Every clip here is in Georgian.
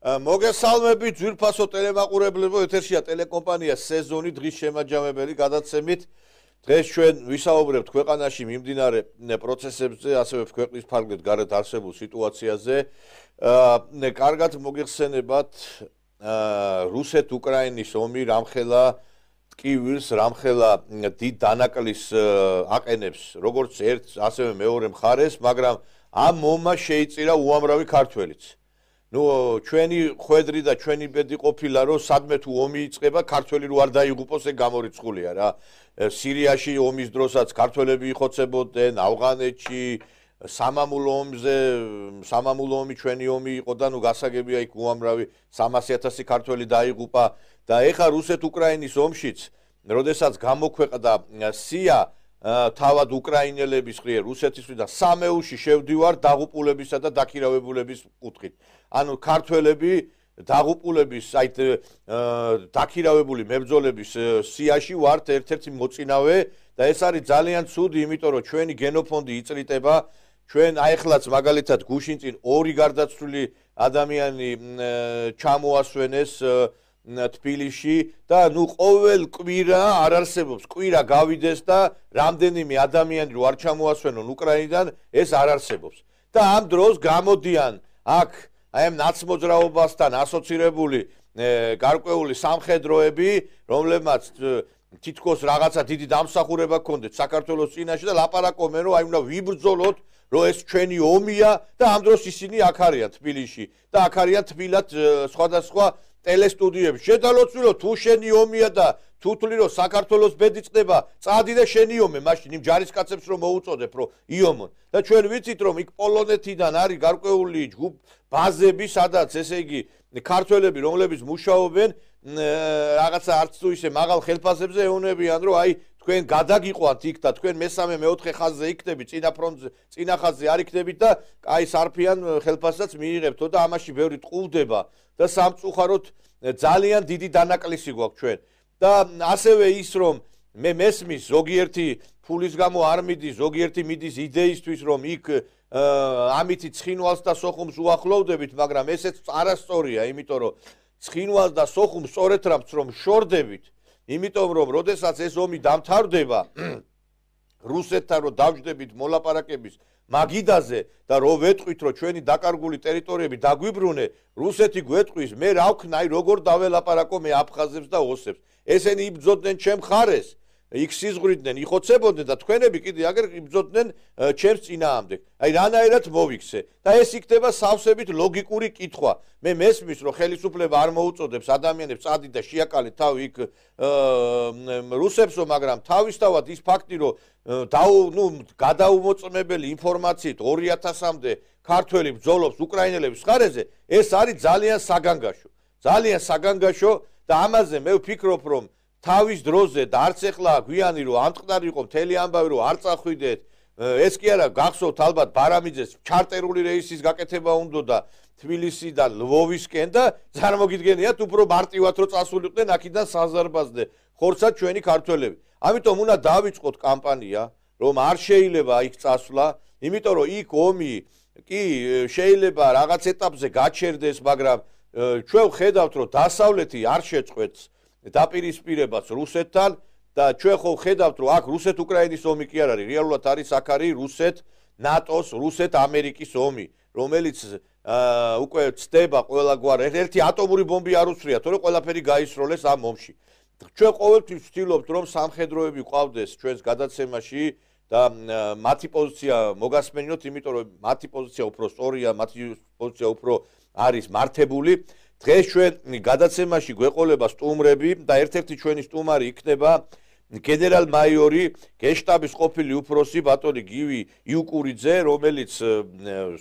მოგესალმებით ძვირფასო ტელემაყურებლებო, ეთერშია ტელეკომპანია სეზონი დღის შემაჯამებელი გადაცემით. დღეს ჩვენ ვისაუბრებთ ქვეყანაში მიმდინარე პროცესებზე, ასევე ქვეყნის ფარგლით გარეთ არსებულ სიტუაციაზე. კარგად მოგეხსენებათ რუსეთ-უკრაინის ომი რამხელა ტკივილს, რამხელა დიდ დანაკლის აყენებს როგორც ერთ, ასევე მეორე მხარეს, მაგრამ ამ ომმა შეიწირა უამრავი ქართველიც. ჩვენი ხვედრი და ჩვენი ბედი ყოფილა, რომ სადმე თუ ომი იწყება, ქართველი რო არ დაიღუპოს, ეგ გამორიცხულია რა. სირიაში ომის დროსაც ქართველები იხოცებოდნენ, ავღანეთში, სამამულო ომი ჩვენი ომი იყო და გასაგებია იქ უამრავი 300,000 ქართველი დაიღუპა და ეხა რუსეთ-უკრაინის ომშიც, როდესაც გამოქვეყნდა სია თავად უკრაინელების ხრივ რუსეთისთვის და სამეულში შევდივარ დაღუპულებისა და დაქირავებულების კუთხით. ანუ ქართველები დაღუპულების, დაქირავებული მებრძოლების სიაში ვართ ერთ-ერთი მოწინავე და ეს არის ძალიან ცუდი, იმიტომ რომ ჩვენი გენოფონდი იწრიტება. ჩვენ აიხლაც მაგალითად გუშინ წინ 2 გარდაცვლილი ადამიანი ჩამოასვენეს თბილისში და ყოველ კვირა არ არსებობს, კვირა გავიდეს და რამდენიმე ადამიანი რო არ ჩამოასვენონ უკრაინიდან, ეს არ არსებობს. და ამ დროს გამოდიან აქ აი ამ ნაცმოძრაობასთან ასოცირებული გარკვეული სამხედროები, რომლებმაც თითქოს რაღაცა დიდი დამსახურება ჰქონდეთ საქართველოს წინაშე და ლაპარაკობენ, რომ აი უნდა ვიბრძოლოთ, რომ ეს ჩვენი ომია და ამ დროს ისინი აქ არიან თბილისში და აქ არიან თბილად სხვადასხვა ტელესტუდიებში. შედალოცვილო თუ შენი ომია და თუ თვლი რომ საქართველოს ბედი წდება, წადი და შენი ომე, მაშინ იმ ჯარისკაცებს რომ მოუწოდებ, რომ იომონ. და ჩვენ ვიცით, რომ იქ პოლონეთიდან არის გარკვეული ბაზები, სადაც ესე იგი ქართველები, რომლებიც მუშაობენ რაღაცა არც თუ ისე მაღალ ხელფასებზე ეუბნებიან, რომ აი თქვენ გადაგიყვანთ იქ და თქვენ მესამე მეოთხე ხაზზე იქნებით, წინა ხაზზე არ იქნებით და აი სარფიან ხელფასსაც მიიღებთო და ამაში ბევრი ტყუვდება და სამწუხაროდ ძალიან დიდი დანაკლისი გვაქვს ჩვენ. და ასევე ის რომ მე მესმის ზოგიერთი ფულის გამო არ მიდის, ზოგიერთი მიდის იდეისთვის, რომ იქ ამითი ცხინვალს და სოხუმს უახლოვდებით, მაგრამ ესეც არასწორია, იმიტომ რომ ცხინვალს და სოხუმს სწორედ რომ შორდებით, იმიტომ რომ როდესაც ეს ომი დამთავრდება, რუსეთთან რომ დავждებით მოლაპარაკების მაგიდაზე და რო ვეტყვით, რომ ჩვენი დაკარგული ტერიტორიები დაგვიბრუნე, რუსეთი გვეტყვის, მე რა ვქნა, აი როგორ დაველაპარაკო მე აფხაზებს და ოსებს. ესენი იბრძოდნენ ჩემ ხარეს, იქ სიზღვრიდნენ, იხოცებოდნენ და თქვენები კიდე აგერ იბრძოდნენ ჩემს წინააღმდეგ. აი რანაირად მოვიქცე და ეს იქნება სავსებით ლოგიკური კითხვა. მე მესმის, რომ ხელისუფლება არ მოუწოდებს ადამიანებს წადი და შეაკალეთ თავი იქ რუსებსო, მაგრამ თავისთავად ის ფაქტი, რომ გადაუმოწმებელი ინფორმაციით 2000-მდე ქართველი ბრძოლობს უკრაინელების ხარეზე, ეს არის ძალიან საგანგაშო. ძალიან საგანგაშო და ამაზე მე ვფიქრობ, რომ თავის დროზე და არც ეხლა გვიანი რომ ამწყდარი იყო მთელი ამბავი რომ არ წახვიდეთ, ეს კი არა გახსოვთ ალბათ ბარამიძეს ჩარტერული რეისის გაკეთება უნდოდა თბილისიდან ლვოვისკენ და წარმოგიდგენიათ უფრო მარტივად რომ წასულიყვნენ აქედან საზარბაზდე ხორცად ჩვენი ქართველები. ამიტომ უნდა დავიწყოთ კამპანია, რომ არ შეიძლება იქ წასვლა, იმიტომ რომ იქ ომი კი შეიძლება რაღაც ეტაპზე გაჩერდეს, მაგრამ ჩვენ ვხედავთ, რომ დასავლეთი არ შეწყვეტს დაპირისპირებას რუსეთთან და ჩვენ ხო ვხედავთ, რომ აქ რუსეთ-უკრაინის ომი კი არ არის, რეალურად არის აქ არის რუსეთ-ნატოს, რუსეთ-ამერიკის ომი, რომელიც უკვე ცდება ყველაგვარ ერთი ატომური ბომბი არ უსრია, თორე ყველაფერი გაისროლეს ამ ომში. ჩვენ ყოველთვის ვცდილობთ, რომ სამხედროები ყავდეს ჩვენს გადაცემაში და მათი პოზიცია მოგასმენინოთ, იმიტომ რომ მათი პოზიცია უფრო სწორია, მათი პოზიცია უფრო არის მართებული. დღეს ჩვენ გადაცემაში გვეყოლება სტუმრები და ერთ-ერთი ჩვენი სტუმარი იქნება გენერალ-მაიორი გენშტაბის ყოფილი უფროსი ბატონი გივი იუკურიძე, რომელიც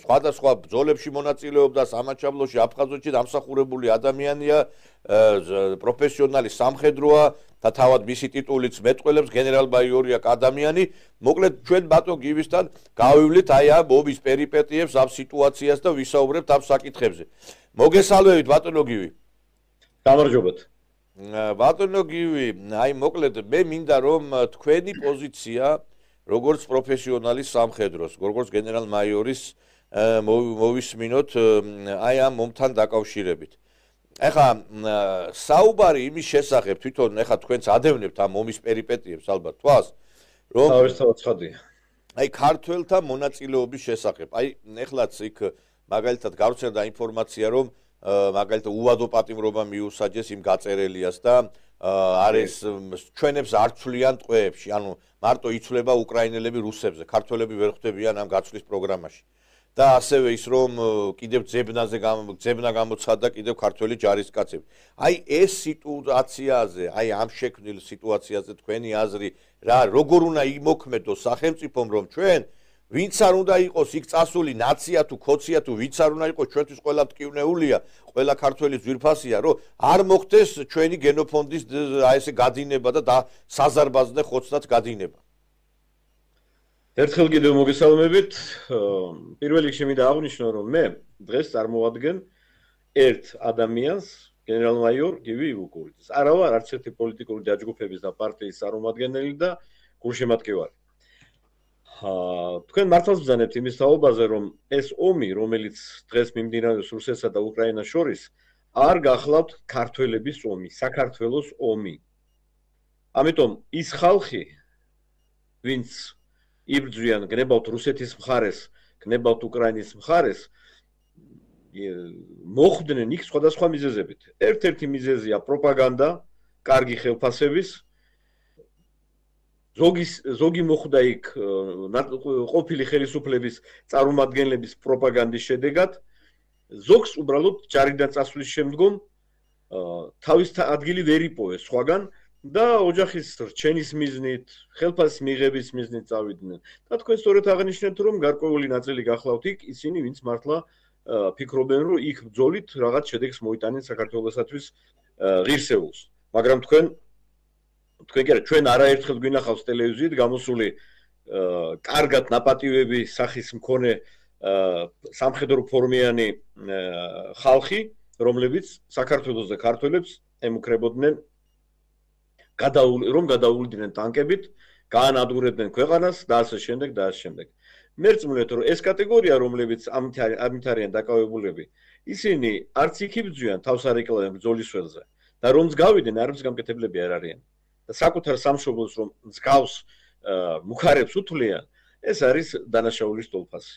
სხვადასხვა ბრძოლებში მონაწილეობდა სამაჩაბლოში, აფხაზეთში დამსახურებული ადამიანია, პროფესიონალი სამხედროა და თავად მისი ტიტულიც მეტყველებს გენერალ-მაიორია ადამიანი. მოკლედ ჩვენ ბატონ გივისთან გავივლით აი ამ ომის პერიპეტიებს, ამ სიტუაციას და ვისაუბრებთ ამ საკითხებზე. მოგესალმებით ბატონო გივი. გამარჯობათ. ბატონო გივი, აი მოკლედ მე მინდა რომ თქვენი პოზიცია როგორც პროფესიონალის სამხედროს, როგორც გენერალ-მაიორის მოვისმინოთ აი ამ მომთან დაკავშირებით. ეხლა საუბარი იმის შესახებ თვითონ ეხლა თქვენც ადევნებთ ამ ომის პერიპეტიებს ალბათ თვალს რომ თავისთავად ცხადია. აი ქართველთა მონაწილეობის შესახებ. აი ეხლაც იქ მაგალითად გავრცელდა ინფორმაცია რომ მაგალითად უვადო პატიმრობა მიუსაჯეს იმ გაწერელიას და არის ჩვენებს არ ცვლიან ტყვეებში, ანუ მარტო იცვლება უკრაინელები რუსებზე, ქართველები ვერ ხვდებიან ამ გაცვლის პროგრამაში. და ასევე ის რომ კიდევ ძებნა გამოცხადდა კიდევ ქართველი ჯარისკაცები. აი ეს სიტუაციაზე, აი ამ შექმნილ სიტუაციაზე თქვენი აზრი რა როგორ უნდა იმოქმედოს სახელმწიფომ რომ ჩვენ ვინც არ უნდა იყოს იქ წასული ნაცია თუ ქოცია თუ ვინც არ უნდა იყოს ჩვენთვის ყველა მტკივნეულია, ყველა ქართველი ძვირფასია, რომ არ მოხდეს ჩვენი გენოფონდის აი ესე გადინება და საზარბაზნე ხოცნაც გადინება. ერთხელ კიდევ მოგესალმებით. პირველ რიგში მინდა აღვნიშნო, რომ მე დღეს წარმოვადგენ ერთ ადამიანს, გენერალ-მაიორ გივი ივუკურიძეს. არა ვარ არც ერთი პოლიტიკური დაჯგუფების და პარტიის წარმომადგენელი და გულშემატკივარი. თქვენ მართლაც ბრძანებთ იმის თაობაზე, რომ ეს ომი, რომელიც დღეს მიმდინარეობს რუსეთსა და უკრაინას შორის, არ გახლავთ ქართველების ომი, საქართველოს ომი. ამიტომ ის ხალხი, ვინც იბრძვიან გნებავთ რუსეთის მხარეს, გნებავთ უკრაინის მხარეს, მოხვდნენ იქ სხვადასხვა მიზეზებით. ერთ-ერთი მიზეზია პროპაგანდა, კარგი ხელფასების, ზოგი მოხვდა იქ ყოფილი ხელისუფლების წარმომადგენლების პროპაგანდის შედეგად, ზოგს უბრალოდ ჯარიდან წასვლის შემდგომ თავის ადგილი ვერ იპოვეს სხვაგან და ოჯახის რჩენის მიზნით, ხელფასის მიღების მიზნით წავიდნენ. და თქვენ სწორედ აღნიშნეთ, რომ გარკვეული ნაწილი გახლავთ იქ ისინი, ვინც მართლა ფიქრობენ, რომ იქ ბრძოლით რაღაც შედეგს მოიტანენ საქართველოსათვის ღირსეულს. მაგრამ თქვენ კი არა, ჩვენ არაერთხელ გვინახავს ტელევიზიით გამოსული კარგად ნაპატივები სახის მქონე სამხედრო ფორმიანი ხალხი, რომლებიც საქართველოს და ქართველებს ემუქრებოდნენ რომ გადაულდნენ ტანკებით, გაანადგურებდნენ ქვეყანას და ასე შემდეგ და ასე შემდეგ. მერწმუნეთ, რომ ეს კატეგორია, რომლებიც ამით არიან დაკავებულები, ისინი არც იქ იბრძვიან, თავს არ ეკლავენ ბრძოლის ველზე და რომც გავიდნენ, არც გამკეთებლები არ არიან. და საკუთარ სამშობლოს რომ მსგავს მუხარებს უთვლიან, ეს არის დანაშაულის ტოლფასი.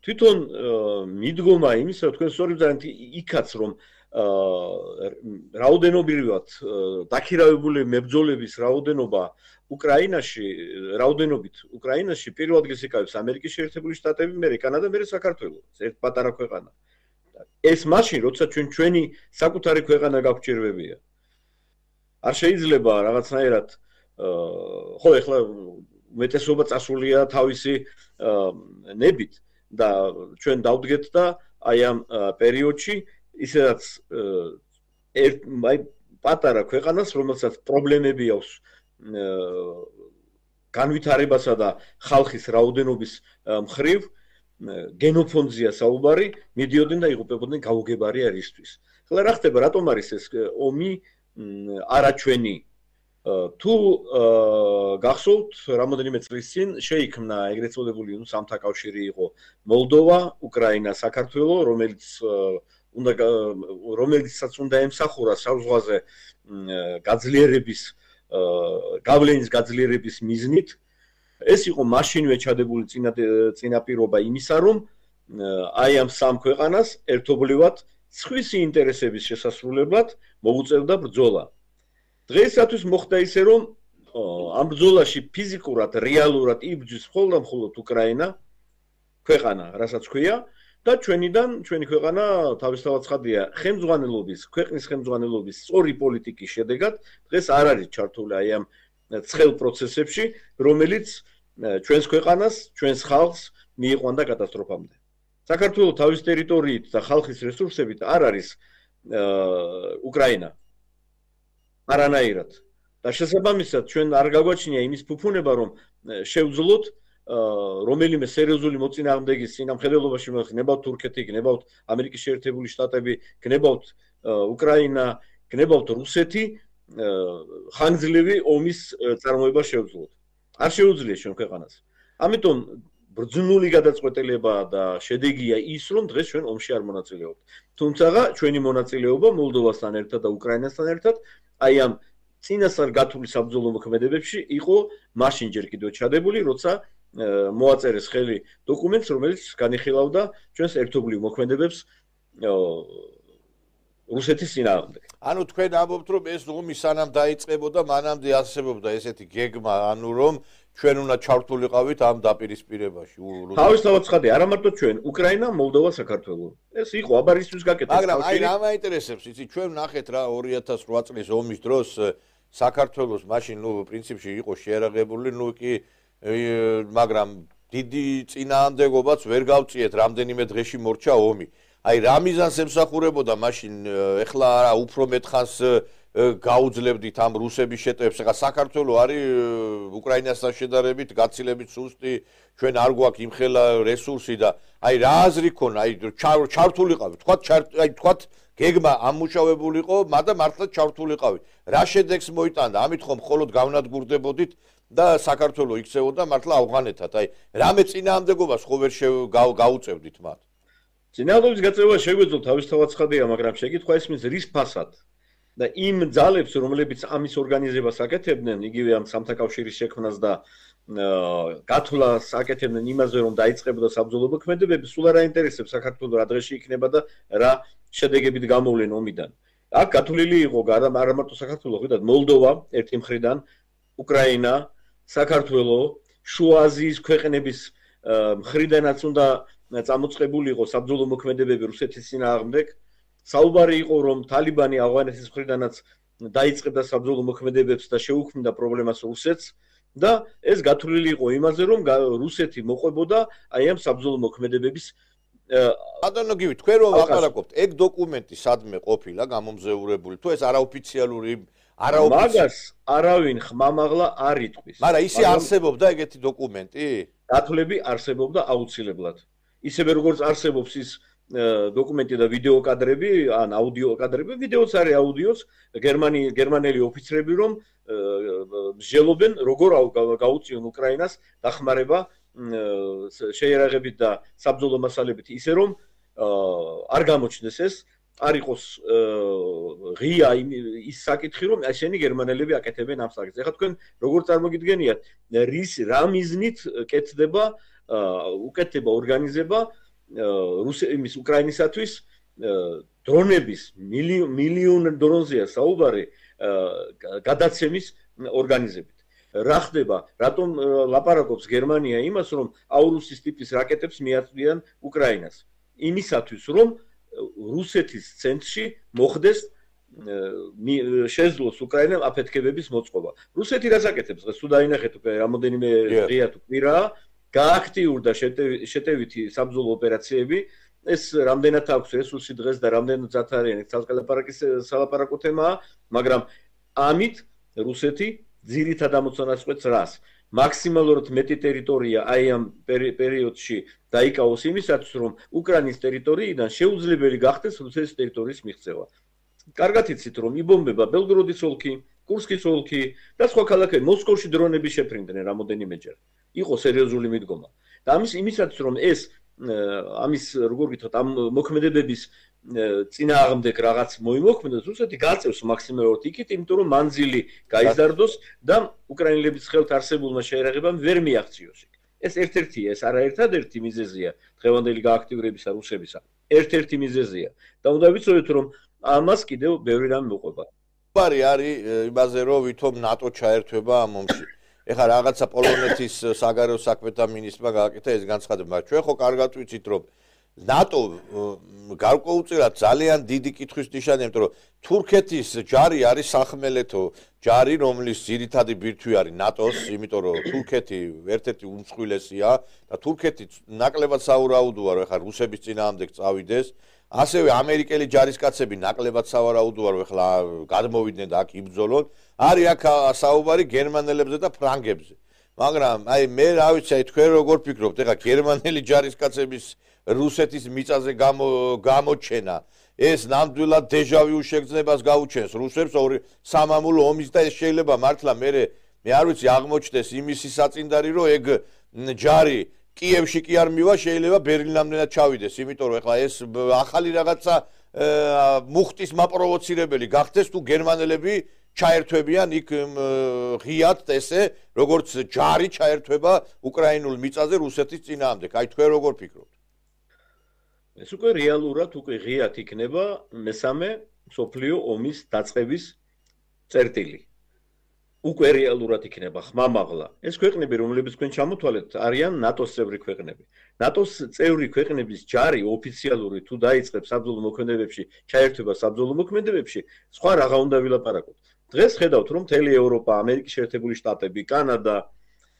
თვითონ მიდგომა იმისა, თქვენ სწორედ ბრძანეთ იქაც რომ რაოდენობრივად დაქირავებული მებრძოლების რაოდენობა უკრაინაში პირველ ადგილს იკავებს ამერიკის შეერთებული შტატები, მერე კანადა, მერე საქართველო, ერთ პატარა ქვეყანა. ეს მაშინ, როცა ჩვენი საკუთარი ქვეყანა გაგვჭირვებია. არ შეიძლება რაღაცნაირად ხო ეხლა უმეტესობა წასულია თავისი ნებით და ჩვენ დავდგეთ და აი ამ პერიოდში ისედაც აი პატარა ქვეყანას, რომელსაც პრობლემები აქვს განვითარებასა და ხალხის რაოდენობის მხრივ, გენოფონდზია საუბარი, მიდიოდნენ და იღუპებოდნენ გაუგებარი არისთვის. ახლა რა ხდება, რატომ არის ეს ომი არაჩვენი? თუ გახსოვთ, რამოდენიმე წლის წინ შეიქმნა ეგრეთ წოდებული სამთა კავშირი იყო მოლდოვა, უკრაინა, საქართველო, რომელიცაც უნდა ემსახურა საზღვაზე გავლენის გაძლიერების მიზნით. ეს იყო მაშინვე ჩადებული წინაპირობა იმისა, რომ აი ამ სამ ქვეყანას ერთობლივად სხვისი ინტერესების შესასრულებლად მოუწევდა ბრძოლა. დღეისათვის მოხდა ისე, რომ ამ ბრძოლაში ფიზიკურად, რეალურად იბრძვის მხოლოდ უკრაინა, ქვეყანა, რასაც ქვია, და ჩვენი ქვეყანა თავისთავად ცხადია, ქვეყნის ხელმძღვანელობის სწორი პოლიტიკის შედეგად დღეს არ არის ჩართული აი ამ ცხელ პროცესებში, რომელიც ჩვენს ქვეყანას, ჩვენს ხალხს მიიყვანდა კატასტროფამდე. საქართველოს თავის ტერიტორიით და ხალხის რესურსებით არ არის უკრაინა. არანაირად. და შესაბამისად ჩვენ არ გაგვაჩნია იმის ფუფუნება, რომ შევძლოთ რომელიმე სერიოზული მოწინააღმდეგის წინამხედველობაში გნებავთ თურქეთი, გნებავთ ამერიკის შეერთებული შტატები, გნებავთ უკრაინა, გნებავთ რუსეთი, ხანგრძლივი ომის წარმოება შევძლოთ. არ შეუძლია ჩვენ ქვეყანას. ამიტომ ბრძნული გადაწყვეტილება და შედეგია ის, რომ დღეს ჩვენ ომში არ მონაწილეობთ. თუმცა ჩვენი მონაწილეობა მოლდოვასთან ერთად და უკრაინასთან ერთად აი ამ წინასწარ გათვლილი საბრძოლო მოქმედებებში იყო მაშინ ჯერ კიდევ ჩადებული, როცა მოაწერეს ხელი დოკუმენტს, რომელიც განიხილავდა ჩვენს ერთობლივ მოქმედებებს რუსეთის წინააღმდეგ. ანუ თქვენ ამბობთ, რომ ეს ომი სანამ დაიწყებოდა, მანამდე არსებობდა ესეთი გეგმა, ანუ რომ ჩვენ უნდა ჩართულიყავით ამ დაპირისპირებაში. თავისთავად ცხადე, არა მარტო ჩვენ, უკრაინა, მოლდოვა, საქართველო. ეს იყო აბარისთვის გაკეთებული. მაგრამ აი რა მაინტერესებს, იცი, ჩვენ ნახეთ რა 2008 წლის ომის დროს საქართველოს მაშინ პრინციპში იყო შეერაღებული, კი მაგრამ დიდი წინააღმდეგობაც ვერ გავწიეთ, რამდენიმე დღეში მორჩა ომი. აი რა მიზანს ემსახურებოდა მაშინ, ეხლა არა უფრო მეტხანს გაუძლებდით ამ რუსების შეტევებს. ეხლა საქართველო არის უკრაინასთან შედარებით გაცილებით სუსტი, ჩვენ არ გვაქვს იმხელა რესურსი და აი რა აზრი ქონა, აი ჩართულიყავით, თქვათ გეგმა ამუშავებულიყო, მაგრამ მართლა ჩართულიყავით. რა შედეგს მოიტანდა? ამით ხომ მხოლოდ გავნადგურდებოდით და საქართველო იქცეოდა მართლა ავღანეთად. აი რამე წინააღმდეგობას ხო ვერ გაუწევდით მათ? წინააღმდეგობის გაწევა შეგვეძლო თავისთავად ცხადია, მაგრამ შეკითხვა ისმის რის ფასად და იმ ძალებს, რომლებიც ამის ორგანიზებას აკეთებდნენ, იგივე ამ სამთა კავშირის შექმნას და გათვლას აკეთებდნენ იმაზე, რომ დაიწყებოდა საბრძოლო მოქმედებები, სულ არ აინტერესებს საქართველოს რა დღეში იქნება და რა შედეგებით გამოვლენ ომიდან. აქ გათვლილი იყო არა მარტო საქართველო, ხედავთ მოლდოვა ერთი მხრიდან, უკრაინა, საქართველო, შუა აზიის ქვეყნების მხრიდანაც უნდა წამოწყებულიყო საბრძოლო მოქმედებები რუსეთის წინააღმდეგ. საუბარი იყო, რომ თალიბანი ავღანეთის მხრიდანაც დაიწყებდა საბრძოლო მოქმედებებს და შეუქმნიდა პრობლემას რუსეთს და ეს გათვლილი იყო იმაზე, რომ რუსეთი მოყვებოდა აი ამ საბრძოლო მოქმედებების ბატონო გივი, თქვენ რომ ვაპარაკობთ, ეგ დოკუმენტი სადმე ყოფილა გამომზეურებული, თუ ეს არაოფიციალური მაგას არავინ ხმამაღლა არ იტყვის. მაგრამ ისე არსებობდა ეგეთი დოკუმენტი? გათვლები არსებობდა აუცილებლად. ისევე როგორც არსებობს ის დოკუმენტი და ვიდეო კადრები, ან აუდიო კადრები, ვიდეოც არის აუდიოც, გერმანელი ოფიცრები რომ მსჯელობენ როგორ გაუწიონ უკრაინას დახმარება შეერაღებით და საბრძოლო მასალებით, ისე რომ არ გამოჩნდეს ეს, არ იყოს ღია ის საკითხი, რომ ესენი გერმანელები აკეთებენ ამ საკითხს. ეხლა თქვენ როგორ წარმოგიდგენიათ, რა მიზნით კეთდება უკეთება ორგანიზება იმის უკრაინისათვის დრონების მილიონ დრონზეა საუბარი გადაცემის ორგანიზებით. რა ხდება? რატომ ლაპარაკობს გერმანია იმას, რომ აურუსის ტიპის რაკეტებს მიაწვდიან უკრაინას? იმისათვის, რომ რუსეთის ცენტრში მოხდეს შეძლოს უკრაინამ აფეთქებების მოწყობა. რუსეთი რას აკეთებს? დღეს თუ დაინახეთ უკვე რამოდენიმე დღეა თუ კვირაა, გააქტიურდა შეტევითი საბრძოლო ოპერაციები. ეს რამდენად აქვს რესურსი დღეს და რამდენად ზათარიანი სალაპარაკო თემაა, მაგრამ ამით რუსეთი ძირითად ამოცანასყვეთს რას? მაქსიმალურად მეტი ტერიტორია აი ამ პერიოდში დაიკავოს იმისათვის, რომ უკრაინის ტერიტორიიდან შეუძლებელი გახდეს რუსეთის ტერიტორიის მიღწევა. კარგად იცით, რომ იბომბება ბელგროდის ოლქი, კურსკის ოლქი და სხვა ქალაქები, მოსკოვში დრონები შეფრინდნენ რამოდენიმეჯერ. იყო სერიოზული მიდგომა. და იმისათვის, რომ ეს ამის როგორ გითხრათ, ამ მოქმედებების წინააღმდეგ რაღაც მოიმოქმედოს, რუსეთი გაწევს მაქსიმალურად იქით, იმიტომ რომ მანძილი გაიზარდოს და უკრაინელების ხელთ არსებულმა შეერაღებამ ვერ მიაღწიოს. ეს ერთ-ერთია, ეს არაერთადერთი მიზეზია დღევანდელი გააქტიურებისა რუსებისა. ერთ-ერთი მიზეზია. და უნდა ვიცოდეთ, რომ ამას კიდევ ბევრი რამ მოყვება. არის იმაზე, რომ ვითომ ნატო ჩაერთვება ამ ომში. ეხლა რაღაცა პოლონეთის საგარეო საქმეთა მინისტრმა გააკეთა ეს განცხადება. ჩვენ ხო კარგად ვიცით, რომ ნატო გარკვეულწილად ძალიან დიდი კითხვის ნიშანია, იმიტომ რომ თურქეთის ჯარი არის სახმელეთო ჯარი, რომლის ძირითადი ბირთვი არის ნატოს, იმიტომ რომ თურქეთი ერთ-ერთი უმსხვილესია და თურქეთი ნაკლებად საურაუდოა, რომ ეხლა რუსების წინააღმდეგ წავიდეს. ასევე ამერიკელი ჯარისკაცები ნაკლებად სავარაუდოა, რომ ეხლა გადმოვიდნენ და აქ იბრძოლონ. არის აქ საუბარი გერმანელებზე და ფრანგებზე. მაგრამ აი მე რა ვიცი, აი თქვენ როგორ ფიქრობთ, ეხლა გერმანელი ჯარისკაცების რუსეთის მიწაზე გამოჩენა ეს ნამდვილად დეჟავიუ შეგრძნებას გაუჩენს რუსებს ორი სამამულო ომის და ეს შეიძლება მართლა მე არ ვიცი აღმოჩნდეს იმისი საწინდარი, რომ ეგ ჯარი კიევში კი არ მივა, შეიძლება ბერლინამდენად ჩავიდეს, იმიტომ რომ ეხლა ეს ახალი რაღაცა მუხტის მაპროვოცირებელი გახდეს თუ გერმანელები ჩაერთვებიან იქ ღიად ესე როგორც ჯარი ჩაერთვება უკრაინულ მიწაზე რუსეთის წინააღმდეგ. აი თქვენ როგორ ფიქრობთ? ეს უკვე რეალურად უკვე ღიად იქნება მესამე მსოფლიო ომის დაწყების წერტილი. უკვე რეალურად იქნება ხმამაღლა. ეს ქვეყნები, რომლებიც თქვენ ჩამოთვალეთ, არიან ნატოს წევრი ქვეყნები. ნატოს წევრი ქვეყნების ჯარი ოფიციალური თუ დაიწყებს საბრძოლო მოქმედებებში, ჩაერთვება საბრძოლო მოქმედებებში, სხვა რაღა უნდა ვილაპარაკოთ. დღეს ხედავთ, რომ მთელი ევროპა, ამერიკის შეერთებული შტატები, კანადა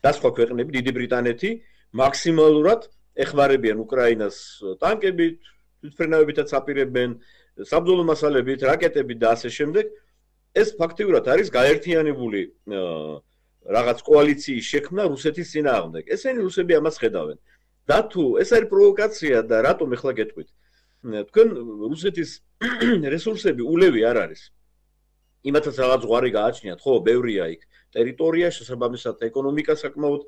და სხვა ქვეყნები, დიდი ბრიტანეთი მაქსიმალურად ეხმარებიან უკრაინას ტანკებით, თვითმფრინავებითაც აპირებენ, საბრძოლო მასალებით, რაკეტებით და ასე შემდეგ. ეს ფაქტიურად არის გაერთიანებული რაღაც კოალიციის შექმნა რუსეთის წინააღმდეგ. ესენი რუსები ამას ხედავენ. და თუ ეს არის პროვოკაცია და რატომ ეხლა გეტყვით? თქვენ რუსეთის რესურსები ულევი არ არის. იმათაც რაღაც ზღვარი გააჩნიათ, ხო, ბევრია იქ. ტერიტორია, შესაბამისად, ეკონომიკა საკმაოდ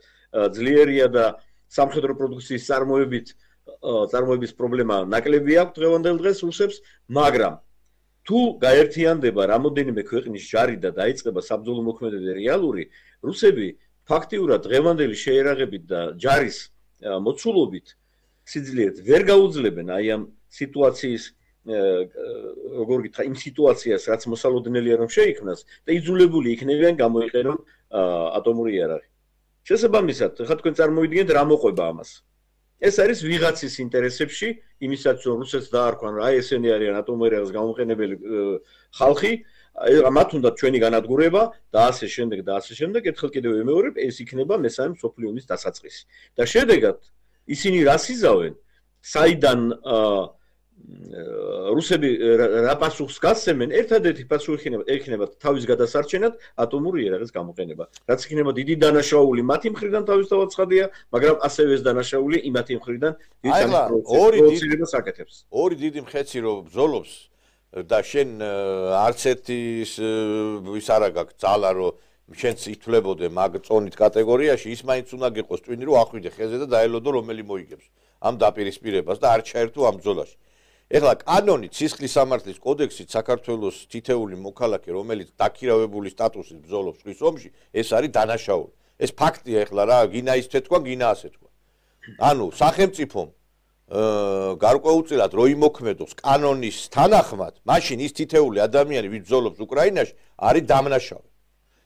ძლიერია და სამხედრო პროდუქციის წარმოების პრობლემა ნაკლები აქვს დღევანდელ დღეს რუსებს, მაგრამ თუ გაერთიანდება რამოდენიმე ქვეყნის ჯარი და დაიწყება საბრძოლო მოქმედებები რეალური, რუსები ფაქტიურად დღევანდელი შეერაღებით და ჯარის მოცულობით სიძლიერით ვერ გაუძლებენ აი ამ სიტუაციის როგორ გითხრა, იმ სიტუაციას, რაც მოსალოდნელია რომ შეიქმნას და იძულებული იქნებიან გამოიყენონ ატომური იარაღი. შესაბამისად, ხა თქვენ წარმოვიდგინეთ რა მოყვება ამას. ეს არის ვიღაცის ინტერესებში, იმისაც რომ რუსეთს დაარქვან, აი ესენი არიან ატომურ იარაღის გამოყენებელი ხალხი, მათ უნდა ჩვენი განადგურება და ასე შემდეგ და ასე შემდეგ, ერთხელ კიდევ ვიმეორებ, ეს იქნება მესამე მსოფლიო ომის დასაწყისი. და შედეგად ისინი რას იზავენ? საიდან რუსები რა პასუხს გასცემენ, ერთადერთი პასუხი იქნება თავის გადასარჩენად ატომური იარაღის გამოყენება. რაც იქნება დიდი დანაშაული მათი მხრიდან თავისთავად ცხადია, მაგრამ ასევე ეს დანაშაული იმათი მხრიდან პროვოცირებას აკეთებს. ორი დიდი მხეცი რომ ბრძოლობს და შენ არც ერთის ის არა გაქვს ძალა რომ შენც ითვლებოდე მაგ წონით კატეგორიაში, ის მაინც უნდა გიყოს ტვინი რომ ახვიდე ხეზე და დაელოდო რომელი მოიგებს ამ დაპირისპირებას და არ ჩაერთო ამ ბრძოლაში. ეხლა კანონით სისხლის სამართლის კოდექსით საქართველოს თითეული მოქალაქე რომელიც დაქირავებული სტატუსით ბრძოლობს ხვის ომში, ეს არის დანაშაული. ეს ფაქტია ეხლა რა, გინა ის თეთქვა, გინა ასე თქვა. ანუ სახელმწიფომ გარკვეულწილად რო იმოქმედოს კანონის თანახმად, მაშინ ის თითეული ადამიანი ვინც ბრძოლობს უკრაინაში, არის დამნაშავე.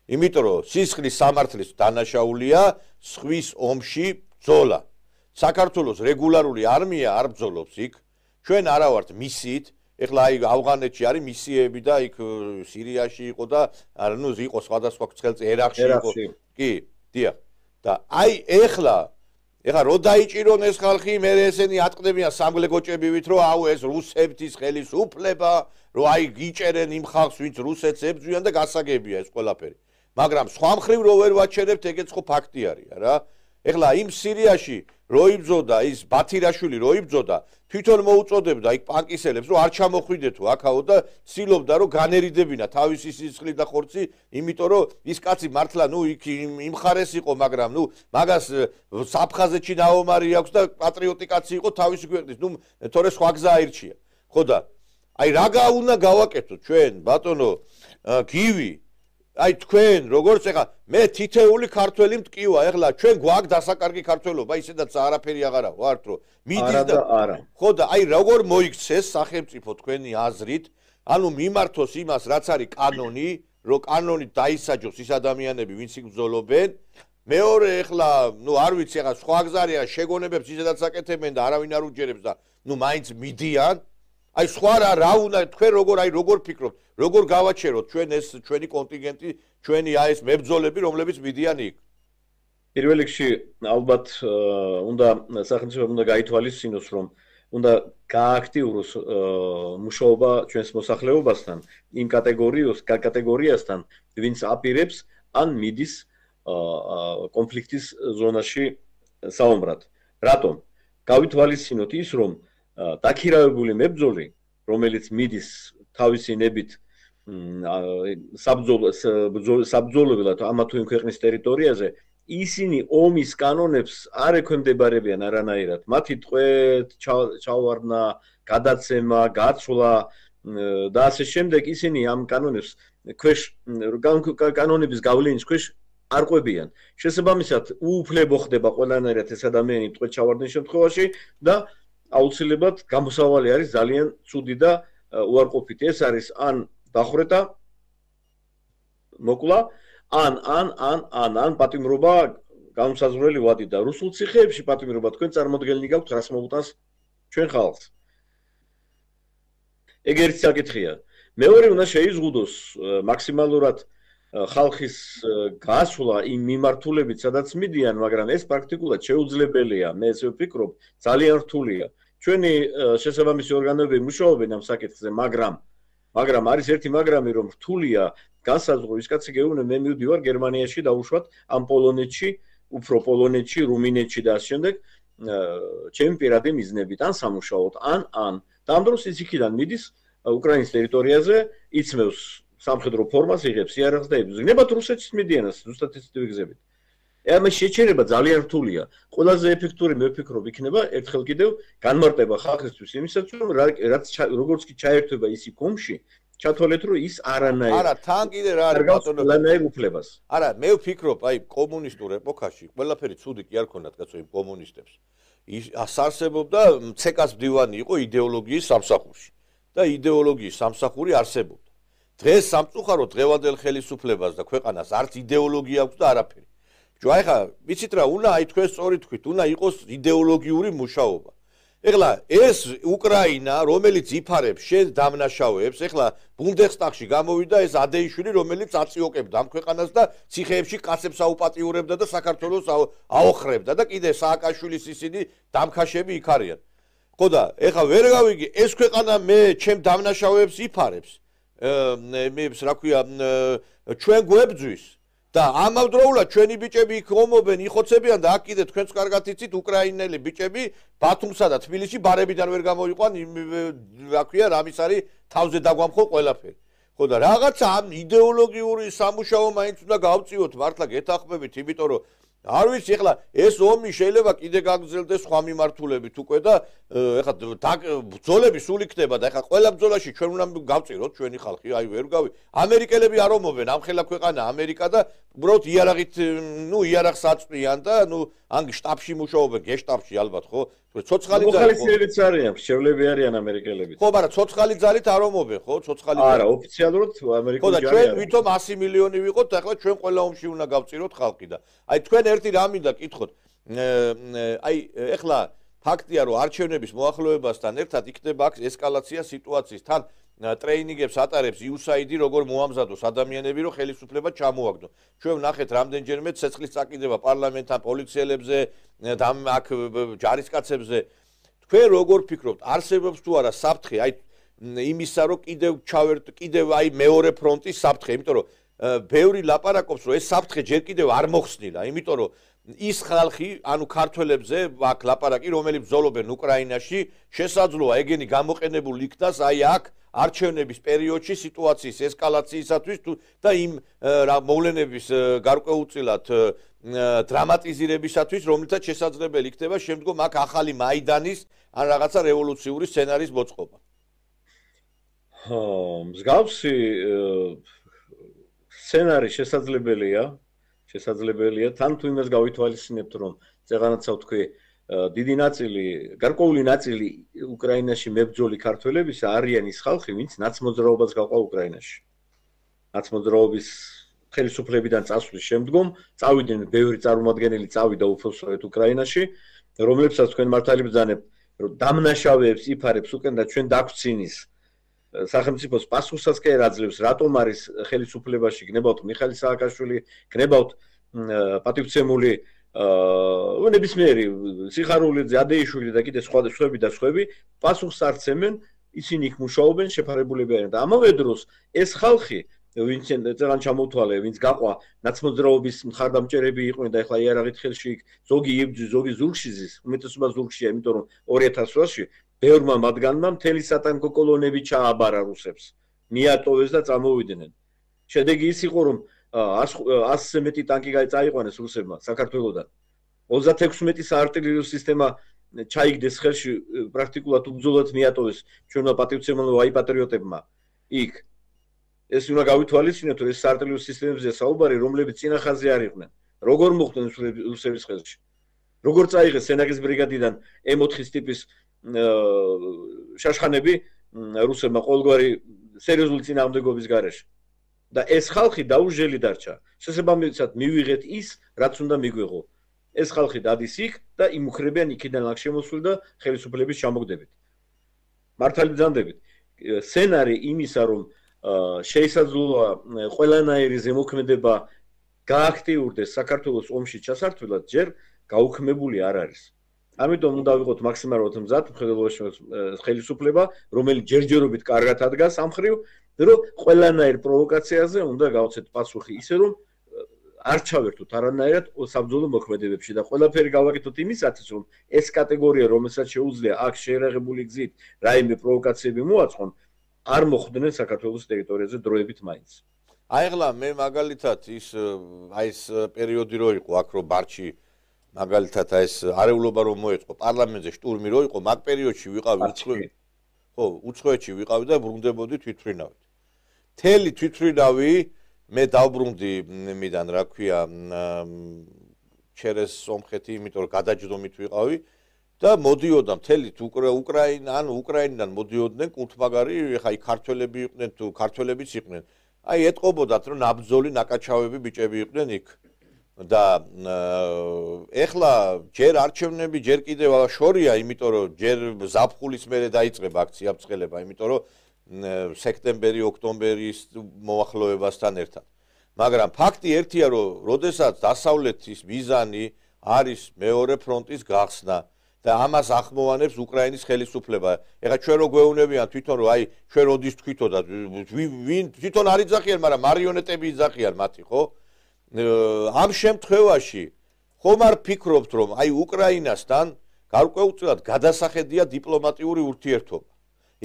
იმიტომ რომ სისხლის სამართლის დანაშაულია ხვის ომში ბრძოლა. საქართველოს რეგულარული არმია არ ბრძოლობს იქ. ჩვენ არა ვართ მისიით, ეხლა აი ავღანეთში არის მისიები და იქ სირიაში იყო და ნუ იყო სხვადასხვა ცხელწ ერაყში იყო. კი, დიახ. და აი ეხლა რო დაიჭირონ ეს ხალხი, მე ესენი ატყდებიან სამგლეგოჭებივით, რომ აუ ეს რუსეთის ხელისუფლება, რომ აი გიჭერენ იმ ხალხს, ვინც რუსეთს ებრძვიან და გასაგებია ეს ყველაფერი. მაგრამ სხვა მხრივ რო ვერ ვაჩერებთ, ეგეც ხო ფაქტი არის რა. ეხლა იმ სირიაში რო იბრძოდა ის ბათირაშვილი რო იბრძოდა, თვითონ მოუწოდებდა იქ პანკისელებს, რომ არ ჩამოხვიდეთო აქაო და ცდილობდა რომ განერიდებინა თავისი სისხლი და ხორცი, იმიტომ რომ ის კაცი მართლა ნუ იქ იმ ხარეს იყო, მაგრამ ნუ მაგას საფხაზეთში დაომარი აქვს და პატრიოტი კაცი იყო თავისი ქვეყნის, ნუ თორე სხვა გზა აირჩია. ხო და აი რა უნდა გავაკეთოთ ჩვენ, ბატონო გივი, აი თქვენ როგორც ეხლა მე თითეული ქართველი მტკივა, ეხლა ჩვენ გვაქვს დასაკარგი ქართველობა, ისედაც არაფერი აღარა ვართ რომ მიდის და არა. ხო და აი როგორ მოიქცეს სახელმწიფო თქვენი აზრით, ანუ მიმართოს იმას, რაც არის კანონი, რომ კანონით დაისაჯოს ის ადამიანები, ვინც იქ ბრძოლობენ. მეორე ეხლა, ნუ არ ვიცი, ეხლა სხვა გზა არის, შეგონებებს ისედაც აკეთებენ და არავინ არ უჯერებს და ნუ მაინც მიდიან. აი სხვა რა უნდა თქვენ როგორ ფიქრობთ, როგორ გავაჩეროთ ჩვენ ეს ჩვენი კონტინგენტი, ჩვენი აი ეს მებრძოლები, რომლებიც მიდიან იქ? პირველ რიგში ალბათ უნდა სახელმწიფომ უნდა გაითვალისწინოს, რომ უნდა გააქტიუროს მუშაობა ჩვენს მოსახლეობასთან, იმ კატეგორიასთან, ვინც აპირებს ან მიდის კონფლიქტის ზონაში საომრად. რატომ? გავითვალისწინოთ ის, რომ დაქირავებული მებრძოლი, რომელიც მიდის თავისი ნებით საბრძოლველად ამა თუ იმ ქვეყნის ტერიტორიაზე, ისინი ომის კანონებს არ ექვემდებარებიან არანაირად. მათი ტყვეთ, ჩავარდნა, გადაცემა, გაცვლა და ასე შემდეგ ისინი ამ კანონებს ქვეშ კანონების გავლენის ქვეშ არ ყვებიან. შესაბამისად, უუფლებო ხდება ყველანაირად ეს ადამიანი ტყვეთ ჩავარდნის შემთხვევაში და აუცილებლად გამოსავალი არის ძალიან ცუდი და უარყოფითი. ეს არის ან დახვრეტა, მოკლა, ან პატიმრობა განუსაზღვრელი ვადი და რუსულ ციხეებში პატიმრობა თქვენ წარმოდგენილი გაქვთ რას მოუტანს ჩვენ ხალხს. ეგ ერთი საკითხია. მეორე უნდა შეიზღუდოს მაქსიმალურად ხალხის გასვლა იმ მიმართულებით, სადაც მიდიან, მაგრამ ეს პრაქტიკულად შეუძლებელია. მე ესე ვფიქრობ, ძალიან რთულია. ჩვენი შესაბამისი ორგანოები მუშაობენ ამ საკითხზე, მაგრამ არის ერთი მაგრამი, რომ რთულია განსაზღვრო ის კაცი გეუბნე, მე მივდივარ გერმანიაში დავუშვათ ამ პოლონეთში, უფრო პოლონეთში, რუმინეთში და ასე შემდეგ, ჩემი პირადი მიზნებით ან სამუშაოდ, ან და ამ დროს ის იქიდან მიდის უკრაინის ტერიტორიაზე, იწმევს სამხედრო ფორმას, იღებს იარაღს და იბრძვის. ნებათ რუსეთშიც მიდიან ზუსტად ისეთივე გზებით. ამ შეჩერება ძალიან რთულია. ყველაზე ეფექტური მე ვფიქრობ იქნება ერთხელ კიდევ განმარტება ხალხისთვის იმისაც, რომ რაც როგორც კი ჩაერთვება ის ომში, ჩათვალეთ, რომ ის არანაირ არა, თან კიდე რა არის ბატონო, არანაირ უფლებას. არა, მე ვფიქრობ, აი კომუნისტურ ეპოქაში ყველაფერი ცუდი კი არ ქონდათ კაცო იმ კომუნისტებს. ის ასარსებობდა ცეკას მდივანი იყო იდეოლოგიის სამსახურში და იდეოლოგიის სამსახური არსებობდა. დღეს სამწუხაროდ დღევანდელ ხელისუფლებას და ქვეყანას არც იდეოლოგია აქვს და არაფერი. აი ხა, ვიცით რა, უნდა აი თქვენ სწორი თქვით, უნდა იყოს იდეოლოგიური მუშაობა. ეხლა ეს უკრაინა, რომელიც იფარებს შენ დამნაშავეებს, ეხლა ბუნდესტაგში გამოვიდა ეს ადეიშვილი, რომელიც აწიოკებდა ამ ქვეყანას და ციხეებში კაცებს აუპატიურებდა და საქართველოს აოხრებდა და კიდე სააკაშვილის ისინი დამქაშები იქ არიან. ხო და ეხლა ვერ გავიგი, ეს ქვეყანა მე ჩემ დამნაშავეებს იფარებს. მეებს რა ქვია, ჩვენ გვებძვის. და ამავდროულად ჩვენი ბიჭები იქ ომობენ, იხოცებიან და აქ კიდე თქვენც კარგად იცით უკრაინელი ბიჭები ბათუმსა და თბილისში ბარებიდან ვერ გამოიყვან, რა ქვია, რამის არის თავზე დაგვამხო ყველაფერი. ხო და რაღაცა ამ იდეოლოგიური სამუშაო მაინც უნდა გავწიოთ, მართლა გეთანხმებით, იმიტომ რომ არ ვიცი, ეხლა ეს ომი შეიძლება კიდე გაგრძელდეს სხვა მიმართულებით უკვე და ეხლა ბრძოლები სულ იქნება და ეხლა ყველა ბრძოლაში ჩვენ უნდა გავწიროთ ჩვენი ხალხი, აი ვერ გავი. ამერიკელები არ ომობენ, ამხელა ქვეყანა ამერიკა და უბრალოდ იარაღით, იარაღს აწვიან და ან შტაბში მუშაობენ, გეშტაბში ალბათ, ხო? ცოცხალი ძალით. მოხალისეებიც არიან, შევლები არიან ამერიკელები. ხო, მაგრამ ცოცხალი ძალით არ ომობენ, ხო? ცოცხალი ძალით. არა, ოფიციალურად ამერიკული ხო და ჩვენ ვითომ 100 მილიონი ვიყოთ და ახლა ჩვენ ყველა ომში უნდა გავწიროთ ხალხი და აი თქვენ ერთი რა მინდა კითხოთ. აი ეხლა ფაქტია რომ არჩევნების მოახლოებასთან ერთად იქნება აქ ესკალაცია სიტუაციის თან ტრეინინგებს ატარებს USAID როგორ მოამზადოს ადამიანები რომ ხელისუფლება ჩამოაგდო. ჩვენ ვნახეთ რამდენჯერმე ცეცხლის წაკიდება პარლამენტთან პოლიციელებზე და აქ ჯარისკაცებზე. თქვენ როგორ ფიქრობთ, არსებობს თუ არა საფრთხე აი იმისა რომ კიდევ აი მეორე ფრონტის საფრთხე, იმიტომ რომ ბევრი ლაპარაკობს რომ ეს საფრთხე ჯერ კიდევ არ მოხსნილა, იმიტომ რომ ის ხალხი, ანუ ქართველებზე აქ ლაპარაკი, რომელი ბრძოლობენ უკრაინაში, შესაძლოა ეგენი გამოყენებული იქნას აი აქ არჩევნების პერიოდში სიტუაციის ესკალაციისათვის და იმ მოვლენების გარკვეულწილად დრამატიზირებისათვის, რომლითაც შესაძლებელი იქნება შემდგომ აქ ახალი მაიდანის ან რაღაცა რევოლუციური სცენარის მოწყობა. მსგავსი სცენარი შესაძლებელია, თან თუ იმას გავითვალისწინებთ, რომ წეღანაცა ვთქვი, დიდი ნაწილი, გარკვეული ნაწილი უკრაინაში მებრძოლი ქართველების არიან ის ხალხი, ვინც ნაცმოძრაობას გაყვა უკრაინაში. ნაცმოძრაობის ხელისუფლებიდან წასვლის შემდგომ წავიდნენ ბევრი წარმომადგენელი წავიდა უფროსწორედ უკრაინაში, რომლებსაც თქვენ მართალი ბრძანებთ, რომ დამნაშავეებს იფარებს უკენ და ჩვენ დაგვცინის სახელმწიფოს პასუხსაც კი არ აძლევს, რატომ არის ხელისუფლებაში გნებავთ მიხაილ სააკაშვილი, გნებავთ პატივცემული ნებისმიერი სიხარულიძე, ადეიშვილი და კიდე სხვები პასუხს არცემენ, ისინი იქ მუშაობენ, შეფარებულები არიან და ამავე დროს ეს ხალხი, ვინც წეგან ჩამოთვალე, ვინც გაყვა ნაცმოძრაობის მხარდამჭერები იყვნენ და ეხლა იარაღით ხელში იქ ზოგი იბძვის, ზოგი ზურგში ზის, უმეტესობა ზურგშია, იმიტომ რომ 2000 წელს ბევრმა მათგანმა მთელი სატანკო კოლონები ჩააბარა რუსებს, მიატოვეს და წამოვიდნენ. შედეგი ის იყო, რომ 100-ზე მეტი ტანკი წაიყვანეს რუსებმა საქართველოსთან. 36 საარტილერიო სისტემა ჩაიგდეს ხელში, პრაქტიკულად უბრძოლად მიატოვეს ჩვენმა პატივცემულო აიპატრიოტებმა. იქ ეს უნდა გავითვალისწინოთ, რომ ეს საარტილერიო სისტემებზე საუბარი, რომლებიც წინა ხაზზე არ იყვნენ. როგორ მოხდნენ რუსების ხელში? როგორ წაიღეს სენაგის ბრიგადიდან M4-ის ტიპის შაშხანები რუსებმა ყოველგვარი სერიოზული წინააღმდეგობის გარეშე. და ეს ხალხი დაუჟელი დარჩა. შესაბამისად მივიღეთ ის, რაც უნდა მიგვიღო. ეს ხალხი დადის იქ და იმუქრებიან იქიდან ლაგშემოსული და ხელისუფლების ჩამოგდებით. მართალი ბრძანდებით. სცენარი იმისა, რომ შეისაძლოა ყველანაირი ზემოქმედება გააქტიურდეს საქართველოს ომში ჩასართვლად, ჯერ გაუქმებული არ არის. ამიტომ უნდა ვიყოთ მაქსიმალურად მზად მხედველობაში ხელისუფლება, რომელიც ჯერჯერობით კარგად ადგას ამ ხრივ, რომ ყველანაირ პროვოკაციაზე უნდა გავცეთ პასუხი ისე, რომ არ ჩავერთოთ არანაირად საბრძოლო მოქმედებებში და ყველაფერი გავაკეთოთ იმისათვის, რომ ეს კატეგორია, რომელსაც შეუძლია აქ შეერაღებული გზით რაიმე პროვოკაციები მოაწყონ, არ მოხვდნენ საქართველოს ტერიტორიაზე დროებით მაინც. აიღლა მე მაგალითად ის პერიოდი რო იყო აქ რო ბარჩი მაგალითად ეს არეულობა რომ მოეწყო პარლამენტზე შტურმი რო იყო მაგ პერიოდში ვიყავი უცხოეთში ვიყავი და ბრუნდებოდი თვითმფრინავით. მთელი თვითმფრინავი მე დავბრუნდი მიდან რა ქვია ჩერეს სომხეთი, იმიტომ რომ გადაჯდომით ვიყავი და მოდიოდა მთელი უკრაინიდან მოდიოდნენ კულტმაგარი, ეხა იქ ქართველები იყვნენ თუ ქართველებიც იყვნენ. აი ეტყობოდათ რომ ნაბრძოლი ნაკაჩავები ბიჭები იყვნენ იქ. და ეხლა ჯერ არჩევნები ჯერ კიდევ შორია, იმიტომ რომ ჯერ ზაფხულის მერე დაიწყება აქცია ბრწყელება, იმიტომ რომ სექტემბერი, ოქტომბერის მოახლოებასთან ერთად. მაგრამ ფაქტი ერთია, რომ როდესაც დასავლეთის მიზანი არის მეორე ფრონტის გახსნა და ამას ახმოვანებს უკრაინის ხელისუფლება. ეხლა ჩვენ რო გვეუბნებიან თვითონ რომ აი ჩვენ როდის თქვითო და ვინ თვითონ არ იძახიან, მაგრამ მარიონეტები იძახიან მათი, ხო? ამ შემთხვევაში ხომ არ ფიქრობთ, რომ აი უკრაინასთან გარკვეულწილად გადასახედია დიპლომატიური ურთიერთობა.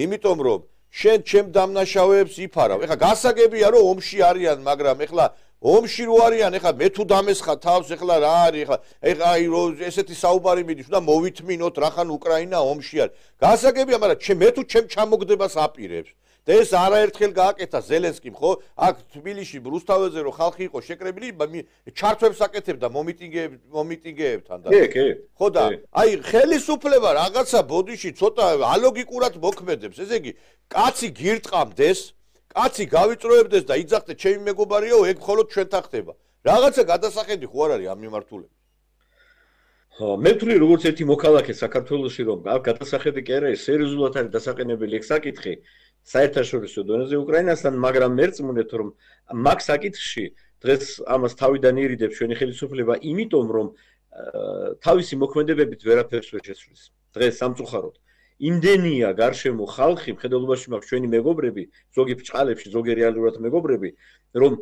იმიტომ რომ შენ ჩემ დამნაშავეებს იფარავ. ეხლა გასაგებია რომ ომში არიან, მაგრამ ეხლა ომში რო არიან, ეხლა მე თუ დამესხა თავს, ეხლა რა არის, ეხლა აი ესეთი საუბარი მიდის, უნდა მოვითმინოთ რახან უკრაინა ომში არის. გასაგებია, მაგრამ მე თუ ჩემ ჩამოგდებას აპირებს. და ეს არაერთხელ გააკეთა ზელენსკიმ, ხო? აქ თბილისში რუსთაველზე რო ხალხი იყო შეკრებილი, ჩართვებს აკეთებდა მომიტინგეებთან და ხო და აი ხელისუფლება რაღაცა ბოდიში ცოტა ალოგიკურად მოქმედებს. ესე იგი, კაცი გირტყამდეს, კაცი გავიწროებდეს და იძახდეს ჩემი მეგობარიო, ეგ მხოლოდ ჩვენთან ხდება. რაღაცა გადასახედი ხო არ არის ამ მიმართულებით? მე ვთვლი როგორც ერთი მოქალაქე საქართველოში, რომ აქ გადასახედი კი არა, სერიოზულად არის დასაყენებელი ეგ საკითხი. საერთაშორისო დონეზე უკრაინასთან, მაგრამ მერწმუნეთ რომ მაგ საკითხში დღეს ამას თავიდან ირიდებს ჩვენი ხელისუფლება, იმიტომ რომ თავისი მოქმედებებით ვერაფერს ვერ შეცვლის. დღეს სამწუხაროდ იმდენია გარშემო ხალხი, მხედველობაში მაქვს ჩვენი მეგობრები, ზოგი ბჭყალებში, ზოგი რეალურად მეგობრები, რომ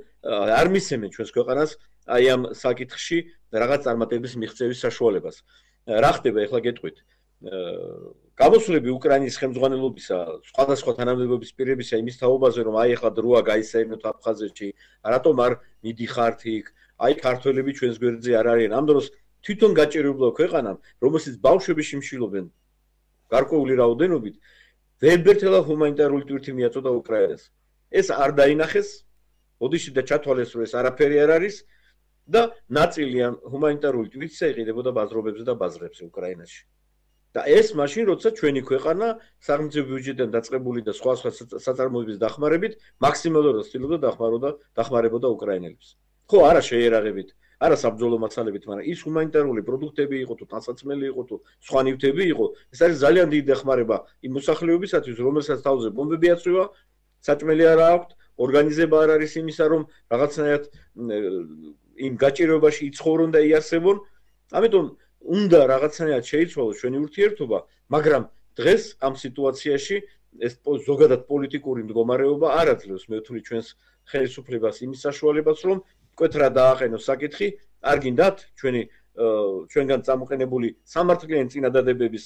არ მისცემენ ჩვენს ქვეყანას აი ამ საკითხში რაღაც წარმატების მიღწევის საშუალებას. რა ხდება ახლა გეტყვით? გამოსვლები უკრაინის ხელმძღვანელობისა, სხვადასხვა თანამდებობის პირებისა იმის თაობაზე, რომ აი ახლა დროა გაისაირნოთ აფხაზეთში, რატომ არ მიდიხართ იქ, აი ქართველები ჩვენს გვერდზე არ არიან. ამ დროს თვითონ გაჭირებულა ქვეყანამ, რომელსაც ბავშვები შიმშილობენ გარკვეული რაოდენობით, ვერბერთელა ჰუმანიტარული ტვირთი მიაწოდა უკრაინას. ეს არ დაინახეს, ოდიში და ჩათვალეს, რომ ეს არაფერი არ არის და ნაწილი ამ ჰუმანიტარული ტვირთისა იყიდებოდა ბაზრობებზე და ბაზრებზე უკრაინაში. და ეს მაშინ, როცა ჩვენი ქვეყანა სახელმწიფო ბიუჯეტიდან დაწყებული და სხვა საწარმოების დახმარებით მაქსიმალურად ცდილობდა დახმარებოდა უკრაინელებს. ხო, არა შეერაღებით, არა საბრძოლო მასალებით, მაგრამ ის ჰუმანიტარული პროდუქტები იყო თუ ტანსაცმელი იყო თუ სხვა ნივთები იყო, ეს არის ძალიან დიდი დახმარება იმ მოსახლეობისათვის, რომელსაც თავზე ბომბები აწვივა, საჭმელი არ აქვს, ორგანიზება არ არის იმისა, რომ რაღაცნაირად იმ გაჭირვებაში იცხოვრონ და იარსებონ. ამიტომ უნდა რაღაცნაირად შეიცვალოს ჩვენი ურთიერთობა, მაგრამ დღეს ამ სიტუაციაში ეს ზოგადად პოლიტიკური მდგომარეობა არ აძლევს მე ვთვლი ჩვენს ხელისუფლებას იმის საშუალებას, რომ მკვეთრად დააყენოს საკითხი, არ გინდათ ჩვენგან წამოყენებული სამართლიანი წინადადებების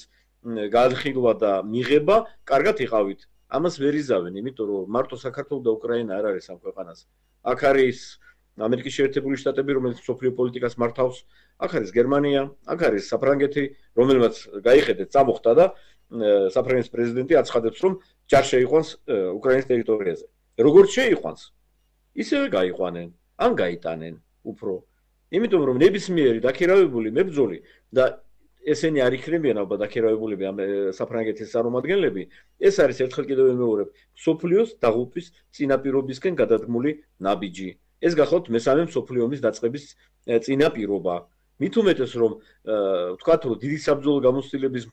განხილვა და მიღება, კარგად იყავით. ამას ვერ იზავენ, იმიტომ რომ მარტო საქართველო და უკრაინა არ არის ამ ქვეყანას. აქ არის ამერიკის შეერთებული შტატები, რომელიც სოფლიო პოლიტიკას მართავს, აქ არის გერმანია, აქ არის საფრანგეთი, რომელმაც გაიხედეთ, წამოხდა და საფრანგეთის პრეზიდენტი აცხადებს, რომ ჯარ შეიყვანს უკრაინის ტერიტორიაზე. როგორც შეიყვანს, ისევე გაიყვანენ, ან გაიტანენ უფრო. იმიტომ რომ ნებისმიერი დაქირავებული მებრძოლი და ესენი არ იქნებიან ალბათ დაქირავებულები ამ საფრანგეთის წარმომადგენლები, ეს არის ერთხელ კიდევ ვიმეორებ, სოფლიოს დაღუპვის წინაპირობისკენ გადადგმული ნაბიჯი. ეს გახლავთ მესამე მსოფლიო ომის დაწყების წინაპირობა. მით უმეტეს რომ ვთქვათ რომ დიდი საბრძოლო გამოცდილების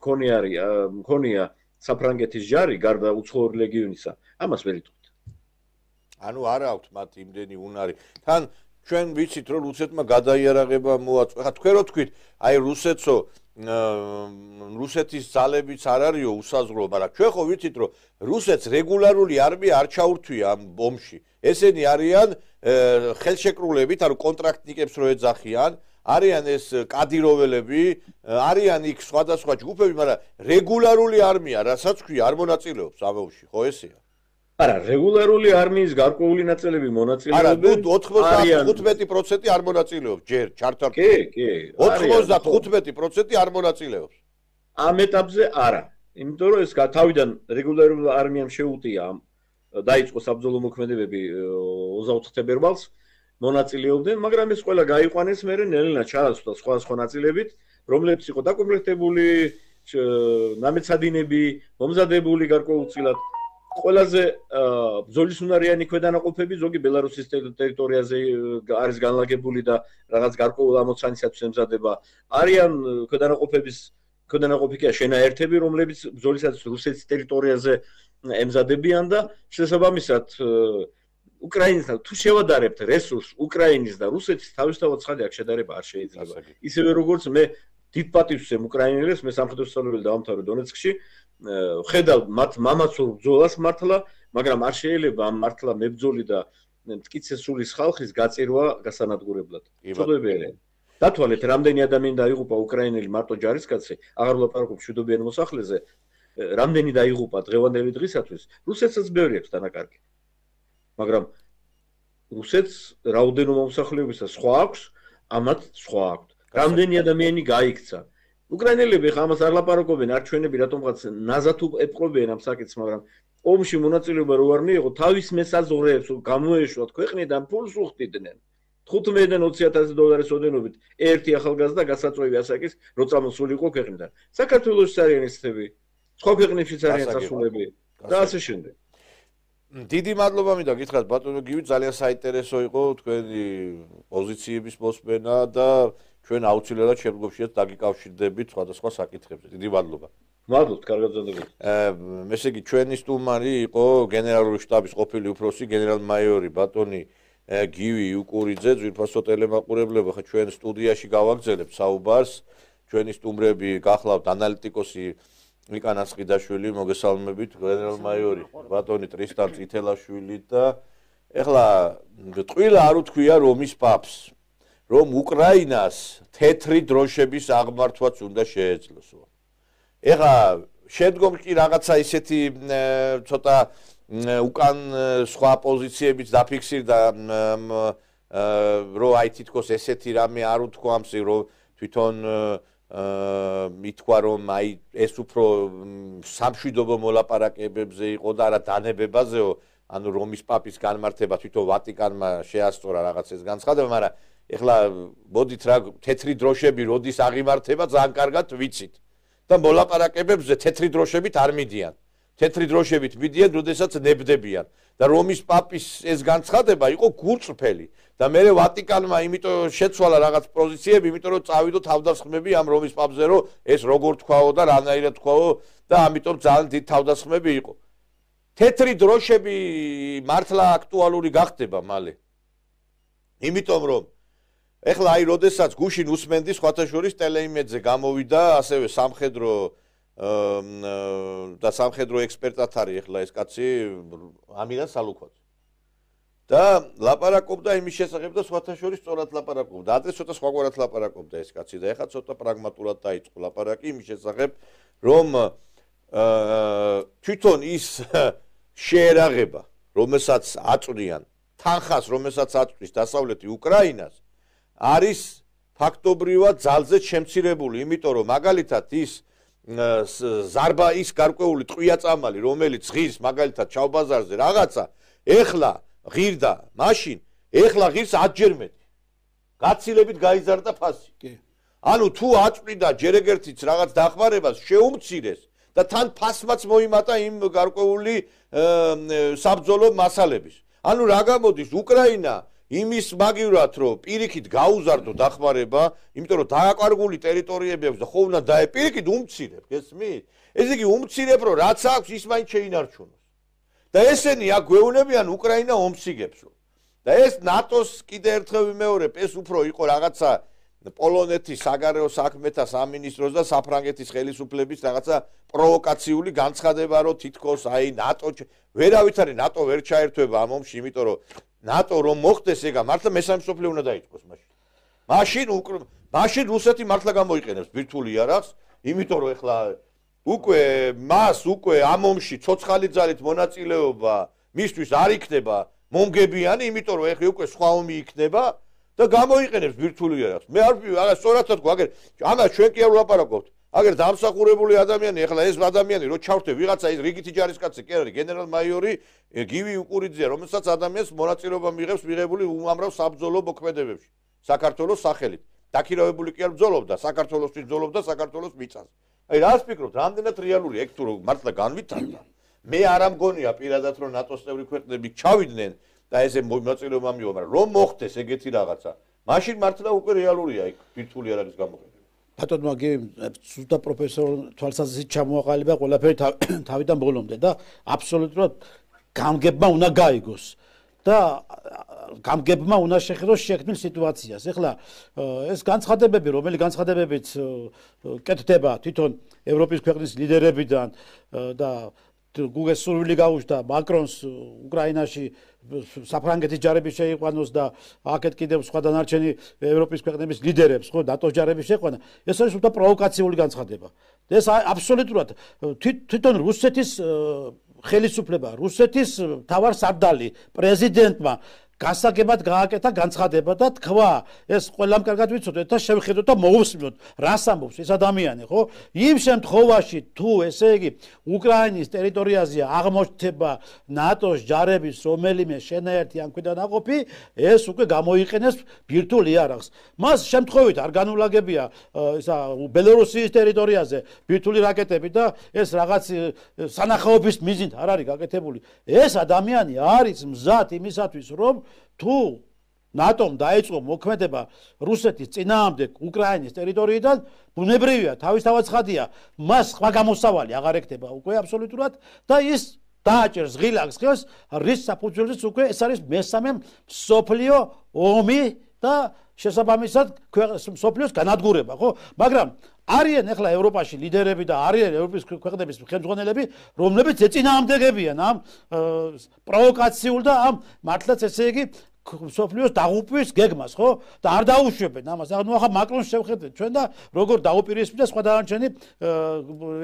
მქონია საფრანგეთის ჯარი გარდა უცხოური ლეგიონისა, ამას ვერ იტყვით. ანუ არ აქვს მათ იმდენი უნარი. თან ჩვენ ვიცით რომ რუსეთმა გადაიარაღება მოაწყო. ხა თქვენ რო თქვით, აი რუსეთის ძალებიც არ არისო უსაზღვრო, მაგრამ ჩვენ ხო ვიცით რომ რუსეთს რეგულარული არმია არ ჩაურთვია ამ ომში. ესენი არიან ხელშეკრულებით, ანუ კონტრაქტნიკებს რო ეძახიან, არიან ეს კადიროველები, არიან იქ სხვადასხვა ჯგუფები, მაგრამ რეგულარული არმია, რასაც ქვია, არ მონაწილეობს ამ ომში, ხო ესეა? არა, რეგულარული არმიის გარკვეული ნაწილები მონაწილეობენ. არა, 95% არ მონაწილეობს ჯერ ჩართარ. კი. 95% არ მონაწილეობს. ამ ეტაპზე არა. იმიტომ რომ ეს თავიდან რეგულარულ არმიამ შეუტია დაიწყო საბრძოლო მოქმედებები 24 თებერვალს მონაწილეობდნენ, მაგრამ ეს ყველა გაიყვანეს მერე ნელ-ნელა ჩაასვლა სხვა ნაწილებით, რომლებიც იყო დაკომპლექტებული, ნამეცადინები, მომზადებული გარკვეულწილად. ყველაზე ბრძოლისუნარიანი ქვედანაყოფები ზოგი ბელარუსის ტერიტორიაზე არის განლაგებული და რაღაც გარკვეულ ამოცანისათვის ემზადება. არიან ქვედანაყოფებია შენაერთები, რომლებიც ბრძოლისათვის რუსეთის ტერიტორიაზე ემზადებიან და შესაბამისად უკრაინისთან თუ შევადარებთ რესურსს უკრაინის და რუსეთის თავისთავად ცხადი აქ შედარება არ შეიძლება. ისევე როგორც მე დიდ პატივს ვცემ უკრაინელებს, მე სამხედრო სწავლებელი დავამთავრე დონეცკში, ხედავ მათ მამაცურ ბრძოლას მართლა, მაგრამ არ შეიძლება ამ მართლა მებრძოლი და მტკიცესულის ხალხის გაწირვა გასანადგურებლად. ცოდვებერია. დათვალეთ, რამდენი ადამიანი დაიღუპა უკრაინელი მარტო ჯარისკაცი, აღარ ვლაპარაკობ მშვიდობიან მოსახლეზე, რამდენი დაიღუპა დღევანდელი დღისათვის, რუსეთსაც ბევრი აქვს დანაკარგი. მაგრამ რუსეთს რაოდენობა მომსახურებისა სხვა აქვს, ამათ სხვა აქვს. რამდენი ადამიანი გაიქცა. უკრაინელები ხა ამას არ ლაპარაკობენ, არ ჩვენები რატომღაც ნაზად ეპყრობიან ამ საკითხს, მაგრამ ომში მონაწილეობა რო არ მიიღო, თავის მესაზღვრეებს გამოეშვათ ქვეყნიდან ფულს უხდიდნენ. 15-დან 20,000 დოლარის ოდენობით ერთი ახალგაზრდა გასაწვევი ასაკის რო წამოსულიყო ქვეყნიდან. საქართველოს არიან ისები, სხვა ქვეყნებშიც არიან წასულები და ასე შემდეგ. დიდი მადლობა მინდა გითხრათ ბატონო გივი, ძალიან საინტერესო იყო თქვენი პოზიციების მოსმენა და ჩვენ აუცილებლად შემდგომშიაც დაგიკავშირდებით სხვადასხვა საკითხებზე. დიდი მადლობა. მადლობთ, კარგად გრძელდებოდეთ. ესე იგი ჩვენი სტუმარი იყო გენერალური შტაბის ყოფილი უფროსი გენერალ-მაიორი ბატონი გივი იუკურიძე, ძვირფასო ტელემაყურებლებო, ხა ჩვენ სტუდიაში გავაგზავნებთ საუბარს. ჩვენი სტუმრები გახლავთ ანალიტიკოსი მიკანა სყიდაშვილი, მოგესალმებით, გენერალ-მაიორი ბატონი ტრისტან წითელაშვილი და ეხლა ტყვილა არ უთქვია რომის პაპს, რომ უკრაინას თეთრი დროშების აღმართვაც უნდა შეეძლოს. ეხლა შემდგომში რაღაცა ისეთი ცოტა უკან სხვა პოზიციებიც დაფიქსირდა, რომ აი თითქოს ესეთი რამე არ უთქვამს, რომ თვითონ მითქვა რომ აი ეს უფრო სამშვიდობო მოლაპარაკებებზე იყო და არა დანებებაზეო, ანუ რომის პაპის განმარტება თვითონ ვატიკანმა შეასწორა რაღაც ეს განცხადება, მაგრამ ეხლა მოდით რა თეთრი დროშები როდის აღიმართება ძალიან კარგად ვიცით და მოლაპარაკებებზე თეთრი დროშებით არ მიდიან. თეთრი დროშებით მიდიან, როდესაც ნებდებიან და რომის პაპის ეს განცხადება იყო გულწრფელი და მე ვატიკანმა იმიტომ შეცვალა რაღაც პოზიციები, იმიტომ რომ წავიდო თავდასხმები ამ რომის პაპზე, რომ ეს როგორ თქვაო და რანაირად თქვაო და ამიტომ ძალიან დიდ თავდასხმები იყო. თეთრი დროშები მართლა აქტუალური გახდება მალე. იმიტომ რომ ეხლა აი როდესაც გუშინ უსმენდი სხვათა შორის ტელეიმედზე გამოვიდა ასევე სამხედრო და სამხედრო ექსპერტად არის ეხლა ეს კაცი ამირან სალუქვაძე. და ლაპარაკობდა იმის შესახებ და სხვათა შორის სწორად ლაპარაკობდა. ადრე ცოტა სხვაგვარად ლაპარაკობდა ეს კაცი და ეხლა ცოტა პრაგმატულად დაიწყო ლაპარაკი იმის შესახებ, რომ თვითონ ის შეერაღება, რომელსაც აწვდიან თანხას, რომელსაც აწვდის დასავლეთი უკრაინას, არის ფაქტობრივად ძალზე შემცირებული, იმიტომ რომ მაგალითად ის ზარბა ის გარკვეული ტყვია-წამალი, რომელიც ღირს მაგალითად ჩავბაზარზე რაღაცა, ეხლა ღირდა, მაშინ ეხლა ღირს 10-ჯერ მეტი. გაცილებით გაიზარდა ფასი. ანუ თუ აწვდიდა ჯერ ეგერთიც რაღაც დახმარებას შეუმცირეს და თან ფასმაც მოიმატა იმ გარკვეული საბრძოლო მასალების. ანუ რა გამოდის უკრაინა იმის მაგივრად რომ პირიქით გაუზარდო დახმარება, იმიტომ რომ დააკარგული ტერიტორიები აქვს და ხო უნდა პირიქით უმცირებ, გესმით? ესე იგი უმცირებ რომ რაც აქვს ის მაინც შეინარჩუნოს. და ესენი აქ გვეუბნებიან უკრაინა ომს იგებს. და ეს ნატოს კიდე ერთხელ ვიმეორებ, ეს უფრო იყო რაღაცა პოლონეთის საგარეო საქმეთა სამინისტროს და საფრანგეთის ხელისუფლების რაღაცა პროვოკაციული განცხადება, რომ თითქოს აი ნატო ვერავით არის ნატო ვერ ჩაერთვება ამ ომში, იმიტომ რომ ნატო რომ მოხდეს ეგა მართლა მესამე მსოფლიო უნდა დაიწყოს მაშინ. მაშინ რუსეთი მართლა გამოიყენებს ბირთვული იარაღს, იმიტომ რომ ეხლა უკვე ამ ომში ცოცხალი ძალით მონაწილეობა მისთვის არ იქნება მომგებიანი, იმიტომ რომ ეხლა უკვე სხვა ომი იქნება და გამოიყენებს ბირთვული იარაღს. მე არ სწორად თქვა, აგერ ამას ჩვენ კი არ ვლაპარაკობთ. აგერ დამსახურებული ადამიანი, ეხლა ეს ადამიანი რო ჩავთვე ვიღაცა ის რიგითი ჯარისკაცი კი არის, გენერალ-მაიორი გივი უკურიძე, რომელსაც ადამიანს მონაწილეობა მიიღებს მიღებული უამრავ საბრძოლო მოქმედებებში საქართველოს სახელით. დაქირავებული კი არ ბრძოლობდა, საქართველოსთვის ბრძოლობდა, საქართველოს მიწას. აი რას ფიქრობთ, რამდენად რეალური ეგ თუ მართლა განვითარდა? მე არ ამგონია პირადად რომ ნატოს წევრი ქვეყნები ჩავიდნენ და ესე მონაწილეობა მიიღო, მაგრამ რომ მოხდეს ეგეთი რაღაცა, მაშინ მართლა უკვე რეალურია იქ ბირთვული იარაღის გამოყენება. ბატონო მაგი სულთა პროფესორ თვალსაზრისით ჩამოაყალიბა ყველაფერი თავიდან ბოლომდე და აბსოლუტურად გამგებმა უნდა გაიგოს და გამგებმა უნდა შეხედოს შექმნილ სიტუაციას. ეხლა ეს განცხადებები, რომელი განცხადებებიც კეთდება თვითონ ევროპის ქვეყნის ლიდერებიდან და გუგეს სურვილი გაუჩნდა მაკრონს უკრაინაში საფრანგეთის ჯარების შეიყვანოს და აქეთ კიდევ სხვა დანარჩენი ევროპის ქვეყნების ლიდერებს, ხო, ნატოს ჯარების შეყვანა. ეს არის უბრალოდ პროვოკაციული განცხადება. ეს აბსოლუტურად თვითონ რუსეთის ხელისუფლება, რუსეთის მთავარსარდალი პრეზიდენტმა გასაგებად გააკეთა განცხადება და თქვა, ეს ყველამ კარგად ვიცოდეთ და შევხედოთ და მოვუსმინოთ, რას ამბობს ეს ადამიანი, ხო? იმ შემთხვევაში, თუ ესე იგი უკრაინის ტერიტორიაზე აღმოჩნდება ნატოს ჯარების რომელიმე შენაერთი ან ქვედანაყოფი, ეს უკვე გამოიყენებს ბირთვულ იარაღს. მას შემთხვევით არ განულაგებია ისა ბელორუსიის ტერიტორიაზე ბირთვული რაკეტები და ეს რაღაც სანახაობის მიზნით არ არის გაკეთებული. ეს ადამიანი არის მზად იმისათვის, რომ თუ ნატომ დაიწყო მოქმედება რუსეთის წინააღმდეგ უკრაინის ტერიტორიიდან, ბუნებრივია, თავისთავად ცხადია, მას სხვა გამოსავალი აღარ ექნება უკვე აბსოლუტურად და ის დააჭერს ღილაკს ხელს, რის საფუძველზეც უკვე ეს არის მესამე მსოფლიო ომი და შესაბამისად მსოფლიოს განადგურება, ხო? მაგრამ არიან ახლა ევროპაში ლიდერები და არიან ევროპის ქვეყნების ხელმძღვანელები, რომლებიც ეწინააღმდეგებიან ამ პროვოკაციულ და ამ მართლაც ესე იგი სოფლიოს დაღუპვის გეგმას, ხო? და არ დაუშვებენ ამას. ანუ ახლა მაკრონს შევხედეთ ჩვენ და როგორ დაუპირისპირდა სხვა დანარჩენი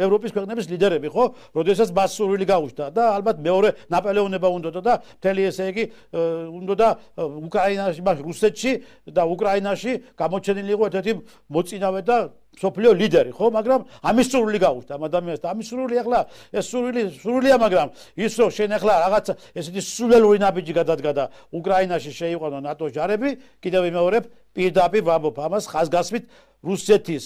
ევროპის ქვეყნების ლიდერები, ხო? როდესაც მას სურვილი გაუჩნდა და ალბათ მეორე ნაპოლეონება უნდოდა და მთელი ესე იგი უნდოდა უკრაინაში, რუსეთში და უკრაინაში გამოჩენილი იყო ერთ-ერთი მოწინავე და სოფლიო ლიდერი, ხო? მაგრამ ამის სურვილი გაუჩნდა ამ ადამიანს და ამის სურვილი ახლა ეს სურვილია, მაგრამ ის რომ შენ ახლა რაღაც ესეთი სულელური ნაბიჯი გადადგა და უკრაინაში შეიყვანო ნატოს ჯარები, კიდევ ვიმეორებ, პირდაპირ ვამბობ ამას ხაზგასმით რუსეთის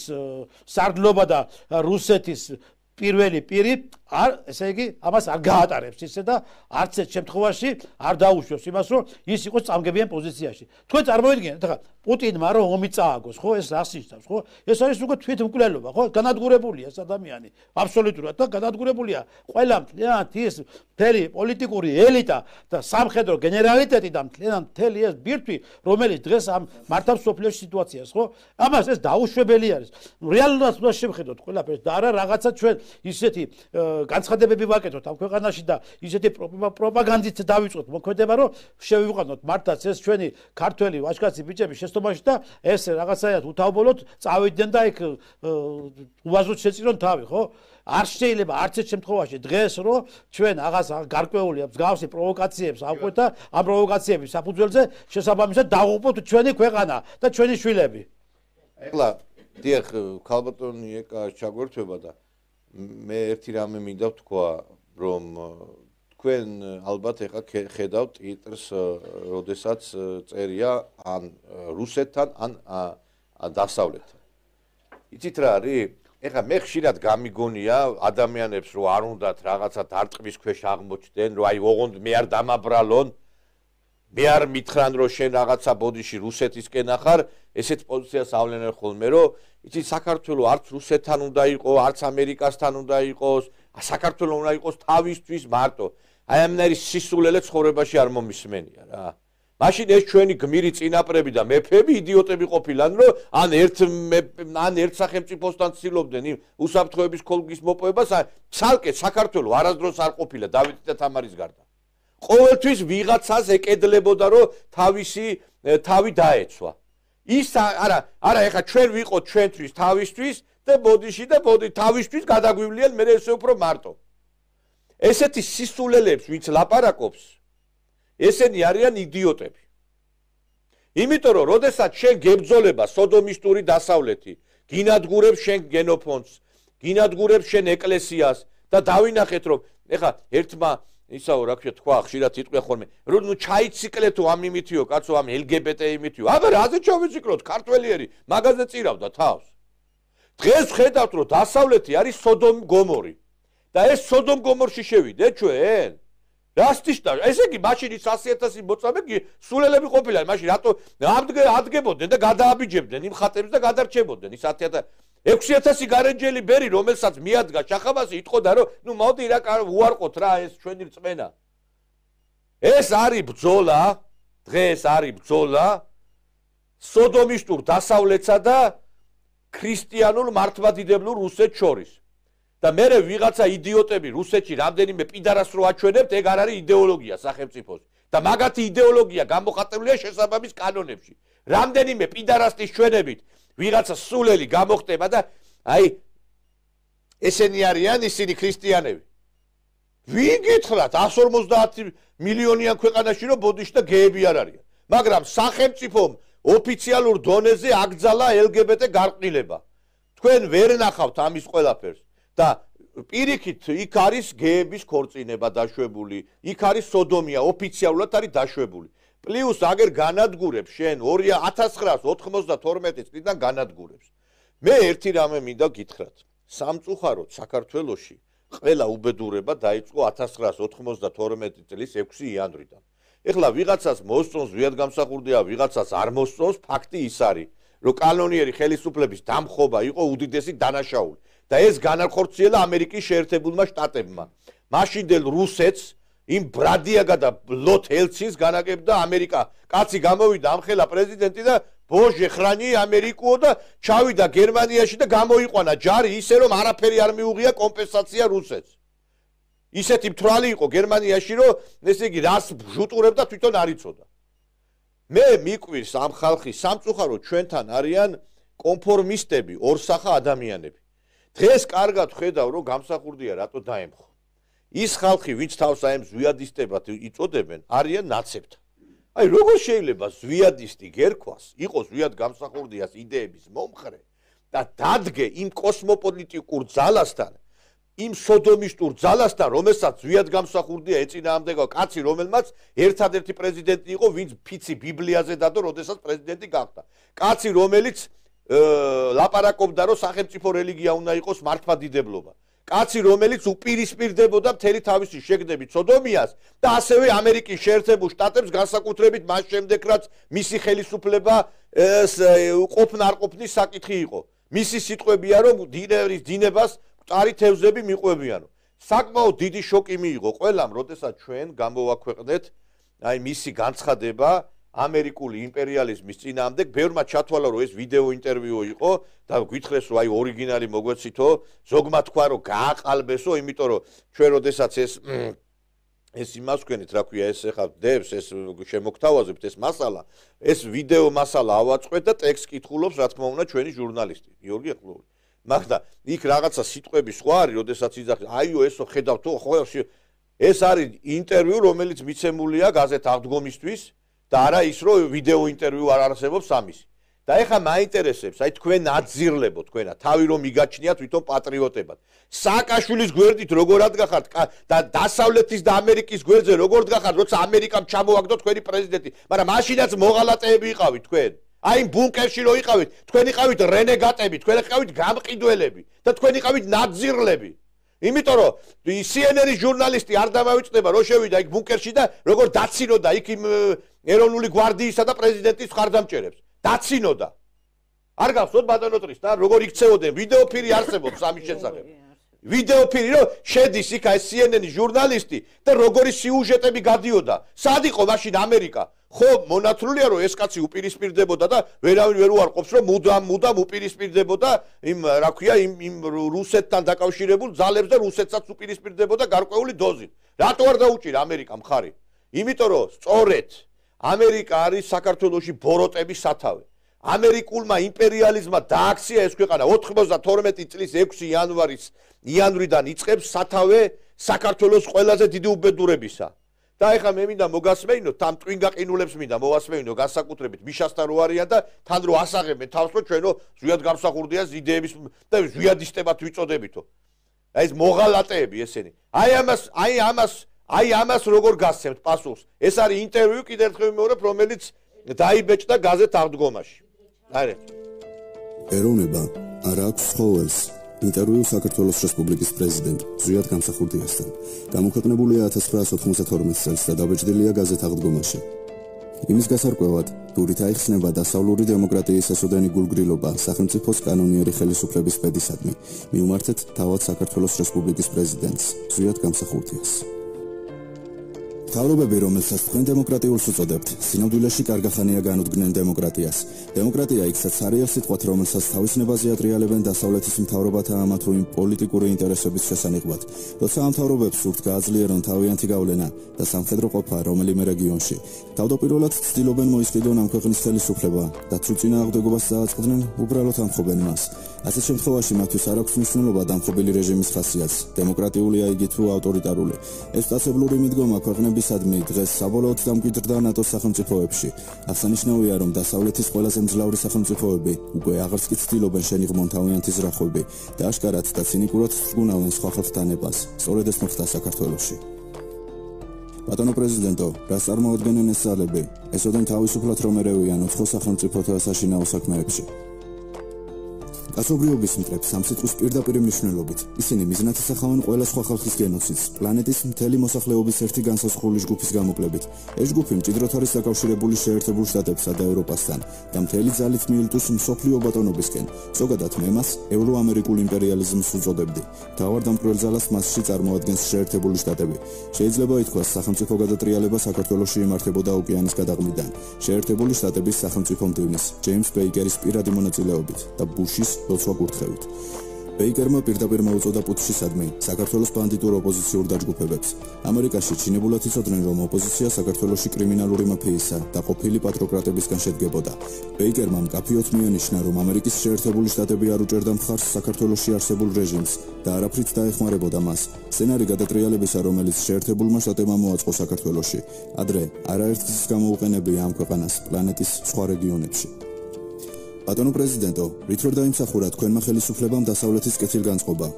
სარდლობა და რუსეთის პირველი პირი არ ესე იგი ამას არ გაატარებს ისე და არც ერთ შემთხვევაში არ დაუშვებს იმას რომ ის იყოს წამგებიან პოზიციაში. თქვენ წარმოიდგინეთ ახლა პუტინმა რომ ომი წააგოს, ხო, ეს რას ნიშნავს, ხო? ეს არის უკვე თვითმკვლელობა, ხო? განადგურებულია ეს ადამიანი აბსოლუტურად და განადგურებულია ყველა მთლიანად ის მთელი პოლიტიკური ელიტა და სამხედრო გენერალიტეტი და მთელი ეს ბირთვი, რომელიც დღეს ამ მართავს სოფლიოს სიტუაციას, ხო? ამას ეს დაუშვებელი არის. რეალურად უნდა შევხედოთ ყველაფერს და არა რაღაცა ჩვენ ისეთი განცხადებები ვაკეთოთ ამ ქვეყანაში და ისეთი პროპაგანდით დავიწყოთ მოქმედება, რომ შევიყვანოთ მართლაც ეს ჩვენი ქართველი ვაჟკაცი ბიჭები შეცდომაში და ეს რაღაცაად უთავბოლოდ წავიდნენ და იქ უაზროდ შეწირონ თავი, ხო? არ შეიძლება არც ერთ შემთხვევაში დღეს რომ ჩვენ აღას გარკვეული მსგავსი პროვოკაციებს ავყვეთ და ამ პროვოკაციების საფუძველზე შესაბამისად დავუყოთ ჩვენი ქვეყანა და ჩვენი შვილები. ეხლა დიახ, ქალბატონი ეკა ჩაგვერთვება და მე ერთი რამე მინდა ვთქვა, რომ თქვენ ალბათ ეხლა ხედავთ ტვიტერს, როდესაც წერია ან რუსეთთან, ან დასავლეთთან. იცით რა არის? ეხლა მე ხშირად გამიგონია ადამიანებს, რომ არ უნდათ რაღაცა დარტყმის ქვეშ აღმოჩნდნენ, რომ აი ოღონდ მე არ დამაბრალონ, მე არ მითხრან, რომ შენ რაღაცა ბოდიში რუსეთისკენ ახარ, ესეთ პოზიციას ავლენენ ხოლმე, რომ იცით საქართველოს არც რუსეთთან უნდა იყოს, არც ამერიკასთან უნდა იყოს, საქართველოს უნდა იყოს თავისთვის მარტო. აი ამნაირი სისულელე ცხოვრებაში არ მომისმენია რა. მაშინ ეს ჩვენი გმირი წინაპრები და მეფეები იდიოტები ყოფილან, რომ ან ერთ სახელმწიფოსთან ცდილობდნენ იმ უსაფრთხოების ქოლგის მოპოვებას, ცალკე საქართველოს არასდროს არ ყოფილა დავითის და თამარის გარდა. ყოველთვის ვიღაცას ეკედლებოდა, რომ თავი დაეცვა. ის არა ეხა ჩვენ ვიყოთ ჩვენთვის თავისთვის და ბოდიში და თავისთვის გადაგვივლიან მე ესე უფრო მარტო. ესეთი სისულელებს ვინც ლაპარაკობს, ესენი არიან იდიოტები. იმიტომ რომ როდესაც შენ გებძოლება სოდომისტური დასავლეთი, გინადგურებს შენ გენოფონდს, გინადგურებს შენ ეკლესიას და დავინახეთ რომ ეხა ერთმა ისაო რა ქვია თქვა ხშირად იტყვია ხოლმე რომ ნუ ჩაიციკლეთო ამ იმითიო კაცო ამ LGBT იმითიო აბა რაზე ჩავიციკლოთ ქართველიერი მაგაზე წირავდა თავს დღეს ხედავთ რომ დასავლეთი არის სოდომ გომორი და ეს სოდომ გომორში შევიდეთ ჩვენ რასტიშტა ესე იგი მაშინ 100,000 მოწამე სულელები ყოფილან მაშინ რატო ადგებოდნენ და გადააბიჯებდნენ იმ ხატებს და გადარჩებოდნენ ის 6,000 გარენჯელი ბერი რომელსაც მიადგა შახაბასი იტყოდა რომ ნუ მოდი რა უარყოთ რა ეს ჩვენი რწმენა ეს არის ბრძოლა დღეს არის ბრძოლა სოდომისტურ დასავლეთსა და ქრისტიანულ მართლმადიდებლურ რუსეთს შორის და მე ვიღაცა იდიოტები რუსეთში რამდენიმე პიდარას რო აჩვენებთ ეგ არ არის იდეოლოგია სახელმწიფოს და მაგათი იდეოლოგია გამოხატულია შესაბამის კანონებში რამდენიმე პიდარასტის ჩვენებით ვიღაცა სულელი გამოხტება და აი ესენი არიან ისინი ქრისტიანები ვინ გითხრათ 150 მილიონიან ქვეყანაში რომ ბოდიში და გეები არ არიან მაგრამ სახელმწიფომ ოფიციალურ დონეზე აკრძალა LGBT გარყვნილება თქვენ ვერ ნახავთ ამის ყველაფერს და პირიქით იქ არის გეების ქორწინება დაშვებული იქ არის სოდომია ოფიციალურად არის დაშვებული პლუს აგერ განადგურებს შენ 1992 წლიდან განადგურებს მე ერთი რამე მინდა გითხრათ სამწუხაროდ საქართველოში ყველა უბედურება დაიწყო 1992 წლის 6 იანვრიდან ეხლა ვიღაცას მოსწონს ზვიადგამსახურდია ვიღაცას არ მოსწონს ფაქტი ის არის რომ კანონიერი ხელისუფლების დამხობა იყო უდიდესი დანაშაული და ეს განახორციელა ამერიკის შეერთებულმა შტატებმა მაშინდელ რუსეთს იმ ბრადიაგა და ლოთ ელცინს განაგებდა ამერიკა კაცი გამოვიდა ამხელა პრეზიდენტი და ბოჟე ხრანი ამერიკო და ჩავიდა გერმანიაში და გამოიყვანა ჯარი ისე რომ არაფერი არ მიუღია კომპენსაცია რუსეთს ისეთი მთვრალი იყო გერმანიაში რომ ესე იგი რას ჟუტურებდა თვითონ არ იცოდა მე მიკვირს ამ ხალხის სამწუხაროდ ჩვენთან არიან კონფორმისტები ორსახა ადამიანები დღეს კარგად ხედავ რომ გამსახურდია რატო დაემხო ის ხალხი ვინც თავს აი ზვიადისტებად იწოდებენ არიან ნაცებთან აი როგორ შეიძლება ზვიადისტი გერქვას იყოს ზვიად გამსახურდიას იდეების მომხრე და დადგე იმ კოსმოპოლიტიკურ ძალასთან იმ სოდომისტურ ძალასთან რომელსაც ზვიად გამსახურდია ეწინააღმდეგა კაცი რომელმაც ერთადერთი პრეზიდენტი იყო ვინც ფიცი ბიბლიაზე დადო როდესაც პრეზიდენტი გახდა კაცი რომელიც ლაპარაკობდა რომ სახელმწიფო რელიგია უნდა იყოს მართლმადიდებლობა კაცი რომელიც უპირისპირდებოდა მთელი თავისი შეგდებით სოდომიას და ასევე ამერიკის შეერთებულ შტატებს განსაკუთრებით მას შემდეგ რაც მისი ხელისუფლება ყოფნა-არყოფნის საკითხი იყო მისი სიტყვებია რომ დინერის დინებას მყარი თევზები მიყვებიანო საკმაოდ დიდი შოკი მიიღო ყველამ როდესაც ჩვენ გამოვაქვეყნეთ აი მისი განცხადება ამერიკული იმპერიალიზმის წინააღმდეგ, ბევრმა ჩათვალა, რომ ეს ვიდეო ინტერვიუ იყო და გითხრეს, რომ აი ორიგინალი მოგვეცითო, ზოგმა თქვა, რომ გააყალბესო, იმიტომ რომ ჩვენ როდესაც ეს იმას ვქენით, რა ქვია, ეს ახლა დევს, ეს შემოგთავაზებთ ეს მასალა, ეს ვიდეო მასალა ავაწყვეთ და ტექსტ კითხულობს, რა თქმა უნდა, ჩვენი ჟურნალისტი, გიორგი ახლოვი. მაგრამ იქ რაღაცა სიტყვები სხვა არის, როდესაც იძახის, აიო, ესო ხედავთო, ხო, ეს არის ინტერვიუ, რომელიც მიცემულია გაზეთ აღდგომისთვის და არა ის, რომ ვიდეო ინტერვიუ არ არსებობს ამისი. და ეხლა მაინტერესებს, აი თქვენ აძირლებო თქვენა, თავი რომ მიგაჩნიათ თვითონ პატრიოტებად. სააკაშვილის გვერდით როგორ ადგახართ და დასავლეთის და ამერიკის გვერდზე როგორ დგახართ, როცა ამერიკამ ჩამოაგდო თქვენი პრეზიდენტი, მაგრამ მაშინაც მოღალატეები იყავით თქვენ. აი ბუნკერში რო იყავით, თქვენ იყავით რენეგატები, თქვენ იყავით გამყიდველები და თქვენ იყავით ნაძირლები. იმიტომ რომ CNN-ის ჟურნალისტი არ დამავიწყდება, რო შევიდა იქ ბუნკერში და როგორ დაცინოდა იქ იმ ეროვნული გვარდიისა და პრეზიდენტის მხარდამჭერებს. დაცინოდა. არ გახსოვთ ბატონო ტრის და როგორ იქცეოდნენ ვიდეო ფირი არსებობს ამის შესახებ. ვიდეო ფირი რომ შედის იქ ეს CNN-ის ჟურნალისტი და როგორი სიუჟეტები გადიოდა. სად იყო მაშინ ამერიკა? ხო, მონათლულია რომ ეს კაცი უპირისპირდებოდა და ვერავინ ვერ უარყოფს რომ მუდამ უპირისპირდებოდა იმ რა ქვია იმ რუსეთთან დაკავშირებულ ძალებს და რუსეთსაც უპირისპირდებოდა გარკვეული დოზით. რატო არ დაუჭირა ამერიკა მხარი? იმიტომ რომ სწორედ ამერიკა არის საქართველოში ბოროტების სათავე. ამერიკულმა იმპერიალიზმმა დააქცია ეს ქვეყანა 92 წლის 6 იანვრიდან იწყებს სათავე საქართველოს ყველაზე დიდი უბედურებისა. და ეხლა მე მინდა მოგასმეინო, თან ტვინგაყინულებს მინდა მოვასმეინო განსაკუთრებით მიშასთან რო არიან და თან რო ასაღებენ თავს რომ ჩვენო ზვიად გამსახურდია იდეების და ზვიადისტებად ვიწოდებითო. აი ეს მოღალატეები ესენი. აი ამას როგორ გასცემთ პასუხს? ეს არის ინტერვიუ კიდევ ერთხელ ვიმეორებ, რომელიც დაიბეჭდა გაზეთ აღდგომაში. არა. ეროვნება არ აქვს ხოველს. ინტერვიუ საქართველოს რესპუბლიკის პრეზიდენტ ზვიად გამსახურდიასთან. გამოქვეყნებულია 1992 წელს და დაბეჭდილია გაზეთ აღდგომაში. იმის გასარკვევად, დურით აიხსნება დასავლური დემოკრატიის ესოდენი გულგრილობა სახელმწიფოს კანონიერი ხელისუფლების პედისადმი. მიუმართეთ თავად საქართველოს რესპუბლიკის პრეზიდენტს ზვიად გამსახურდიას. მთავრობები, რომელსაც თქვენ დემოკრატიულს უწოდებთ, სინამდვილეში კარგახანია განუდგნენ დემოკრატიას. დემოკრატია იქსაც არის სიტყვათ, რომელსაც თავის ნებაზე ატრიალებენ დასავლეთის მთავრობათა ამა თუ იმ პოლიტიკური ინტერესების შესანიღბად. როცა ამ მთავრობებს სურთ გააძლიერონ თავიანთი გავლენა და სამხედრო ყოფა რომელიმე რეგიონში, თავდაპირველად ცდილობენ მოისყიდონ ამ ქვეყნის ხელისუფლება და თუ წინააღმდეგობას დააწყდნენ, უბრალოდ ამხობენ მას. ასეთ შემთხვევაში მათთვის არ აქვს მნიშვნელობა დამხობილი რეჟიმის ხასიათს, დემოკრატიულია იგი თუ ავტორიტარული. ეს სტაცებლური მიდგომა ქვეყნებისადმი დღეს საბოლოოდ დამკვიდრდა ნატოს სახელმწიფოებში. აღსანიშნავია, რომ დასავლეთის ყველაზე მძლავრი სახელმწიფოები უკვე აღარც კი ცდილობენ შენიღმონ თავიანთი ზრახვები და აშკარად და ცინიკურად ზრუნავენ სხვა ხალხთა ნებას. სწორედ ეს მოხდა საქართველოში. ბატონო პრეზიდენტო, რას წარმოადგენენ ეს ძალები? ესოდენ თავისუფლად რომ ერევიან უცხო სახელმწიფოთა საშინაო საქმეებში. კაცობრიობის მტრებს ამ სიტყვის პირდაპირ მნიშვნელობით ისინი მიზნად ისახავენ ყველა სხვა ხალხის გენოციდს პლანეტის მთელი მოსახლეობის ერთი განსაზღვრული ჯგუფის გამოკლებით. ეს ჯგუფი მჭიდროდ არის დაკავშირებული შეერთებულ შტატებსა და ევროპასთან და მთელი ძალით მიელტოს მსოფლიო ბატონობისკენ. ზოგადად მე მას ევროამერიკულ იმპერიალიზმს უწოდებდი. მთავარ დამკვირველ ძალას მასში წარმოადგენს შეერთებული შტატები. შეიძლება ითქვას, სახელმწიფო გადატრიალება საქართველოში იმართებოდა ოკეანის გადაღმიდან. შეერთებული შტატების სახელმწიფო მდივნის ჯეიმს ბეიკერის პირადი მონაწილეობით და ბუშის ლოცვა კურთხევით. ბეიკერმა პირდაპირ მოუწოდა პუტჩისადმი საქართველოს ბანდიტურ ოპოზიციურ დაჯგუფებებს. ამერიკაში ჩინებულად იცოდნენ, რომ ოპოზიცია საქართველოში კრიმინალური მაფიისა და ყოფილი პატროკრატებისგან შედგებოდა. ბეიკერმა მკაფიოდ მიანიშნა, რომ ამერიკის შეერთებული შტატები არ უჭერდა მხარს საქართველოში არსებულ რეჟიმს და არაფრით დაეხმარებოდა მას. სცენარი გადატრიალებისა, რომელიც შეერთებულმა შტატებმა მოაწყო საქართველოში, ადრე არაერთგზის გამოუყენებია ამ ქვეყანას პლანეტის სხვა რეგიონებში. ბატონო პრეზიდენტო, რით ვერ დაიმსახურა თქვენმა ხელისუფლებამ დასავლეთის კეთილგანწყობა?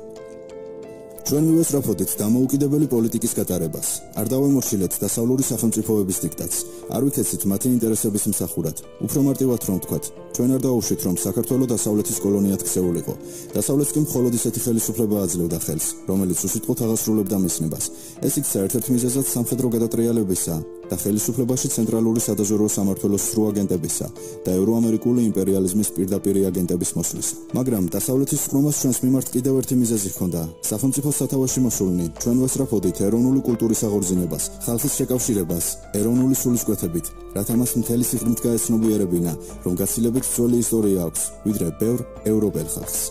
ჩვენ მივესწრაფოდით დამოუკიდებელი პოლიტიკის გატარებას. არ დავემორჩილეთ დასავლური სახელმწიფოების დიქტატს. არ ვიქეცით მათი ინტერესების მსახურად. უფრო მარტივად რომ ვთქვათ, ჩვენ არ დავუშვით, რომ საქართველო დასავლეთის კოლონიად ქცეულიყო. დასავლეთს კი მხოლოდ ისეთი ხელისუფლება აძლევდა ხელს, რომელიც უსიტყვოდ აღასრულებდა მისნებას. ეს იქ საერთოდ მიზეზად სამხედრო გადატრიალებისა და ხელისუფლებაში ცენტრალური სადაზვერვო სამმართველოს სრულ აგენტებისა და ევროამერიკული იმპერიალიზმის პირდაპირი აგენტების მოსვლისა. მაგრამ დასავლეთის სხდომას ჩვენს მიმართ კიდევ ერთი მიზეზი ჰქონდა. სახელმწიფოს სათავეში მოსულნი ჩვენ ვესწრაფოდით ეროვნული კულტურის აღორძინებას, ხალხის შეკავშირებას, ეროვნული სულისკვეთებით, რათა მას მთელი სიღრმით გაეცნობიერებინა, რომ გაცილებით ძველი ისტორია აქვს, ვიდრე ბევრ ევროპელ ხალხს.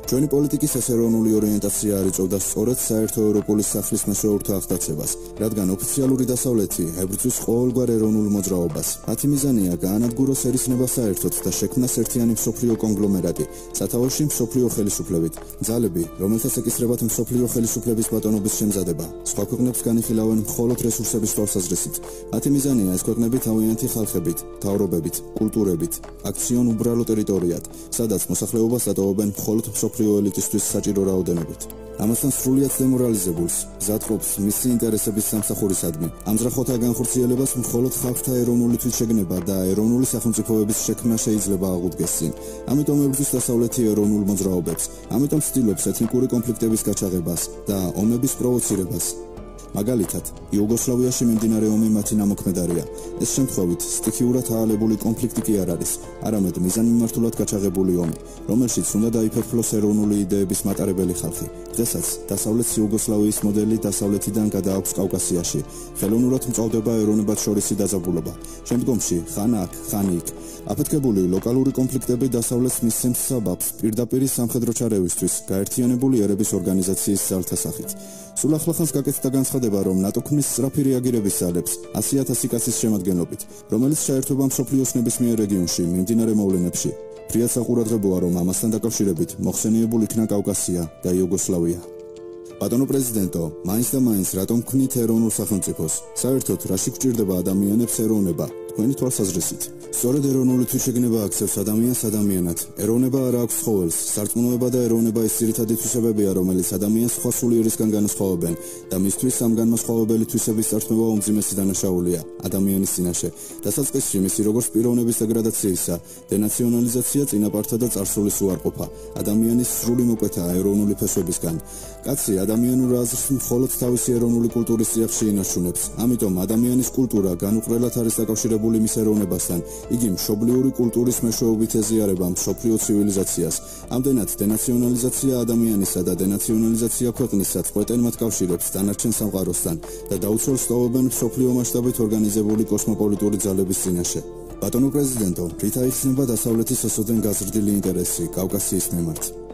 ჩვენი პოლიტიკის ეს ეროვნული ორიენტაცია არ იწვევდა სწორედ საერთო ევროპული სახლის მეშვეურთა აღტაცებას, რადგან ოფიციალური დასავლეთი ებრძვის ყოველგვარ ეროვნულ მოძრაობას. მათი მიზანია გაანადგუროს ერისნება საერთოდ და შექმნას ერთიანი მსოფლიო კონგლომერატი, სათავეში მსოფლიო ხელისუფლებით. ძალები, რომელთაც ეკისრებათ მსოფლიო ხელისუფლების ბატონობის შემზადება, სხვა ქვეყნებს განიხილავენ მხოლოდ რესურსების თვალსაზრისით. მათი მიზანია ეს ქვეყნები თავიანთი ხალხებით, მთავრობებით, კულტურებით აქციონ უბრალო ტერიტორიად, სადაც მოსახლეობას დატოვებენ მხოლოდ მსოფლიო ელიტისთვის საჭირო რაოდენობით. ამასთან სრულიად დემორალიზებულს, გზადყოფს მისი ინტერესების სამსახურისადმი. ამძრახოთა განხორციელებას მხოლოდ ხალხთა ეროვნული თვითშეგნება და ეროვნული სახელმწიფოების შექმნა შეიძლება აღუდგეს წინ. ამიტომ ებრძვის დასავლეთი ეროვნულ მოძრაობებს, ამიტომ ცდილობს ეთნიკური კონფლიქტების გაჩაღებას და ომების პროვოცირებას. მაგალითად, იუგოსლავიაში მიმდინარე ომი მათი ნამოქმედარია. ეს შემთხვევით სტიქიურად აალებული კონფლიქტი კი არ არის, არამედ მიზანმიმართულად გაჩაღებული ომი, რომელშიც უნდა დაიფერფლოს ეროვნული იდეების მატარებელი ხალხი. დღესაც დასავლეთ იუგოსლავიის მოდელი დასავლეთიდან გადააქვს კავკასიაში. ხელოვნურად მწვავდება ეროვნებად შორისი დაძაბულობა. შემდგომში ხან აქ, ხან იქ. აფეთქებული ლოკალური კონფლიქტები დასავლეთს მისცემს საბაბს პირდაპირი სამხედრო ჩარევისთვის გაერთიანებული ერების ორგანიზაციის ძალთა სახით. სულ ახლახანს გაკეთდა განცხადება, რომ ნატო ქმნის სწრაფი რეაგირების ძალებს 100,000 კაცის შემადგენლობით, რომელიც ჩაერთვება მსოფლიოს ნებისმიერ რეგიონში მიმდინარე მოვლენებში. ფრიად საყურადღებოა, რომ ამასთან დაკავშირებით მოხსენიებულ იქნა კავკასია და იუგოსლავია. ბატონო პრეზიდენტო, მაინც და მაინც რატომ ქმნით ეროვნულ სახელმწიფოს? საერთოდ რაში გვჭირდება ადამიანებს ეროვნება? თქვენი თვალსაზრისით. სწორედ ეროვნული თვითშეგნება აქცევს ადამიანს ადამიანად. ეროვნება არ აქვს ცხოველს, სარწმუნოება და ეროვნება ის ძირითადი თვისებებია, რომელიც ადამიანს სხვა სულიერისგან განასხვავებენ და მისთვის ამ განმასხვავებელი თვისების წარსულობა უმძიმესი დანაშაულია ადამიანის წინაშე. დასაწყისში მისი როგორც პიროვნების დეგრადაციისა, დენაციონალიზაცია, წინაპართა და წარსულის უარყოფა, ადამიანის სრული მოკვეთა ეროვნული ფესვებისგან. კაცი ადამიანურ აზრს მხოლოდ თავისი ეროვნული კულტურის წიაღში ინარჩუნებს. ამიტომ ადამიანის კულტურა განუყრელად არის დაკავშირებული მის ეროვნებასთან. იგი მშობლიური კულტურის მეშვეობით ეზიარება მსოფლიო ცივილიზაციას. ამდენად დენაციონალიზაცია ადამიანისა და დენაციონალიზაცია ქვეყნისა წყვეტენ მათ კავშირებს დანარჩენ სამყაროსთან და დაუცველს ტოვებენ მსოფლიო მასშტაბით ორგანიზებული კოსმოპოლიტური ძალების წინაშე. ბატონო პრეზიდენტო, რით აიხსნება დასავლეთის ოსოდენ გაზრდილი ინტერესი კავკასიის მიმართ?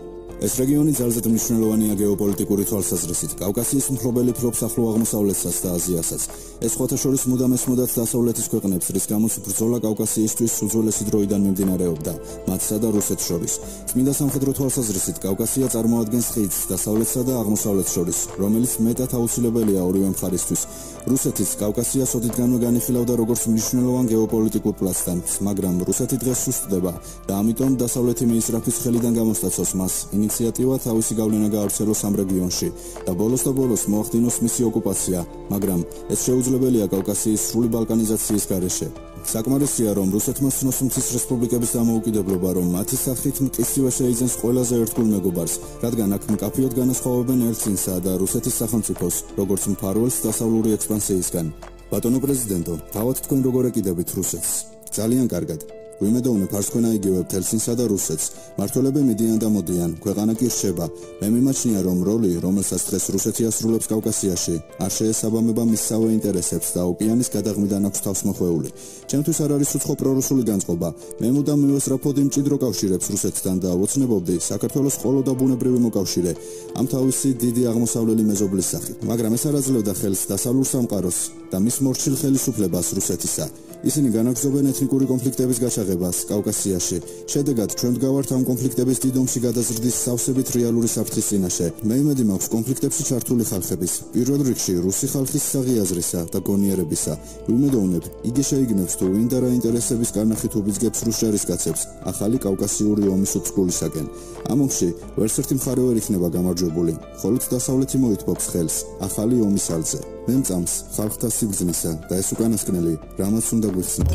ეს რეგიონი ძალზედ მნიშვნელოვანია გეოპოლიტიკური თვალსაზრისით. კავკასიის მფლობელი ფლობს ახლო აღმოსავლეთსაც და აზიასაც. ეს სხვათა შორის მუდამ ესმოდათ დასავლეთის ქვეყნებს, რის გამოც ბრძოლა კავკასიისთვის უძველესი დროიდან მიმდინარეობდა, მათსა და რუსეთს შორის. წმინდა სამხედრო თვალსაზრისით კავკასია წარმოადგენს ხიდს დასავლეთსა და აღმოსავლეთს შორის, რომელიც მეტად აუცილებელია ორივე მხარისთვის. რუსეთის კავკასიას ოდითგანვე განიხილავდა როგორც მნიშვნელოვან გეოპოლიტიკურ პლაცდარმს, მაგრამ რუსეთი დღეს სუსტდება და ამიტომ დასავლეთი მიისწრაფის ხელიდან გამოსტაცოს მას ინიციატივა თავისი გავლენა გაავრცელოს ამ რეგიონში და ბოლოს მოახდინოს მისი ოკუპაცია, მაგრამ ეს შეუძლებელია კავკასიის სრული ბალკანიზაციის გარეშე. საკმარისია, რომ რუსეთმა ცნოს მთის რესპუბლიკების დამოუკიდებლობა, რომ მათი სახით მტკიცივე შეიძენს ყველაზე ერთგულ მეგობარს, რადგან აქ მკაფიოდ განასხვავებენ ელცინსა და რუსეთის სახელმწიფოს, როგორც მფარველს დასავლური ექსპანსიისგან. ბატონო პრეზიდენტო, თავად თქვენ როგორ ეკიდებით რუსეთს? ძალიან კარგად. ვიმედოვნებ არც თქვენ აიგივებთ ელცინსა და რუსეთს. მმართველები მიდიან და მოდიან, ქვეყანა კი რჩება. მე მიმაჩნია, რომ როლი, რომელსაც დღეს რუსეთი ასრულებს კავკასიაში, არ შეესაბამება მისსავე ინტერესებს და ოკეანის გადაღმიდან აქვს თავს მოხვეული. ჩემთვის არ არის უცხო პრორუსული განწყობა. მე მუდამ მივესწრაფოდი მჭიდრო კავშირებს რუსეთთან და ოცნებობდი საქართველოს ყოლო და ბუნებრივი მოკავშირე ამ თავისი დიდი აღმოსავლელი მეზობლის სახით. მაგრამ ეს არ აძლევდა ხელს დასავლურ სამყაროს და მის მორჩილ ხელისუფლებას რუსეთისა. ისინი განაგრძობენ ეთნიკური კონფლიქტების გაჩაღებას კავკასიაში. შედეგად ჩვენ ვდგავართ ამ კონფლიქტების დიდომში გადაზრდის სავსებით რეალური საფრთხის წინაშე. მე იმედი მაქვს კონფლიქტებში ჩართული ხალხების, პირველ რიგში რუსი ხალხის საღიაზრისა და გონიერებისა. ვიმედოვნებ, იგი შეიგნებს თუ ვინ და რა ინტერესების კარნახით უბიძგებს რუს ჯარისკაცებს ახალი კავკასიური ომის უწყლისაკენ. ამ ომში ვერც ერთი მხარე ვერ იქნება გამარჯვებული, მხოლოდ დასავლეთი მოითბობს ხელს ახალი ომის ალზე. მე მწამს ხალხთა სიბრძნისა და ეს უკანასკნელი რამაც უნდა გვიხსნით.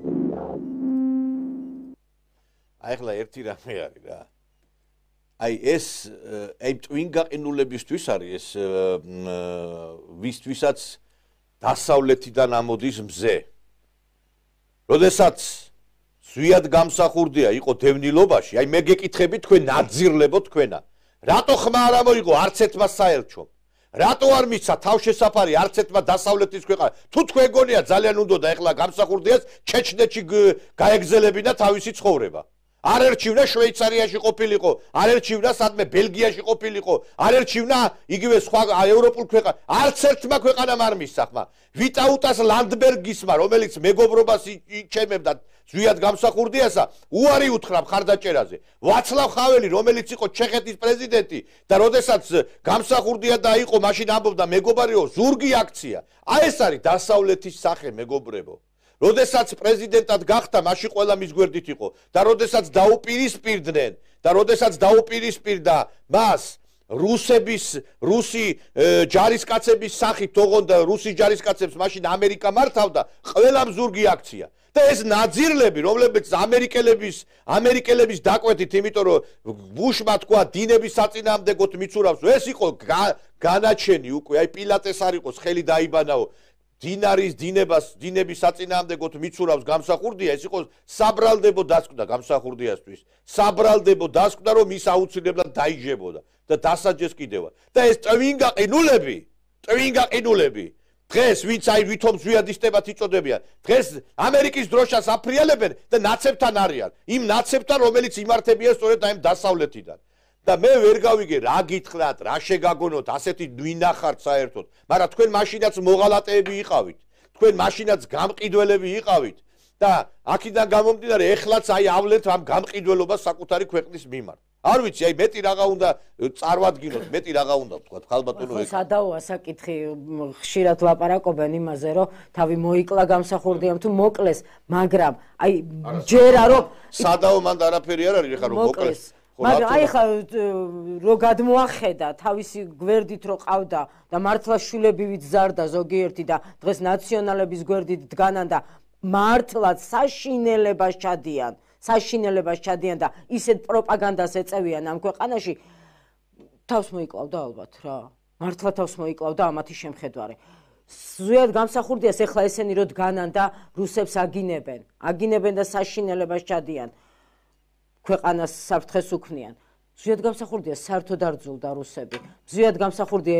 Thank you. აი ახლა ერთი რამე არის რა. აი ეს აი ტვინგაყინულებისთვის არის ეს ვისთვისაც დასავლეთიდან ამოდის მზე. როდესაც ზვიად გამსახურდია იყო დევნილობაში, აი მე გეკითხები თქვენ ნაძირლებო თქვენა. რატო ხმა არ ამოიღო არც ერთმა საელჩომ? რატო არ მიცა თავშესაფარი არც ერთმა დასავლეთის ქვეყანა? თუ თქვენ გონია ძალიან უნდოდა ეხლა გამსახურდიას ჩეჩნეთში გაეგზელებინა თავისი ცხოვრება. არ ერჩივნა შვეიცარიაში ყოფილიყო, არ ერჩივნა სადმე ბელგიაში ყოფილიყო, არ ერჩივნა იგივე სხვა ევროპულ ქვეყანა. არც ერთმა ქვეყანამ არ მისცა ხმა. ვიტაუტას ლანდბერგისმა, რომელიც მეგობრობას იჩემებდა ზვიად გამსახურდიასა, უარი უთხრა მხარდაჭერაზე. ვაცლავ ხაველი, რომელიც იყო ჩეხეთის პრეზიდენტი და როდესაც გამსახურდია და იყო, მაშინ ამბობდა მეგობარიო, ზურგი აქცია. აი ეს არის დასავლეთის სახე, მეგობრებო. როდესაც პრეზიდენტად გახდა, მაშინ ყველა მის გვერდით იყო და როდესაც დაუპირისპირდნენ და როდესაც დაუპირისპირდა მას რუსი ჯარისკაცების სახით თողონდა რუსი ჯარისკაცებს მაშინ ამერიკა მართავდა, ყველამ ზურგი აქცია. და ეს ნაძირლები, რომლებიც ამერიკელების დაკვეთით, იმიტომ რომ ბუშმა თქვა დინების საწინააღმდეგოდ მიცურავს, ეს იყო განაჩენი უკვე, აი პილატეს არ იყოს ხელი დაიბანაო. დინების საწინააღმდეგოდ მიცურავს გამსახურდია, ეს იყო საბრალდებო დასკვნა გამსახურდიასთვის. საბრალდებო დასკვნა, რომ ის აუცილებლად დაიჯებოდა და დასაჯეს კიდევ. და ეს ტვინგაყინულები დღეს ვინც აი ვითომ ზვიადისტებად იწოდებიან, დღეს ამერიკის დროშას აფრიალებენ და ნაცებთან არიან. იმ ნაცებთან, რომელიც იმართებიან სწორედ აი დასავლეთიდან. და მე ვერ გავიგე რა გითხრათ, რა შეგაგონოთ, ასეთი ვინახართ საერთოდ. მაგრამ თქვენ მაშინაც მოღალატეები იყავით. თქვენ მაშინაც გამყიდველები იყავით და აქედან გამომდინარე ეხლაც აი ავლეთ ამ გამყიდველობას საკუთარი ქვეყნის მიმართ. არ ვიცი, აი მეტი რაღა უნდა წარვადგინოთ, მეტი რაღაცა უნდა ვთქვათ, ხალბატონო ეგ. სადაოა საკითხი, ხშირად ლაპარაკობენ იმაზე, რომ თავი მოიკლა გამსახურდიამ თუ მოკლეს, მაგრამ აი ჯერა რომ სადაო მანდ არაფერი არ არის, ეხლა რომ მოკლეს. მაგრამ აი ხა რო გადმოახედა თავისი გვერდით რო ყავდა და მართლა შვილებივით ზარდა ზოგიერთი და დღეს ნაციონალების გვერდით დგანან და მართლაც საშინელებას ჩადიან და ისეთ პროპაგანდას ეწევიან ამ ქვეყანაში, თავს მოიკლავდა ალბათ რა. მართლა თავს მოიკლავდა ამათი შემხედვარე. ზვიად გამსახურდიას ეხლა ესენი რო დგანან და რუსებს აგინებენ და საშინელებას ჩადიან. ქვეყანას საფრთხეს უქმნიან. ზვიად გამსახურდიას საერთოდ არ ძულდა რუსები. ზვიად გამსახურდია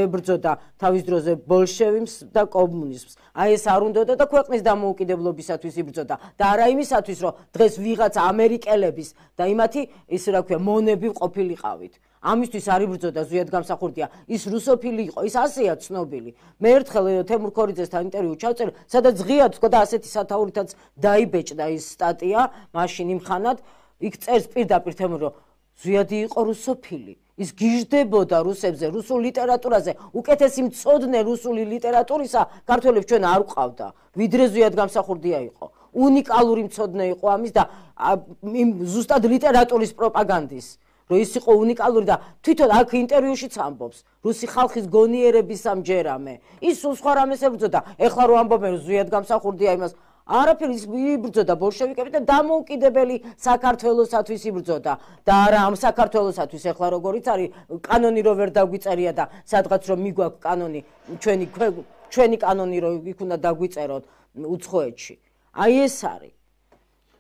ებრძოდა თავის დროზე ბოლშევიზმს და კომუნიზმს. აი ეს არ უნდოდა და ქვეყნის დამოუკიდებლობისათვის იბრძოდა. და არა იმისათვის, რომ დღეს ვიღაც ამერიკელების და იმათი ის რა ქვია, მონები ყოფილიყავით. ამისთვის არ იბრძოდა ზვიად გამსახურდია. ის რუსოფილი იყო, ის ასეა ცნობილი. მე ერთხელ თემურ ქორიძესთან ინტერვიუ ჩავწერე, სადაც ღია თქვა და ასეთი სათაურითაც დაიბეჭდა ის სტატია, მაშინ იმხანად იქ წერს პირდაპირ თემურ, რომ ზვიადი იყო რუსოფილი. ის გიждდებოდა რუსებზე, რუსულ ლიტერატურაზე, უკეთესი მცოდნე რუსული ლიტერატურისა ქართველებს ჩვენ არ ვყავდა, ვიდრე ზვიად გამსახურდია იყო. უნიკალური მცოდნე იყო ამის და ზუსტად ლიტერატურის პროპაგანდის, რომ ის იყო უნიკალური და თვითონ აქ ინტერვიუშიც ამბობს, რუსი ხალხის გონიერების ამჯერამე. ის სულ სხვა რამეს ებრძოდა. ეხლა რო ამბობენ რომ ზვიად გამსახურდია იმას არაფერი იბრძოდა ბოლშევიკები და დამოუკიდებელი საქართველოსათვის იბრძოდა და არა ამ საქართველოსათვის ეხლა როგორიც არის კანონი რო ვერ დაგვიწერია და სადღაც რომ მიგვაქვს კანონი ჩვენი კანონი რო იქ უნდა დაგვიწეროთ უცხოეთში. აი ეს არის.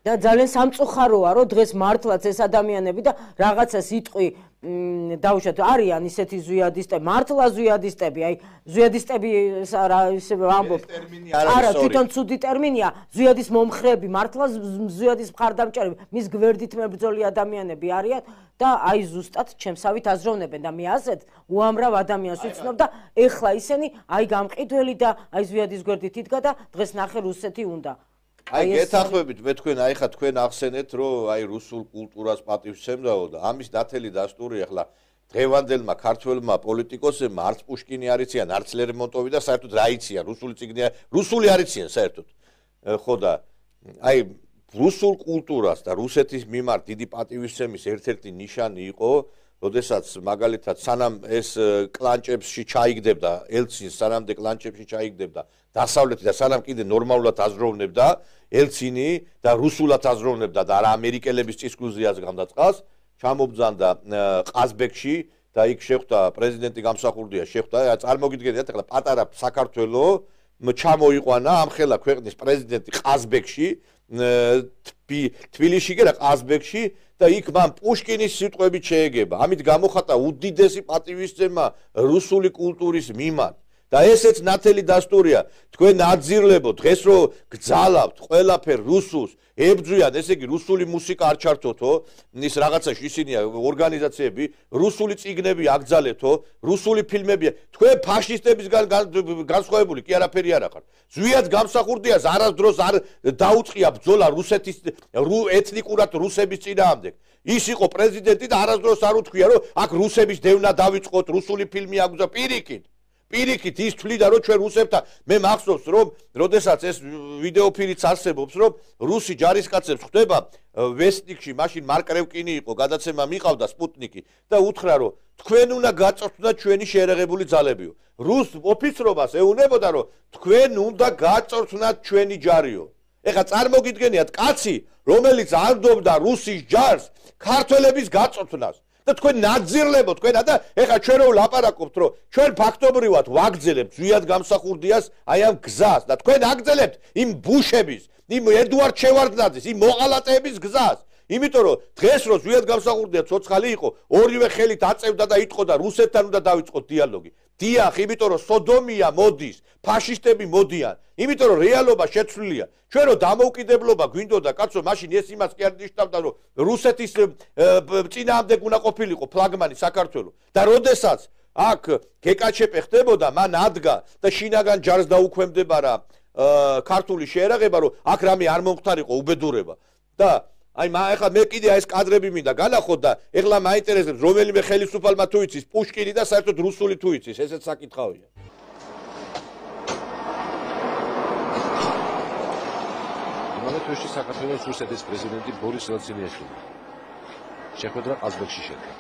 და ძალიან სამწუხაროა რომ დღეს მართლაც ეს ადამიანები და რაღაცა სიტყვი დაუშვათ არიან ისეთი ზვიადისტები, მართლა ზვიადისტები, აი ზვიადისტები ისე ამბობ. არა, თვითონ ცუდი ტერმინია, ზვიადის მომხრეები, მართლა ზვიადის მხარდამჭერები, მის გვერდით მებრძოლი ადამიანები არიან და აი ზუსტად ჩემსავით აზროვნებენ და მე ასეთ უამრავ ადამიანს ვიცნობ და ეხლა ისინი აი გამყიდველი და აი ზვიადის გვერდით იდგა და დღეს ნახე რუსეთი უნდა. აი გეთანხმებით მე თქვენ აი ხა თქვენ ახსენეთ რომ აი რუსულ კულტურას პატივსცემდაო და ამის ნათელი დასტური ახლა დღევანდელმა ქართველმა პოლიტიკოსებმა არც პუშკინი არ იციან, არც ლერმონტოვი და საერთოდ რა იციან, რუსული არ იციან საერთოდ. ხო და აი რუსულ კულტურას და რუსეთის მიმართ დიდი პატივისცემის ერთ-ერთი ნიშანი იყო როდესაც მაგალითად სანამ ეს კლანჭებში ჩაიგდებდა ელცინს, სანამდე კლანჭებში ჩაიგდებდა დასავლეთი და სანამ კიდე ნორმალურად აზროვნებდა ელცინი და რუსულად აზროვნებდა და არა ამერიკელების წისქვილზე აზრგავდა წყალს, ჩამობძანდა ყაზბეგში და იქ შეხვდა პრეზიდენტი გამსახურდია, შეხვდა, წარმოგიდგენთ ახლა პატარა საქართველო ჩამოიყვანა ამხელა ქვეყნის პრეზიდენტი ყაზბეგში, თბილისში კი რა ყაზბეგში და იქ მან პუშკინის სიტყვებით შეეგება. ამით გამოხატა უდიდესი პატივისცემა რუსული კულტურის მიმართ. და ესეც ნათელი დასტურია. თქვენ აძირლებო დღეს რო გძალავთ ყველაფერ რუსულს, ებძვიან, ესე იგი რუსული მუსიკა არ ჩართოთო, ის რაღაცაში ისინია ორგანიზაციები, რუსული წიგნები აგძალეთო, რუსული ფილმებია. თქვენ ფაშისტებისგან განსხვავებული კი არაფერი არ ახართ. ზვიად გამსახურდიას არასდროს არ დაუწყია ბრძოლა რუსეთის ეთნიკურად რუსების წინააღმდეგ. ის იყო პრეზიდენტი და არასდროს არ უთქვია, რომ აქ რუსების დევნა დავიწყოთ, რუსული ფილმი აგზა პირიქით. პირიქით ის თვლიდა რომ ჩვენ რუსებთან მე მახსოვს რომ როდესაც ეს ვიდეოფილიც არსებობს რომ რუსი ჯარისკაცებს ხვდება ვესტნიკში მაშინ მარკ რევკინი იყო გადაცემა მიყავდა სპუტნიკი და უთხრა რომ თქვენ უნდა გაწორთნათ ჩვენი შეერაღებული ძალებიო რუს ოფიცრობას ეუნებოდა რომ თქვენ უნდა გაწორთნათ ჩვენი ჯარიო ეხლა წარმოგიდგენიათ კაცი რომელიც არდობდა რუსის ჯარს ქართველების გაწორთნას და თქვენ ნაძირლებო თქვენ და ეხლა ჩვენ რო ვლაპარაკობთ რომ ჩვენ ფაქტობრივად ვაგრძელებთ ზვიად გამსახურდიას აი ამ გზას და თქვენ აგრძელებთ იმ ბუშების იმ ედუარდ შევარდნაძის იმ მოღალატეების გზას იმიტომ რომ დღეს რო ზვიად გამსახურდია ცოცხალი იყო ორივე ხელით აწევდა და იტყოდა რუსეთთან უნდა დავიწყოთ დიალოგი დიახ იმიტომ რომ სოდომია მოდის ფაშისტები მოდიან იმიტომ რომ რეალობა შეცვლილია ჩვენ რო დამოუკიდებლობა გვინდოდა კაცო მაშინ ეს იმას კი არ ნიშნავდა რომ რუსეთის წინააღმდეგ უნდა ყოფილიყო ფლაგმანი საქართველოს და როდესაც აქ გეკაჩეპე ხდებოდა მან ადგა და შინაგან ჯარს დაუქვემდება რა ქართული შეერაღება რომ აქ რამე არ მომხდარიყო უბედურება და აი ეხლა მე კიდე ეს კადრები მინდა განახოთ და ეხლა მაინტერესებს რომელიმე ხელისუფალმა თუ იცის პუშკინი და საერთოდ რუსული თუ იცის ესეც საკითხავია იმავე თვეში საქართველოს რუსეთის პრეზიდენტი ბორის ელცინიაშვილი შეხვედრა ყაზბეგში შედგა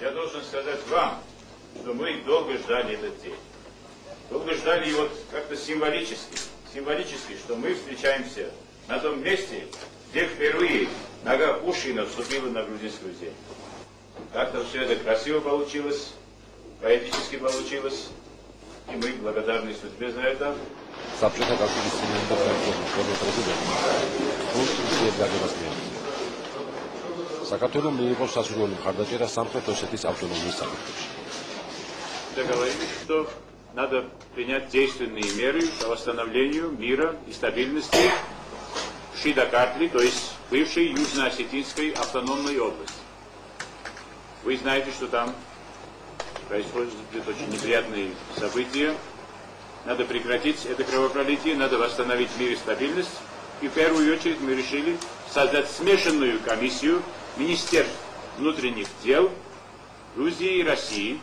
Я должен сказать вам, что мы долго ждали этот день. Долго ждали его как-то символически, что мы встречаемся на том месте, где впервые нога Пушкина вступила на грузинскую землю. Как-то все это красиво получилось, поэтически получилось, и мы благодарны судьбе за это. საბჭოთა კავშირის წინააღმდეგ პრეზიდენტი რუსეთის დაგებას მიიღო. საქართველოს მიიღო სასურველი მხარდაჭერა სამხრეთ ოსეთის ავტონომიის საკითხებში. Договорились, что надо принять действенные меры по восстановлению мира и стабильности в Шидакартли, то есть бывшей Южно-Осетинской автономной области. Вы знаете, что там происходят очень неприятные события. Надо прекратить это кровопролитие, надо восстановить мир и стабильность. И в первую очередь мы решили создать смешанную комиссию Министерств внутренних дел Грузии и России,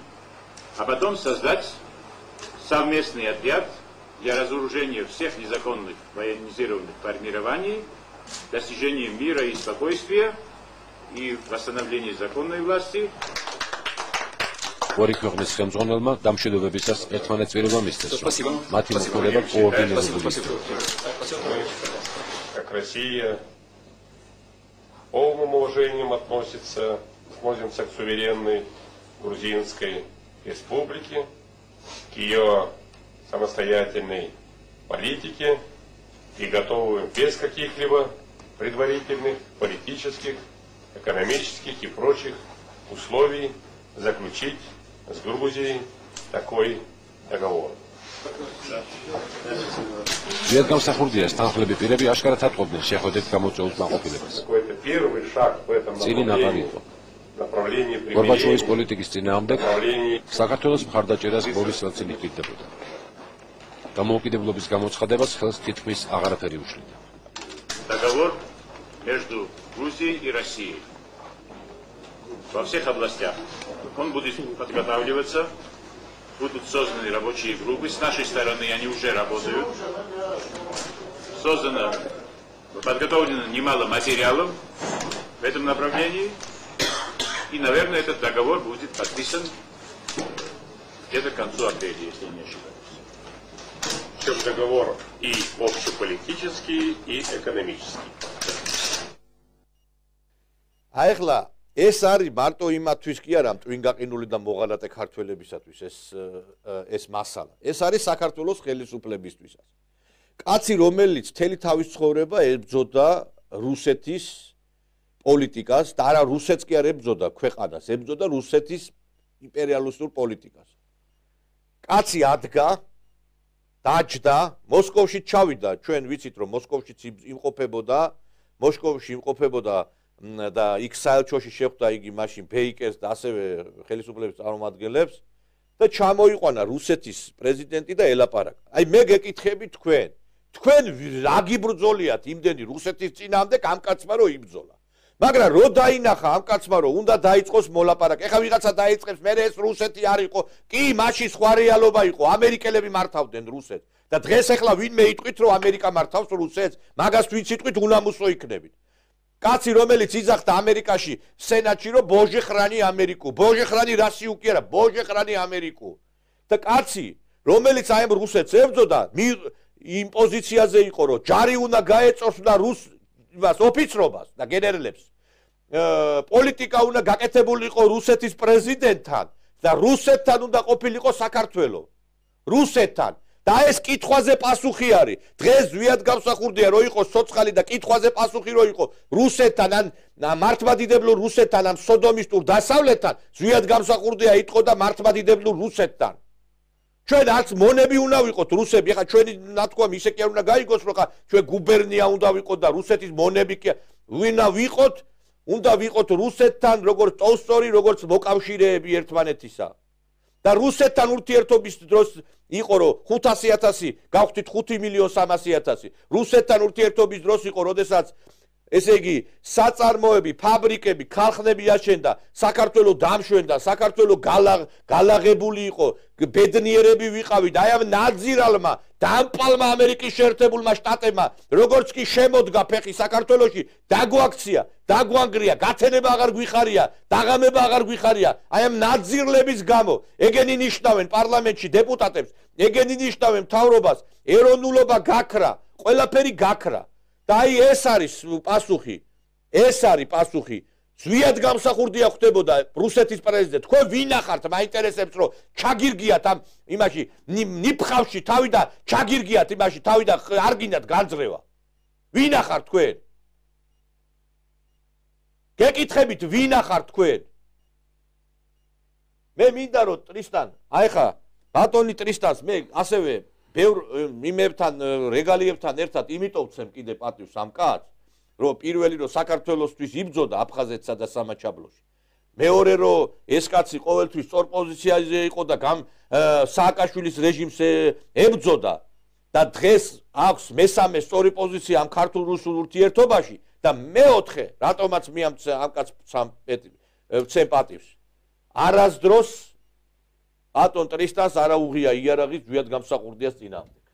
а потом создать совместный отряд для разоружения всех незаконных военизированных формирований, достижения мира и спокойствия и восстановления законной власти. ორი ქვეყნის ხელმძღვანელმა დამშვიდობებისას ერთმანეთს პირობა мисцეს. მათი მოხდება კოორდინირებული. Как Россия полным уважением относимся к суверенной грузинской республике, к ее самостоятельной политике и готовы без каких-либо предварительных политических, экономических и прочих условий заключить с Грузией такой договор. ზვიად გამსახურდიას თანხლები პირები აშკარად ატყობდნენ შეხვედრით გამოწვეულ კმაყოფილებას. Какой-то первый шаг в этом направлении გორბაჩოვის პოლიტიკის წინააღმდეგ საქართველოს მხარდაჭერას ბორის ელცინი პირდებოდა. დამოუკიდებლობის გამოცხადებას ხელს თითქმის აღარაფერი უშლიდა. Договор между Грузией и Россией во всех областях. Он будет подготавливаться. Будут созданы рабочие группы. С нашей стороны они уже работают. Подготовлено немало материалов, в этом направлении. И, наверное, этот договор будет подписан где-то к концу апреля, если я не ошибаюсь. Причем договор и общеполитический, и экономический. აიხლა ეს არის მარტო იმათვის კი არა მტვინგაყინული და მოღალატე ქართველებისათვის ეს მასალა. ეს არის საქართველოს ხელისუფლებისთვისაც. კაცი რომელიც მთელი თავის ცხოვრება ებრძოდა რუსეთის პოლიტიკას და არა რუსეთს კი არ ებრძოდა ქვეყანას, ებრძოდა რუსეთის იმპერიალისტურ პოლიტიკას. კაცი ადგა, დაჯდა, მოსკოვში ჩავიდა, ჩვენ ვიცით რომ მოსკოვშიც იმყოფებოდა, მოსკოვში იმყოფებოდა და იქ საელჩოში შეხვდა იგი მაშინ ბეიკერს და ასევე ხელისუფლების წარმომადგენლებს და ჩამოიყვანა რუსეთის პრეზიდენტი და ელაპარაკა. აი მე გეკითხები თქვენ რა გიბრძოლიათ იმდენი რუსეთის წინააღმდეგ ამ კაცმა რომ იბრძოლა. მაგრამ რო დაინახა ამ კაცმა რომ უნდა დაიწყოს მოლაპარაკე. ეხლა ვიღაცა დაიწყებს, მე ეს რუსეთი არ იყო. კი, მაშინ სხვა რეალობა იყო. ამერიკელები მართავდნენ რუსეთს და დღეს ეხლა ვინმე იტყვით რომ ამერიკა მართავს რუსეთს, მაგას ვინც იტყვით უნამუსო იქნებით. კაცი რომელიც იძახდა ამერიკაში სენატში რომ ბოჟე ხრანი ამერიკო, ბოჟე ხრანი რასიუ კი არა, ბოჟე ხრანი ამერიკო. და კაცი რომელიც აი ამ რუსეთს ებრძოდა, იმ პოზიციაზე იყო რომ ჯარი უნდა გაეწოს და რუსს ოფიცრობას და გენერლებს. პოლიტიკა უნდა გაკეთებულიყო რუსეთის პრეზიდენტთან და რუსეთთან უნდა ყოფილიყო საქართველო. რუსეთთან და ეს კითხვაზე პასუხი არის. დღეს ზვიად გამსახურდია რომ იყოს სოცხალი და კითხვაზე პასუხი რომ იყო რუსეთთან ან მართლმადიდებლურ რუსეთთან ან სოდომისტურ დასავლეთთან, ზვიად გამსახურდია იტყო და მართლმადიდებლურ რუსეთთან. ჩვენ არც მონები უნდა ვიყოთ რუსები, ხა ჩვენი ნათქვამ ისე კი არ უნდა გაიგოს რომ ხა ჩვენ გუბერნია უნდა ვიყოთ და რუსეთის მონები კი ვინა ვიყოთ, უნდა ვიყოთ რუსეთთან როგორც ტოლსტოი, როგორც მოკავშირეები ერთმანეთისა. და რუსეთთან ურთიერთობის დროს იყო რომ 500,000 გავხდით 5,300,000. რუსეთთან ურთიერთობის დროს იყო, როდესაც ესე იგი საწარმოები, ფაბრიკები, ქარხნები აშენდა, საქართველოს დამშვენდა, საქართველოს გალაღებული იყო, ბედნიერები ვიყავით. აი ამ ნაძირალმა, დამპალმა ამერიკის შეერთებულმა შტატებმა, როგორც კი შემოდგა ფეხი საქართველოში, დაგვაქცია, დაგვანგრია, გათენება აღარ გვიხარია, დაღამება აღარ გვიხარია. აი ამ ნაძირლების გამო ეგენი ნიშნავენ პარლამენტში დეპუტატებს, ეგენი ნიშნავენ მთავრობას, ეროვნულობა გაქრა, ყველაფერი გაქრა. და აი ეს არის პასუხი. ეს არის პასუხი. ზვიად გამსახურდია ხდებოდა რუსეთის პრეზიდენტი. თქვენ ვინა ხართ? მაინტერესებს რომ ჩაგირგიათ ამ იმაში ნიფხავში თავი და ჩაგირგიათ იმაში თავი და არ გინდათ განძრევა. ვინა ხართ თქვენ? გეკითხებით ვინა ხართ თქვენ? მე მინდა რომ ტრისტან, აი ხა ბატონი ტრისტანს მე ასევე ბევრ იმებთან რეგალიებთან ერთად იმიტომ ვცემ კიდე პატივს ამ კაცს, რომ პირველი რომ საქართველოსთვის იბრძოდა აფხაზეთსა და სამაჩაბლოში. მეორე რომ ეს კაცი ყოველთვის სწორ პოზიციაზე იყო და სააკაშვილის რეჟიმს ებრძოდა და დღეს აქვს მესამე სწორი პოზიცია ამ ქართულ-რუსულ ურთიერთობაში და მეოთხე, რატომაც მე ამ კაცს ვცემ პატივს. არასდროს ბატონ ტრისტანს არა უღია იარაღის ზვიად გამსახურდიას წინააღმდეგ.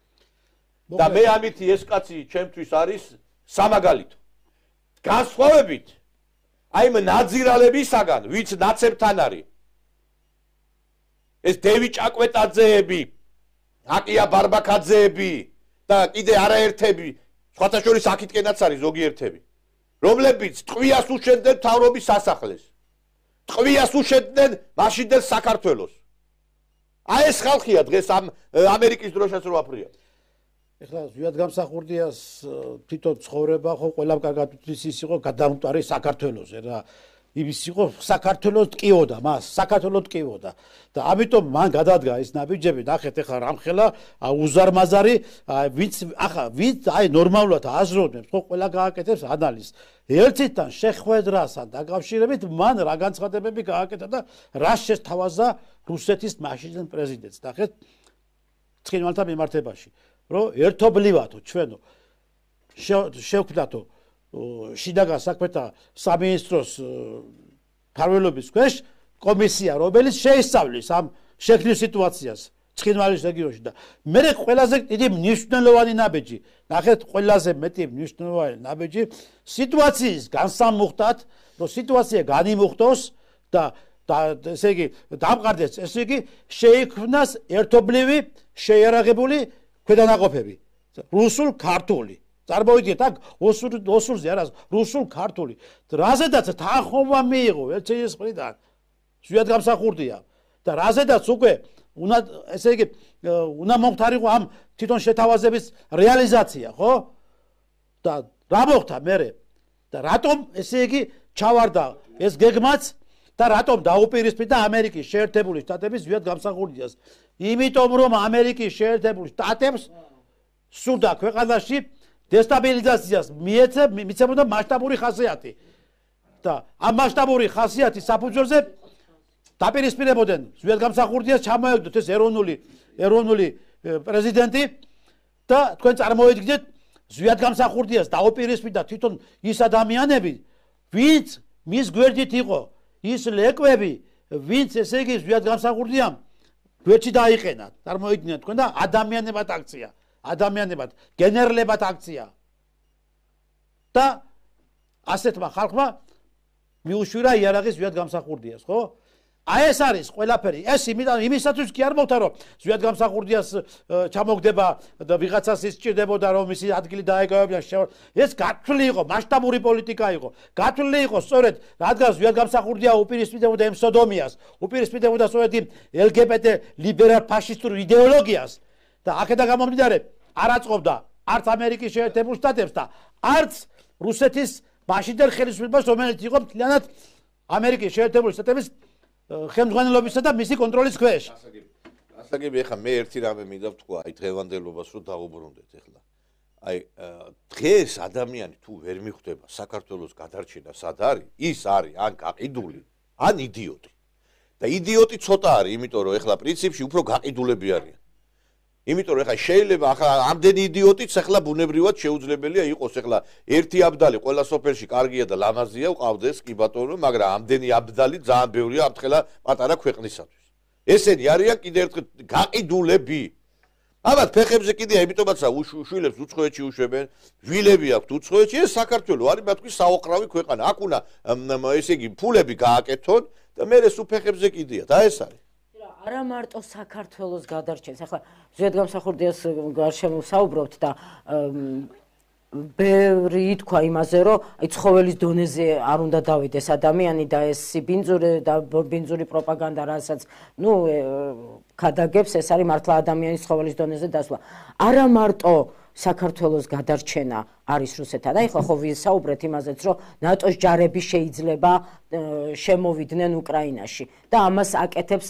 და მე ამითი ეს კაცი ჩემთვის არის სამაგალითო. განსხვავებით აი ამ ნაძირალებისაგან, ვინც ნაცებთან არის. ეს დევი ჭაკვეტაძეები, აკია ბარბაკაძეები და კიდე არაერთები, სხვათა შორის აქითკენაც არის ზოგიერთები, რომლებიც ტყვიას უშენდნენ მთავრობის სასახლეს. ტყვიას უშენდნენ მაშინდელ საქართველოს. აი ეს ხალხია დღეს ამ ამერიკის დროშას რო აფრია. ეხლა ზვიად გამსახურდიას თვითონ ცხოვრება ხო ყველამ კარგად უთის ის იყო გადამკვარი საქართველოზე რა. იმის იყო საქართველოს ტკივოდა, მას საქართველოს ტკივოდა. და ამიტომ მან გადადგა ეს ნაბიჯები, ნახეთ ეხლა რამხელა უზარმაზარი, ვინც აი ნორმალურად აზროვნებს, ხო ყველა გააკეთებს ანალიზს. ერთიდან შეხვედრასთან დაკავშირებით მან რა განცხადებები გააკეთა და რა შესთავაზა რუსეთის მაშინდელ პრეზიდენტს. ნახეთ ცხინვალთა მიმართებაში, რომ ერთობლივათო ჩვენო შევქმნათო შინაგან საქმეთა სამინისტროს მფარველობის ქვეშ კომისია, რომელიც შეისწავლის ამ შექმნილ სიტუაციას ცხინვალის რეგიონში და მე ყველაზე დიდი მნიშვნელოვანი ნაბიჯი, ნახეთ ყველაზე მეტი მნიშვნელოვანი ნაბიჯი სიტუაციის განსამუხტად რომ სიტუაცია განიმუხტოს და ესე იგი დამყარდეს, ესე იგი შეიქმნას ერთობლივი შეიარაღებული ქვედანაყოფები. რუსულ, ქართული. წარმოიდგინეთ აქ ოსურზე არა, რუსულ, ქართული. რაზედაც თანხმობა მიიღო ელჩეის მხრიდან. ზვიადგამსახურდია და რაზედაც უკვე უნდა ესე იგი უნდა მომხდარიყო ამ თვითონ შეთავაზების რეალიზაცია, ხო? და რა მოხდა მერე? და რატომ ესე იგი ჩავარდა ეს გეგმაც და რატომ დაუპირისპირდა ამერიკის შეერთებული შტატების ზვიადგამსახურდიას? იმიტომ რომ ამერიკის შეერთებული შტატებს სურდა ქვეყანაში დესტაბილიზაციას მიცემოდა მასშტაბური ხასიათი. და ამ მასშტაბური ხასიათის საფუძველზე დაპირისპირებოდნენ ზვიადგამსახურდიას ჩამოეგდოთ ეს ეროვნული პრეზიდენტი და თქვენ წარმოიდგინეთ ზვიადგამსახურდიას დაუპირისპირდა თვითონ ის ადამიანები, ვინც მის გვერდით იყო, ის ლეკვები, ვინც ესე იგი ზვიადგამსახურდიამ გვერდში დაიყენა. წარმოიდგინეთ თქვენ და ადამიანებად აქცია, ადამიანებად, გენერლებად აქცია. და ასეთმა ხალხმა მიუშვირა იარაღის ზვიადგამსახურდიას, ხო? აი ეს არის ყველაფერი. ეს იმისათვის კი არ მოხდა რომ ზვიადგამსახურდიას ჩამოგდება და ვიღაცას ის სჭირდებოდა რომ მისი ადგილი დაეკავებინა. ეს გათვლილი იყო, მასშტაბური პოლიტიკა იყო. გათვლილი იყო სწორედ რადგან ზვიადგამსახურდია უპირისპირდებოდა იმ სოდომიას, უპირისპირდებოდა სწორედ იმ LGBT ლიბერალ ფაშისტურ იდეოლოგიას და აქედან გამომდინარე არ აწყობდა არც ამერიკის შეერთებულ შტატებს და არც რუსეთის მაშინდელ ხელისუფლებას, რომელიც იყო მთლიანად ამერიკის შეერთებული შტატების ხელმძღვანელობისა და მისი კონტროლის ქვეშ. ასაგები ეხლა მე ერთი რამე მინდა ვთქვა, აი დღევანდელობას რომ დავუბრუნდეთ ეხლა. აი დღეს ადამიანი თუ ვერ მიხვდება საქართველოს გადარჩენა სად არის, ის არის ან გაყიდული, ან იდიოტი. და იდიოტი ცოტა არის, იმიტომ რომ ეხლა პრინციპში უფრო გაყიდულები არიან. იმიტომ რომ ეხლა შეიძლება ახლა ამდენი იდიოტიც ეხლა ბუნებრივად შეუძლებელია იყოს ეხლა ერთი აბდალი ყველა სოფელში კარგია და ლამაზია ყავდეს კი ბატონო, მაგრამ ამდენი აბდალი ძალიან ბევრია ამთხელა პატარა ქვეყნისათვის. ესენი არიან კიდევ ერთხელ გაყიდულები. აბათ ფეხებზე კიდია, იმიტომაც უშვილებს უცხოეთში უშვებენ, ვილები აქვთ უცხოეთში, ეს საქართველო არის მათთვის საოყრავი ქვეყანა. აქ უნდა ესე იგი ფულები გააკეთონ და მე ეს უფეხებზე კიდია და ეს არის. არა მარტო საქართველოს გადარჩენს. ახლა ზვიადგამსახურდიას გარშემო საუბრობთ და ბევრი ითქვა იმაზე, რომ აი ცხოველის დონეზე არ უნდა დავიდეს ადამიანი და ეს ბინძური პროპაგანდა, რასაც ქადაგებს, ეს არის მართლა ადამიანის ცხოველის დონეზე დასვლა. არა მარტო საქართველოს გადარჩენა არის რუსეთთან. აი ხო ვისაუბრეთ იმაზეც, რომ ნატოს ჯარები შეიძლება შემოვიდნენ უკრაინაში და ამას აკეთებს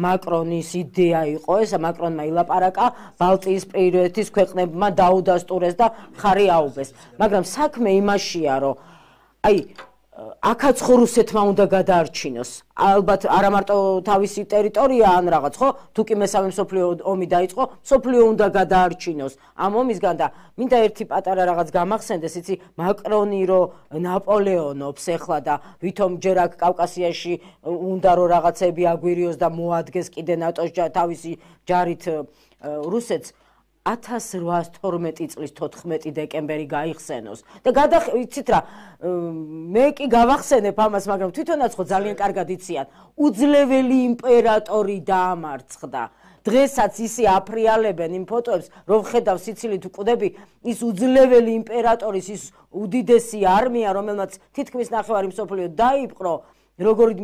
მაკრონის იდეა იყო ეს, მაკრონმა ილაპარაკა ბალტიის პირეთის ქვეყნებმა დაუდასტურეს და ხარი აუბეს. მაგრამ საქმე იმაშია, რომ აი აქაც ხო რუსეთმა უნდა გადაარჩინოს. ალბათ არა მარტო თავისი ტერიტორია ან რაღაც, ხო? თუ კი მესამე მსოფლიო ომი დაიწყო, მსოფლიო უნდა გადაარჩინოს ამ ომისგან და მინდა ერთი პატარა რაღაც გამახსენდეს, იცი, მაკრონი რომ ნაპოლეონობს ეხლა და ვითომ ჯერ აქ კავკასიაში უნდა რომ რაღაცები აგვირიოს და მოადგეს კიდე ნატოს თავისი ჯარით რუსეთს 1812 წლის 14 დეკემბერი გაიხსენოს და იცით რა მე კი გავახსენებ ამას, მაგრამ თვითონაც ხო ძალიან კარგად იციან, უძლეველი იმპერატორი დაამარცხდა. დღესაც ისე აფრიალებენ იმ ფოტოებს, რომ ხედავ სიცილით უკვდები, ის უძლეველი იმპერატორის ის უდიდესი არმია, რომელმაც თითქმის ნახევარი მსოფლიო დაიპყრო, როგორი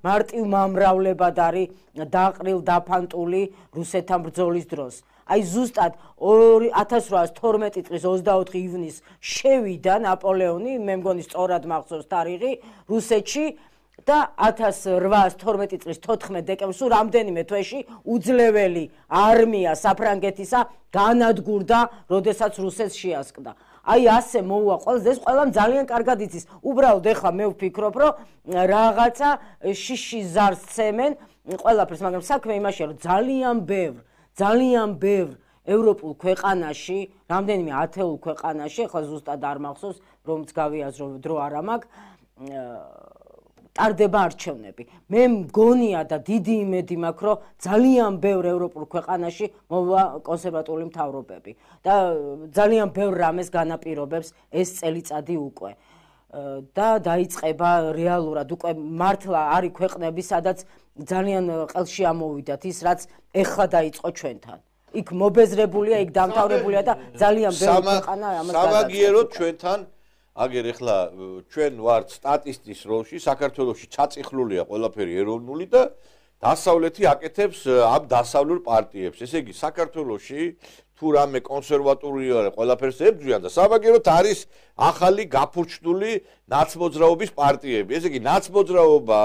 მარტივ მომრავლებად არის დაყრილ დაფანტული რუსეთთან ბრძოლის დროს. აი ზუსტად 1812 წლის 24 ივნისს შევიდა ნაპოლეონი, მე მგონი სწორად მახსოვს თარიღი, რუსეთში და 1812 წლის 14 დეკემბერს რამდენიმე თვეში უძლეველი არმია საფრანგეთისა განადგურდა, როდესაც რუსეთს შეასკდა. აი ასე მოუვა ყველას, ეს ყველამ ძალიან კარგად იცის. უბრალოდ ეხლა მე ვფიქრობ, რომ რაღაცა შიში ზარს ცემენ ყველაფერს, მაგრამ საქმე იმაშია, რომ ძალიან ბევრ ევროპულ ქვეყანაში, რამდენიმე ათეულ ქვეყანაში, ახლა ზუსტად არ მახსოვს, რომც გავიაზრო დრო არ მაქვს, ტარდება არჩევნები. მე მგონია და დიდი იმედი მაქვს, რომ ძალიან ბევრ ევროპულ ქვეყანაში მოვა კონსერვატიული მთავრობები და ძალიან ბევრ რამეს განაპირობებს ეს წელიწადი უკვე. და დაიწყება რეალურად უკვე მართლა არის ქვეყნები, სადაც ძალიან ყელში ამოვიდათ ის, რაც ეხლა დაიწყო ჩვენთან. იქ მობეზრებულია, იქ დამთავრებულია და ძალიან ბევრი ქვეყანა ამას გადაწყობს. სამაგიეროდ ჩვენთან აგერ ეხლა ჩვენ ვართ სტატისტის როლში, საქართველოში ჩაწიხლულია ყველაფერი ეროვნული და დასავლეთი აკეთებს ამ დასავლურ პარტიებს. ესე იგი, საქართველოში თუ რამე კონსერვატორია ყველაფერს ებრძვიან და სამაგიეროდ არის ახალი გაფურჩდული ნაცმოძრაობის პარტიები. ესე იგი, ნაცმოძრაობა,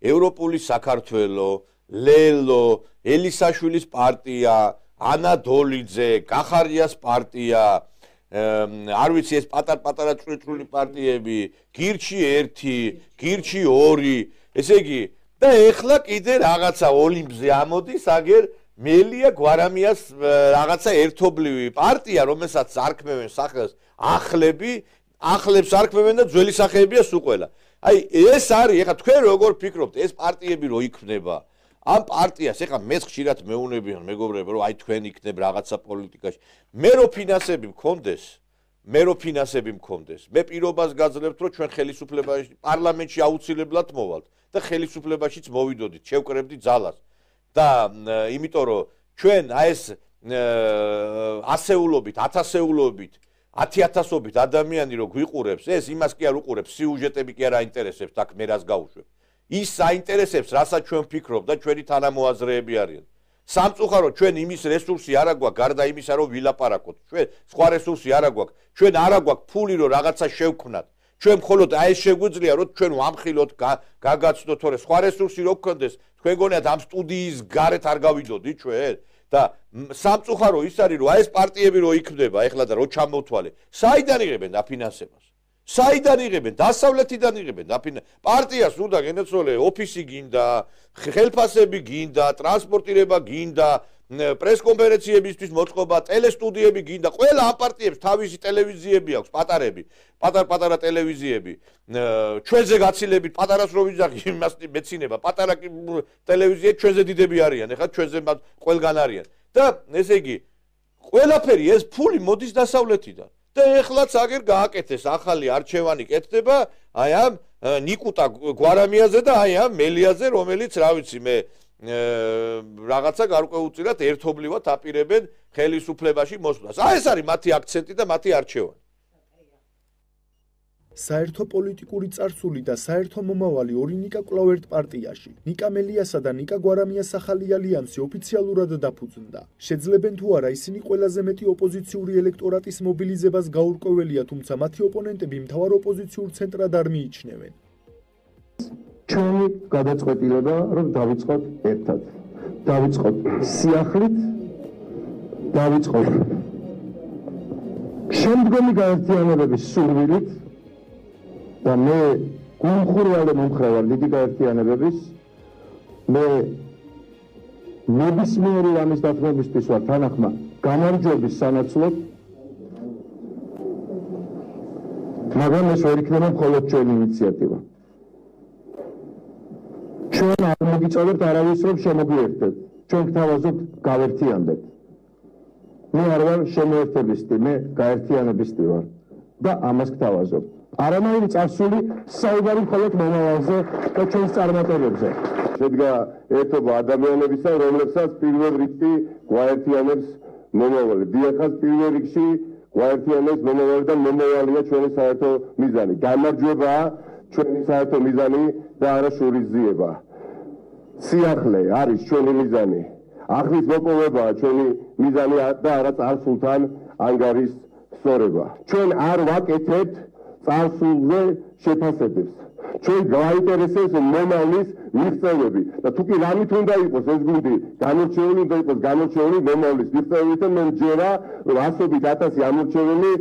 ევროპული საქართველო, ლელო, ელისაშვილის პარტია, ანა დოლიძე, კახარიას პარტია, არ ვიცი ეს პატარ-პატარა წვრილი პარტიები, გირჩი 1, გირჩი 2, ესე იგი და ეხლა კიდე რაღაცა ოლიმპზე ამოდის, აგერ მელია გვარამიას რაღაცა ერთობლივი პარტია, რომელსაც არქმევენ სახელს ახლებს არქმევენ და ძველი სახეებია სულ ყველა. აი ეს არის, ეხლა თქვენ როგორ ფიქრობთ, ეს პარტიები რო იქნება? ამ პარტიას ეხლა მეც ხშირად მეუნებიან მეგობრებო, რომ აი თქვენ იქნებ რაღაცა პოლიტიკაში. მე რო ფინანსები მქონდეს, მე პირობას გაძლევთ, რომ ჩვენ ხელისუფლებაში, პარლამენტში აუცილებლად მოვალთ და ხელისუფლებაშიც მოვიდოდით, შევკრებდით ძალას. და იმიტომ რომ ჩვენ აი ეს ასეულობით, ათასეულობით, 10,000-ობით ადამიანი რო გვიყურებს, ეს იმას კი არ უყურებს, სიუჟეტები კი არ აინტერესებს, აქ მე რას გავუშვებ. ის საინტერესებს, რასაც ჩვენ ვფიქრობ და ჩვენი თანამოაზრეები არიან. სამწუხაროდ ჩვენ იმის რესურსი არ აგვაქვს, გარდა იმისა, რომ ვილაპარაკოთ. ჩვენ სხვა რესურსი არ აგვაქვს. ჩვენ არ აგვაქვს ფული, რომ რაღაცა შევქმნათ. ჩვენ მხოლოდ აი ეს შეგვიძლია, რომ ჩვენ ვამხილოთ, გაგაცნოთ, თორე სხვა რესურსი რო გქონდეს, თქვენ გონიათ ამ სტუდიის გარეთ არ გავიდოდი ჩვენ? და სამწუხარო ის არის, რომ აი ეს პარტიები რო იქმნება ეხლა და რო ჩამოვთვალე, საიდან იღებენ დაფინანსებას? საიდან იღებენ? დასავლეთიდან იღებენ დაფინანსებას. პარტიას უნდა გენაცვალე, ოფისი გინდა, ხელფასები გინდა, ტრანსპორტირება გინდა, პრესკონფერენციებისთვის მოწყობა, ტელესტუდიები გინდა. ყველა ამ პარტიებს თავისი ტელევიზიები აქვს, პატარები, პატარ-პატარა ტელევიზიები. ჩვენზე გაცილებით პატარას რო ვიძახი, იმას მეცინება, პატარა ტელევიზიები ჩვენზე დიდები არიან, ეხლა ჩვენზე ყველგან არიან. და ესე იგი, ყველაფერი ეს ფული მოდის დასავლეთიდან. და ეხლაც აგერ გააკეთეს ახალი არჩევანი კეთდება აი ამ ნიკუტა გვარამიაზე და აი ამ მელიაზე, რომელიც რა ვიცი მე რაღაცა გარკვეულწილად ერთობლივად აპირებენ ხელისუფლებაში მოსვლას. აი ეს არის მათი აქცენტი და მათი არჩევანი. საერთო პოლიტიკური წარსული და საერთო მომავალი ორი ნიკა კვლავ ერთ პარტიაში. ნიკა მელიასა და ნიკა გვარამიას ახალი ალიანსი ოფიციალურად დაფუძნდა. შეძლებენ თუ არა ისინი ყველაზე მეტი ოპოზიციური ელექტორატის მობილიზებას გაურკვეველია, თუმცა მათი ოპონენტები მთავარ ოპოზიციურ ცენტრად არ მიიჩნევენ. ჩვენი გადაწყვეტილება, რომ დავიწყოთ ერთად. დავიწყოთ სიახლით, დავიწყოთ შემდგომი გაერთიანებების სურვილით და მე გულმხურვალე მომხრევარ დიდი გაერთიანებების. მე ნებისმიერი ამის დათმობისთვის ვარ თანახმა გამარჯვების სანაცვლოდ, მაგრამ ეს ვერ იქნება მხოლოდ ჩვენი ინიციატივა. ჩვენ არ მოგიწევთ არავის რომ შემოგვიერთდეთ. ჩვენ გთავაზობთ გავერთიანდეთ. მე არ ვარ შემოერთებისთი, მე გაერთიანებისთი ვარ და ამას გთავაზობ. არანაირი წარსული საუბარი მხოლოდ მომავალზე და ჩვენს წარმატებებზე. შედგა ერთობა ადამიანებისა, რომლებსაც პირველ რიგში გვაერთიანებს მომავალი. დიახაც პირველ რიგში გვაერთიანებს მომავალი და მომავალია ჩვენი საერთო მიზანი. გამარჯვებაა ჩვენი საერთო მიზანი და არა შურისძიება. სიახლე არის ჩვენი მიზანი. ახლის მოპოვებაა ჩვენი მიზანი და არა წარსულთან ანგარის სწორება. ჩვენ არ ვაკეთებთ წარსულზე შეფასებებს. ჩვენ გვაინტერესებს მომავლის მიღწევები და თუ კი რამით უნდა იყოს ეს გუნდი განორჩეული, უნდა იყოს განორჩეული მომავლის მიღწევებით და მე მჯერა რომ ასობით 1000 ამორჩეული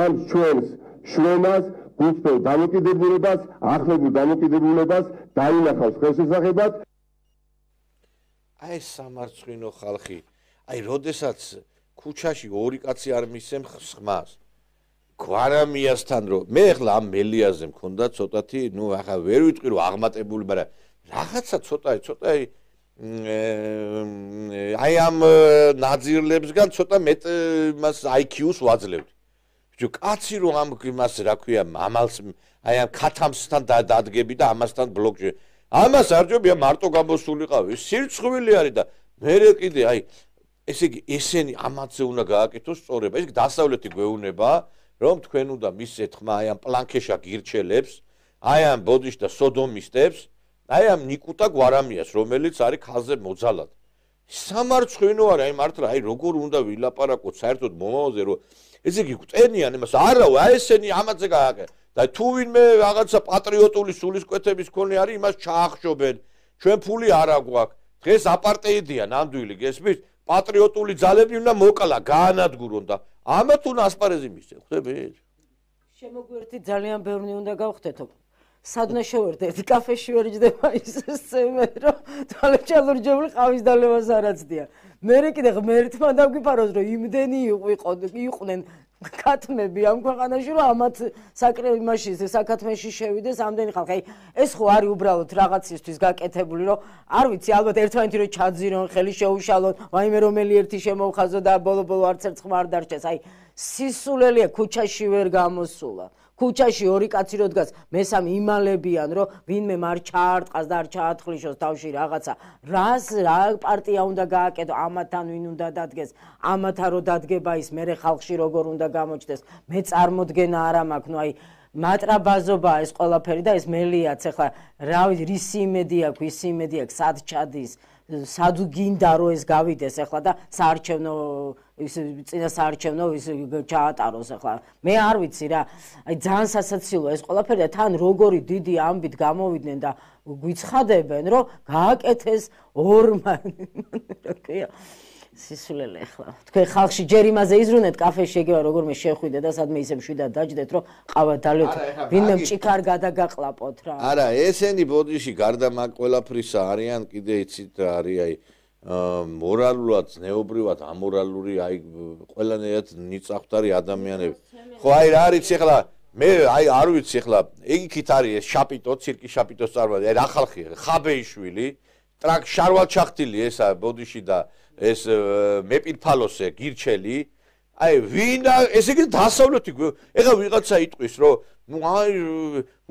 ამ ჩვენს შვენას, გულწრფელ დამოკიდებულებას, ახლებულ დამოკიდებულებას დაინახავს ხელშესახებად. აი ეს სამარცხვინო ხალხი, აი როდესაც ქუჩაში ორი კაცი არ მისცემ ხმას გვარამიასთან რომ მე ახლა ამ მელიაზე მქონდა ცოტათი, ნუ ახლა ვერ ვიტყვი რომ აღმატებული, მაგრამ რაღაცა ცოტა აი ამ ნაძირლებსგან ცოტა მეტ მას IQ-ს ვაძლევდი. კაცი რომ ამ იმას რა ქვია ამალს აი ამ ქათამსთან დადგები და ამასთან ბლოკში ამას არ ჯობია მარტო გამოსულიყავი სირცხვილი არის და მე კიდე აი ესე იგი ესენი ამათზე უნდა გააკეთოს სწორება ეს დასავლეთი გვეუბნება რომ თქვენ უნდა მისცეთ ხმა აი ამ პლანკეშა გირჩელებს აი ამ ბოდიშ და სოდომისტებს აი ამ ნიკუტა გვარამიას რომელიც არის ხალხზე მოძალად სამარცხვინო არის აი მართლა აი როგორ უნდა ვილაპარაკოთ საერთოდ მომავალზე რომ ესე იგი გვტენიან იმას არა აი ესენი ამათზე გააკეთე და თუ ვინმე რაღაცა პატრიოტული სულისკვეთების მქონე არის იმას ჩაახშობენ ჩვენ ფული არ აგვაქვს დღეს აპარტეიდია ნამდვილი გესმის პატრიოტული ძალები უნდა მოკლა გაანადგურონ და ამათ უნდა ასპარეზი მისცენ ხვდებით შემოგვერთი ძალიან ბევრი უნდა გავხდეთო სადნა შევერთეთ კაფეში ვერ ჯდება ის სცენა რომ თვალეჩალურჯებული ყავის დალევას არაცდია მე კიდე ღმერთმა დაგვიფაროს რომ იმდენი იყვნენ ქათმები ამ ქვეყანაში რომ ამათ საკრებაში საკათმეში შევიდეს ამდენი ხალხი აი ეს ხო არის უბრალოდ რაღაცისთვის გაკეთებული რომ არ ვიცი ალბათ ერთმანეთი რომ ჩაძირონ ხელი შეუშალონ ვაიმე რომელი ერთი შემოვხაზო და ბოლო არც ერთ ხმა არ დარჩეს აი სისულელია ქუჩაში ვერ გამოსულა ქუჩაში ორი კაცი რო დგას მესამე იმალებიან რომ ვინმე მარ ჩაარტყას და არ ჩაათხრიშოს თავში რაღაცა რა პარტია უნდა გააკეთო ამათან ვინ უნდა დადგეს ამათან რო დადგება ის მერე ხალხში როგორ უნდა გამოჩნდეს მე წარმოდგენა არ მაქვს ნუ აი მატრაბაზობა ეს ყველაფერი და ეს მელიაც ახლა რა ვიცი რისი იმედი აქვს ის იმედი აქვს სად ჩადის სად გინდა რომ ეს გავიდეს ახლა და საარჩევნო ის წინა საარჩევნო ის ჩაატაროს ახლა მე არ ვიცი რა აი ძალიან სასაცილოა ეს ყველაფერი და თან როგორი დიდი ამბით გამოვიდნენ და გვიცხადებენ რომ გააკეთეს ორმა რა ქვია სისულელე ახლა თქვენ ხალხში ჯერ იმაზე იზრუნეთ კაფეში ეგევა როგორმე შეხვიდე და სადმე ისე მშვიდად დაჯდეთ რომ ყავა დალევთ ვინმე მჭიქარ გადაგაყლაპოთ რა არა ესენი ბოდიში გარდა მაგ ყველაფრისა არიან კიდე იცით რა არის აი მორალურად ზნეობრივად ამორალური აი ყველანაირად ნიწახვდარი ადამიანები ხო აი რა არის ახლა მე აი არ ვიცი ახლა ეგიქით არის ეს შაპიტო ცირკი შაპიტოს წარმოადგენს აი რა ხალხი ხაბეიშვილი ტრაკ შარვალჩახტილი ესა ბოდიში და ეს მეპირფალოსე გირჩელი აი ვინ ესე იგი დასავლეთი ეხლა ვიღაცა იტყვის რომ ნუ აი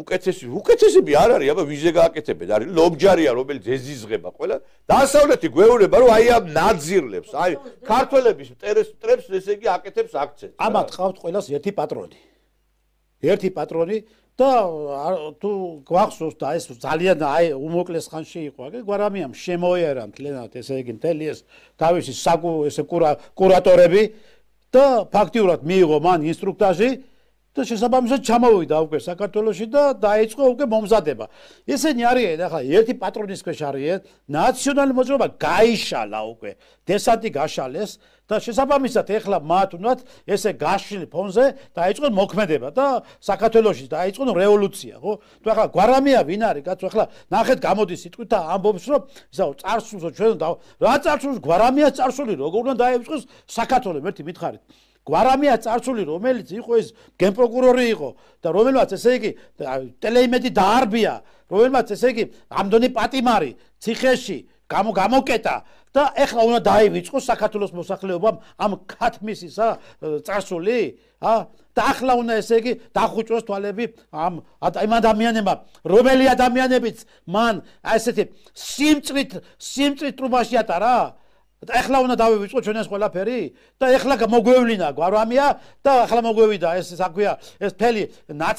უკეთესები არ არის აბა ვიზე გააკეთებენ არის ლობჯარია რომელიც ეზიზღება ყველა დასავლეთი გვეუბნება რომ აი ამ ნაძირლებს აი ქართველების ტრებს ესე იგი აკეთებს აქცენტს ამათ ყავთ ყველას ერთი პატრონი და თუ გვახსოვს და ეს ძალიან აი უმოკლეს ხანში იყო აგე გვარამიამ შემოიერა მთლიანად ესე იგი მთელი ეს თავისი ესე კურატორები და ფაქტიურად მიიღო მან ინსტრუქტაჟი და შესაბამისად ჩამოვიდა უკვე საქართველოში და დაიწყო უკვე მომზადება. ესენი არიან ახლა ერთი პატრონის ქვეშ არიან, ნაციონალური მოძრაობა გაიშალა უკვე, დესანტი გაშალეს და შესაბამისად ეხლა მათ უნდათ ესე გაშლილ ფონზე დაიწყონ მოქმედება და საქართველოში დაიწყონ რევოლუცია, ხო? თუ ახლა გვარამია ვინ არის, კაცო, ახლა ნახეთ გამოდის სიტყვით და ამბობს, რომ ისაო წარსულს ჩვენ რა წარსულს გვარამია წარსული როგორ უნდა დაიწყოს საქართველოს ერთი მითხარით. გვარამია წარსული რომელიც იყო ეს გენპროკურორი იყო და რომელმაც ესე იგი ტელეიმედი დაარბია რომელმაც ესე იგი ამდენი პატიმარი ციხეში გამოკეტა და ეხლა უნდა დაივიწყოს საქართველოს მოსახლეობამ ამ ქათმისისა წარსული და ახლა უნდა ესე იგი დახუჭოს თვალები ამ ადამიანებმა რომელი ადამიანებიც მან ესეთი სიმწრით ტრუბაში ატარა და ეხლა უნდა დავივიწყოთ ჩვენ ეს ყველაფერი და ეხლა მოგვევლინა გვარამია და ახლა მოგვევიდა ეს საქმეა ეს მთელი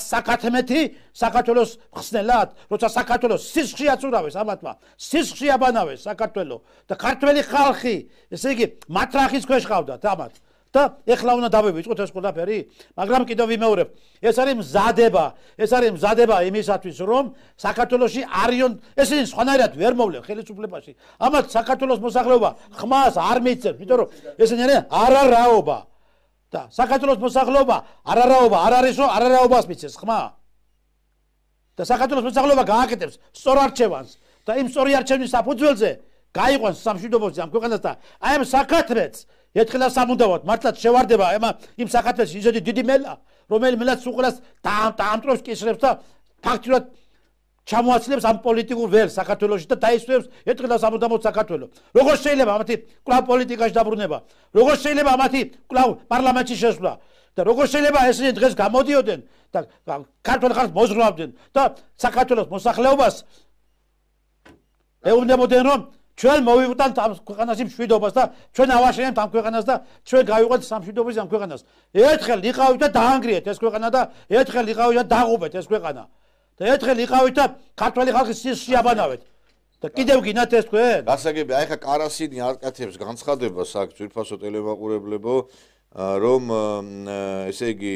საკათმეთი საქართველოს ხსნელად როცა საქართველოს სისხლი აწურავეს ამათმა სისხლი აბანავეს საქართველოს და ქართველი ხალხი ესე იგი მათრახის ქვეშ ყავდათ ამათ და ეხლა უნდა დავივიწყოთ ეს ყველაფერი მაგრამ კიდევ ვიმეორებ ეს არის მზადება იმისათვის რომ საქართველოში არიონ ესენი სხვანაირად ვერ მოვლენ ხელისუფლებაში ამათ საქართველოს მოსახლეობა ხმას არ მიიწევს იმიტომ რომ ესენი არიან არარაობა და საქართველოს მოსახლეობა არარაობა არ არის რომ არარაობას მიცეს ხმა და საქართველოს მოსახლეობა გააკეთებს სწორ არჩევანს და იმ სწორი არჩევნის საფუძველზე გაიყვანს სამშვიდობოზე ამ ქვეყანას და აი ამ საკათმეც ერთხელ სამუდამოდ მართლაც შევარდება იმ საკათმეში ისეთი დიდი მელა რომელიც უყურას დაამტრობს კისრებს და ფაქტურად ჩამოაცლებს ამ პოლიტიკურ ველს საქართველოში და დაისვებს ერთხელ სამუდამოდ საქართველოს როგორ შეიძლება ამათი კლავ პოლიტიკაში დაბრუნება როგორ შეიძლება ამათი კლავ პარლამენტში შესვლა და როგორ შეიძლება ესენი დღეს გამოდიოდნენ და ქართულ ხალხს მოზღრავდნენ და საქართველოს მოსახლეობას ეუბნებოდნენ რომ ჩვენ მოვიყვანთ ამ ქვეყანაში მშვიდობას და ჩვენ ავაშენებთ ამ ქვეყანას და ჩვენ გავიყვანთ სამშვიდობოს ამ ქვეყანას. ერთხელ იყავით და დაანგრიეთ ეს ქვეყანა და ერთხელ იყავით და დაღუპეთ ეს ქვეყანა. და ერთხელ იყავით და ქართველი ხალხის შეაბანავეთ. და კიდევ გინათ ეს თქვენ? გასაგები, აი ხა კარასინი აკეთებს განცხადებას აქ ძვირფასო ტელემაყურებლებო, რომ ესე იგი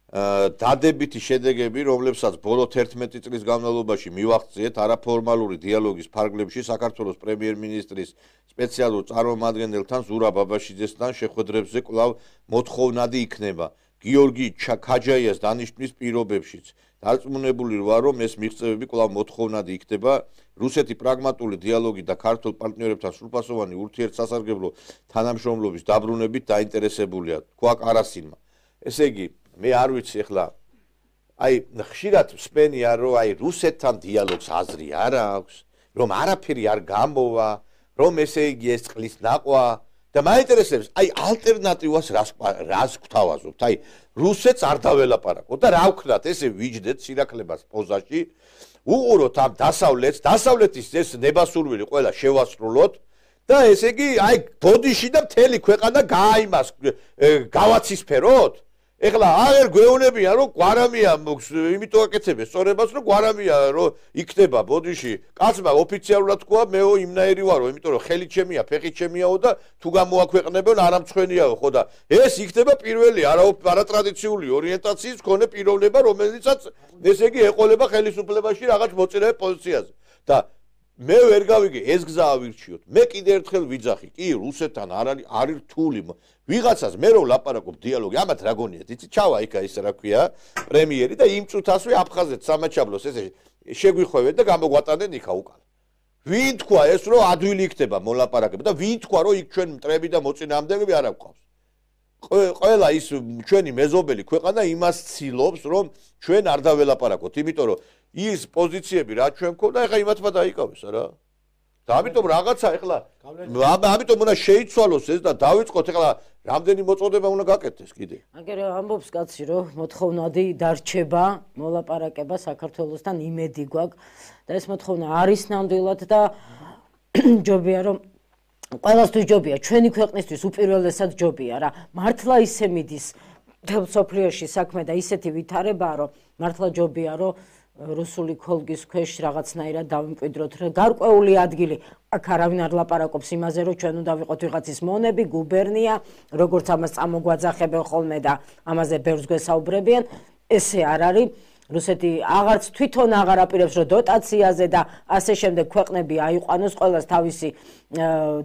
დადებითი შედეგები, რომლებსაც ბოლო 11 წლის განმავლობაში მივაღწიეთ არაფორმალური დიალოგის ფარგლებში საქართველოს პრემიერ-მინისტრის სპეციალურ წარმომადგენელთან ზურაბ აბაშიძესთან შეხვედრებზე კვლავ მოთხოვნადი იქნება. გიორგი ქაჯაიას დანიშვნის პირობებშიც დარწმუნებული ვარ, რომ ეს მიღწევები კვლავ მოთხოვნადი იქნება. რუსეთი პრაგმატული დიალოგი და ქართულ პარტნიორებთან სრულფასოვანი ურთიერთსასარგებლო თანამშრომლობის დაბრუნებით დაინტერესებულია, თქვა კარასინმა. ესე იგი, მე არ ვიცი ახლა აი ხშირად მსმენია რომ აი რუსეთთან დიალოგს აზრი არ აქვს, რომ არაფერი არ გამოვა, რომ ესე იგი ეს წყლის ნაყვა და მაინტერესებს აი ალტერნატივას რას გვთავაზობთ? აი რუსეთს არ დაველაპარაკოთ და რა ვქნათ, ესე ვიჯდეთ სირაქლებას პოზაში, უყუროთ ამ დასავლეთის ეს ნებასურვილი ყველა შევასრულოთ და ესე იგი აი ბოდიში და მთელი ქვეყანა გააიმას გავაცისფეროთ? ეხლა აღარ გვეუბნებიან რომ გვარამია იმიტომ აკეთებენ სწორებას რომ გვარამია რომ იქნება ბოდიში კაცმა ოფიციალურად თქვა მეო იმნაირი ვარო იმიტომ რომ ხელი ჩემია ფეხი ჩემიაო და თუ გამოაქვეყნებენ არამცხვენიაო ხო და ეს იქნება პირველი არატრადიციული ორიენტაციის მქონე პიროვნება რომელიცაც ესე იგი ეყოლება ხელისუფლებაში რაღაც მოწინავე პოზიციაზე და მე ვერ გავიგე ეს გზა ავირჩიოთ მე კიდე ერთხელ ვიძახი კი რუსეთთან არის რთული ვიღაცას მე რომ ლაპარაკობ დიალოგი ამათ რა გონიათ იცი ჩავა იქა ის რა ქვია პრემიერი და იმ წუთასვე აფხაზეთ სამაჩაბლოს ესე შეგვიხვევენ და გამოგვატანენ იქა უკან ვინ თქვა ეს რომ ადვილი იქნება მოლაპარაკება და ვინ თქვა რომ იქ ჩვენ მტრები და მოწინააღმდეგეები არ აგვყავს ყველა ის ჩვენი მეზობელი ქვეყანა იმას ცილობს რომ ჩვენ არ დაველაპარაკოთ იმიტომ რომ ის პოზიციები რა ჩვენ მქონდა ეხლა იმათმა დაიკავეს რა და ამიტომ რაღაცა ეხლა ამიტომ უნდა შეიცვალოს ეს და დავიწყოთ ეხლა რამდენი მოწოდება უნდა გაკეთდეს კიდე აგერ ამბობს კაცი რომ მოთხოვნადი დარჩება მოლაპარაკება საქართველოსთან იმედი გვაქვს და ეს მოთხოვნა არის ნამდვილად და ჯობია რომ ყველასთვის ჯობია ჩვენი ქვეყნისთვის უპირველესად ჯობია რა მართლა ისე მიდის სოფლიოში საქმე და ისეთი ვითარებაა რომ მართლა ჯობია რომ რუსული ქოლგის ქვეშ რაღაცნაირად დავიმკვიდროთ რა გარკვეული ადგილი აქ არავინ არ ლაპარაკობს იმაზე რომ ჩვენ უნდა ვიყოთ ვიღაცის მონები გუბერნია როგორც ამას წამოგვაძახებენ ხოლმე და ამაზე ბევრს გვესაუბრებიან ესე არ არის რუსეთი აღარც თვითონ აღარ აპირებს რომ დოტაციაზე და ასე შემდეგ ქვეყნები აიყვანოს ყველას თავისი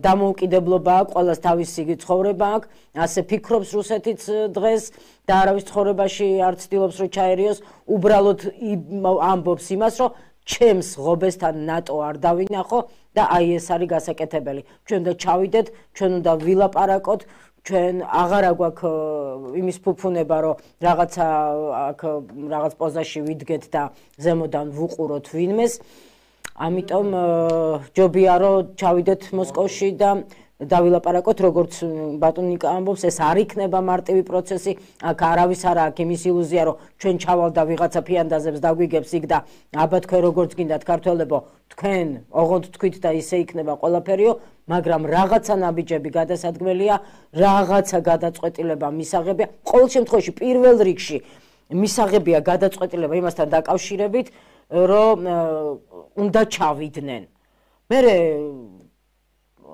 დამოუკიდებლობა აქვს ყველას თავისი ცხოვრება აქვს ასე ფიქრობს რუსეთიც დღეს და არავის ცხოვრებაში არ ცდილობს რომ ჩაერიოს უბრალოდ ამბობს იმას რომ ჩემს ღობესთან ნატო არ დავინახო და აი ეს არის გასაკეთებელი ჩვენ უნდა ჩავიდეთ ჩვენ უნდა ვილაპარაკოთ ჩვენ აღარ აგვაქვს იმის ფუფუნება რომ რაღაცა აქ რაღაც პოზაში ვიდგეთ და ზემოდან ვუყუროთ ვინმეს ამიტომ ჯობია რომ ჩავიდეთ მოსკოვში და დავილაპარაკოთ როგორც ბატონ ნიკა ამბობს ეს არ იქნება მარტივი პროცესი აქ არავის არ აქვს იმის ილუზია რომ ჩვენ ჩავალ და ვიღაცა ფიანდაზებს დაგვიგებს იქ და აბა თქვენ როგორც გინდათ ქართველებო თქვენ ოღონდ თქვით და ისე იქნება ყველაფერიო მაგრამ რაღაცა ნაბიჯები გადასადგმელია რაღაცა გადაწყვეტილება მისაღებია ყოველ შემთხვევაში პირველ რიგში მისაღებია გადაწყვეტილება იმასთან დაკავშირებით რომ უნდა ჩავიდნენ მე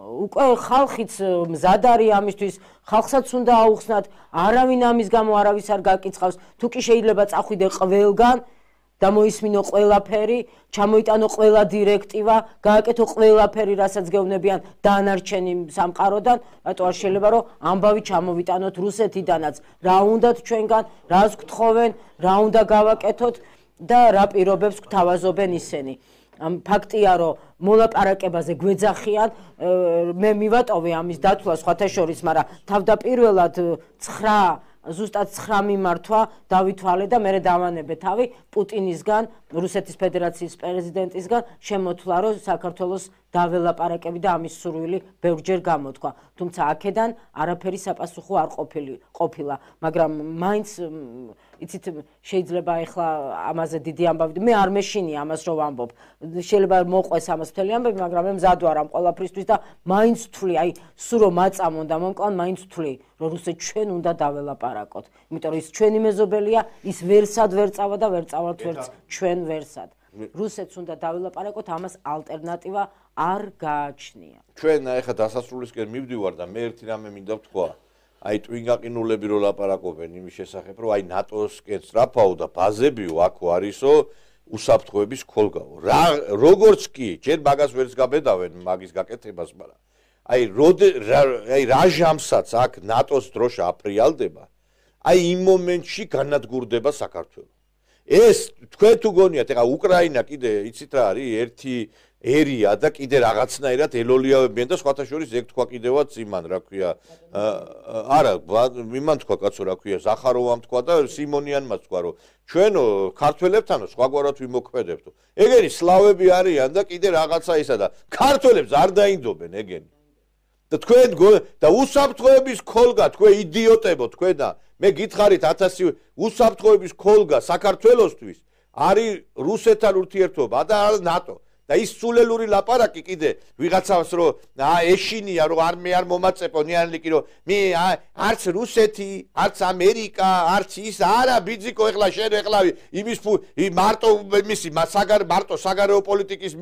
უკვე ხალხიც მზად არის ამისთვის ხალხსაც უნდა აუხსნათ არავინ ამის გამო არავის არ გაკიცხავს თუ კი შეიძლება წახვიდე ყველგან და მოისმინო ყველაფერი ჩამოიტანო ყველა დირექტივა გააკეთო ყველაფერი რასაც გეუბნებიან დანარჩენი სამყაროდან რატო არ შეიძლება რომ ამბავი ჩამოვიტანოთ რუსეთიდანაც რა უნდათ ჩვენგან რას გთხოვენ რა უნდა გავაკეთოთ და რა პირობებს გვთავაზობენ ისინი ფაქტია რომ მოლაპარაკებაზე გვეძახიან მე მივატოვე ამის დათვლა სხვათა შორის მაგრამ თავდაპირველად 9 ზუსტად 9 მიმართვა დავითვალე და მე დავანებე თავი პუტინისგან, რუსეთის ფედერაციის პრეზიდენტისგან შემოთვლა, რომ საქართველოს დაველაპარაკები და ამის სურვილი ბევრჯერ გამოთქვა. თუმცა აქედან არაფერი საპასუხო არ ყოფილა, მაგრამ მაინც იცით შეიძლება ეხლა ამაზე დიდი ამბავი მე არ მეშინია ამას რომ ვამბობ. შეიძლება მოყვეს ამას მთელი ამბები, მაგრამ მე მზად ვარ ამ ყველაფრისთვის და მაინც ვთვლი, აი სულ რომ მაწამონ და მომკლან მაინც ვთვლი, რომ რუსეთს ჩვენ უნდა დაველაპარაკოთ. იმიტომ რომ ის ჩვენი მეზობელია, ის ვერსად ვერ წავა და ვერ წავალთ ვერც ჩვენ ვერსად. რუსეთს უნდა დაველაპარაკოთ, ამას ალტერნატივა არ გააჩნია. ჩვენ ეხლა დასასრულისკენ მივდივარ და მე ერთი რამე მინდა ვთქვა. აი ტვინგაყინულები რო ლაპარაკობენ იმის შესახებ, რომ აი ნატოსკენ სწრაფაო და ბაზებიო აქო არისო უსაფრთხოების ქოლგაო. როგორც კი, ჯერ მაგას ვერც გაბედავენ მაგის გაკეთებას, მაგრამ აი რა ჟამსაც აქ ნატოს დროშა აფრიალდება, აი იმ მომენტში განადგურდება საქართველო. ეს თქვენ თუ გონიათ, ეხა უკრაინა კიდე იცით რა არის, ერთი ერია და კიდე რაღაცნაირად ელოლიავებიან და სხვათა შორის ეგ თქვა კიდევაც იმან, რა ქვია, არა, იმან თქვა კაცო, რა ქვია, ზახაროვამ თქვა და სიმონიანმა თქვა, რომ ჩვენო ქართველებთანო სხვაგვარად ვიმოქმედებთო. ეგენი სლავები არიან და კიდე რაღაცა ისა და ქართველებს არ დაინდობენ ეგენი. და თქვენ და უსაფრთხოების ქოლგა, თქვენ იდიოტებო, თქვენ და მე გითხარით 1000 უსაფრთხოების ქოლგა საქართველოსთვის არის რუსეთთან ურთიერთობა და ნატო. და ის სულელური ლაპარაკი კიდე ვიღაცავს რომ ეშინია რომ მე არ მომაწეპო ნიანლიკი რომ მე არც რუსეთი, არც ამერიკა, არც ის არა ბიძიკო ეხლა შენ ეხლა იმის მარტო მისი მარტო საგარეო პოლიტიკის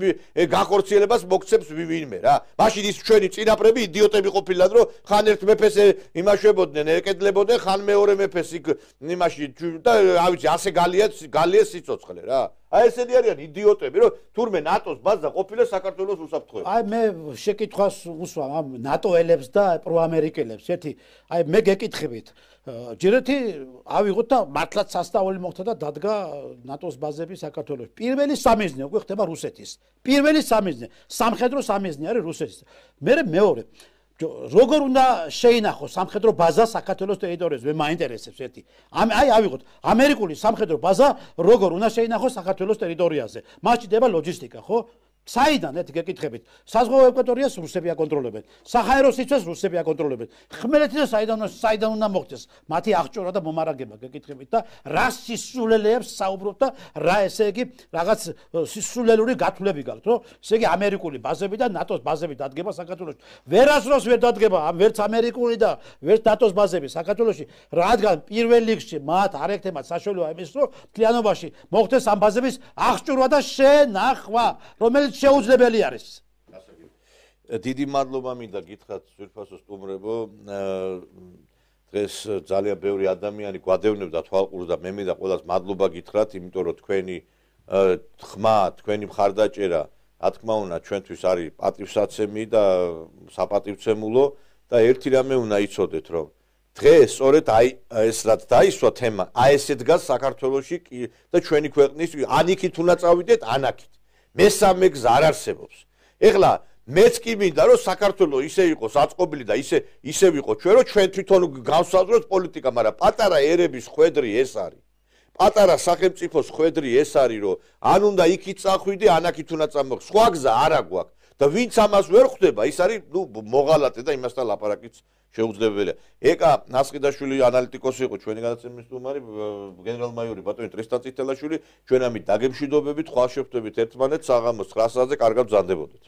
გახორციელებას მოგცემს ვინმე რა. მაშინ ის ჩვენი წინაპრები იდიოტები ყოფილან რომ ხან ერთ მეფეს იმაშვებოდნენ, ეკედლებოდნენ, ხან მეორე მეფეს იმაში და რა ვიცი ასე გალია სიცოცხლე რა. აი ესენი არიან იდიოტები, რომ თურმე ნატოს ბაზა ყოფილა საქართველოს უსაფრთხოებაში. აი მე შეკითხვას უსვამ ამ ნატოელებს და პროამერიკელებს. ერთი, აი მე გეკითხებით, ჯერეთი ავიღოთ და მართლაც სასწაული მოხდა და დადგა ნატოს ბაზები საქართველოში. პირველი სამიზნე უკვე ხდება რუსეთის. პირველი სამიზნე, სამხედრო სამიზნე არის რუსეთის. მეორე როგორ უნდა შეინახოს სამხედრო ბაზა საქართველოს ტერიტორიაზე? მე მაინტერესებს ერთი. აი ავიღოთ ამერიკული სამხედრო ბაზა როგორ უნდა შეინახოს საქართველოს ტერიტორიაზე? მას ჭირდება ლოჯისტიკა, ხო? საიდან ერთი გეკითხებით? საზღვაო ეკვატორიას რუსები აკონტროლებენ. საჰაერო სივრცეს რუსები აკონტროლებენ. ხმელეთი და საიდან უნდა მოხდეს მათი აღჭურვა და მომარაგება გეკითხებით და რა სისულელეებს საუბრობთ და რა ესე იგი რაღაც სისულელური გათვლები გაქვთ, რომ ესე იგი ამერიკული ბაზები და ნატოს ბაზები დადგება საქართველოში. ვერასდროს ვერ დადგება ვერც ამერიკული და ვერც ნატოს ბაზები საქართველოში, რადგან პირველ რიგში მათ არ ექნება საშუალება იმის, რომ მთლიანობაში მოხდეს ამ ბაზების აღჭურვა და შენახვა, რომელიც შეუძლებელი არის. დიდი მადლობა მინდა გითხრათ ძვირფასო სტუმრებო. დღეს ძალიან ბევრი ადამიანი გვადევნებდა თვალყურს და მე მინდა ყველას მადლობა გითხრათ, იმიტომ რომ თქვენი ხმა, თქვენი მხარდაჭერა, რა თქმა უნდა, ჩვენთვის არის პატივსაცემი და საპატივცემულო და ერთი რამე უნდა იცოდეთ, რომ დღეს სწორედ აი ეს რაც დაისვა თემა, აი ესე დგას საქართველოში და ჩვენი ქვეყნის ანიქით უნდა წავიდეთ, ანაკით. მესამე გზა არ არსებობს. ეხლა მეც კი მინდა რომ საქართველო ისე იყოს აწყობილი და ისე ვიყო ჩვენ რომ ჩვენ თვითონ გავსაზრდოთ პოლიტიკა, მაგრამ პატარა ერების ხვედრი ეს არის. პატარა სახელმწიფოს ხვედრი ეს არის, რომ ან უნდა იქით წახვიდე, ან აქით უნდა წამოხ. სხვა გზა არა გვაქვს. და ვინც ამას ვერ ხვდება, ის არის მოღალატე და იმასთან ლაპარაკიც შეუძლებელია. ეკა ნასყიდაშვილი ანალიტიკოსი იყო, ჩვენი გადაცემის სტუმარი, გენერალ-მაიორი ბატონი ტრესტან წითელაშვილი, ჩვენ ამით დაგემშვიდობებით, ხვალ შეხვდებით ერთმანეთს საღამოს 9 საათზე, კარგად ბრძანდებოდეთ.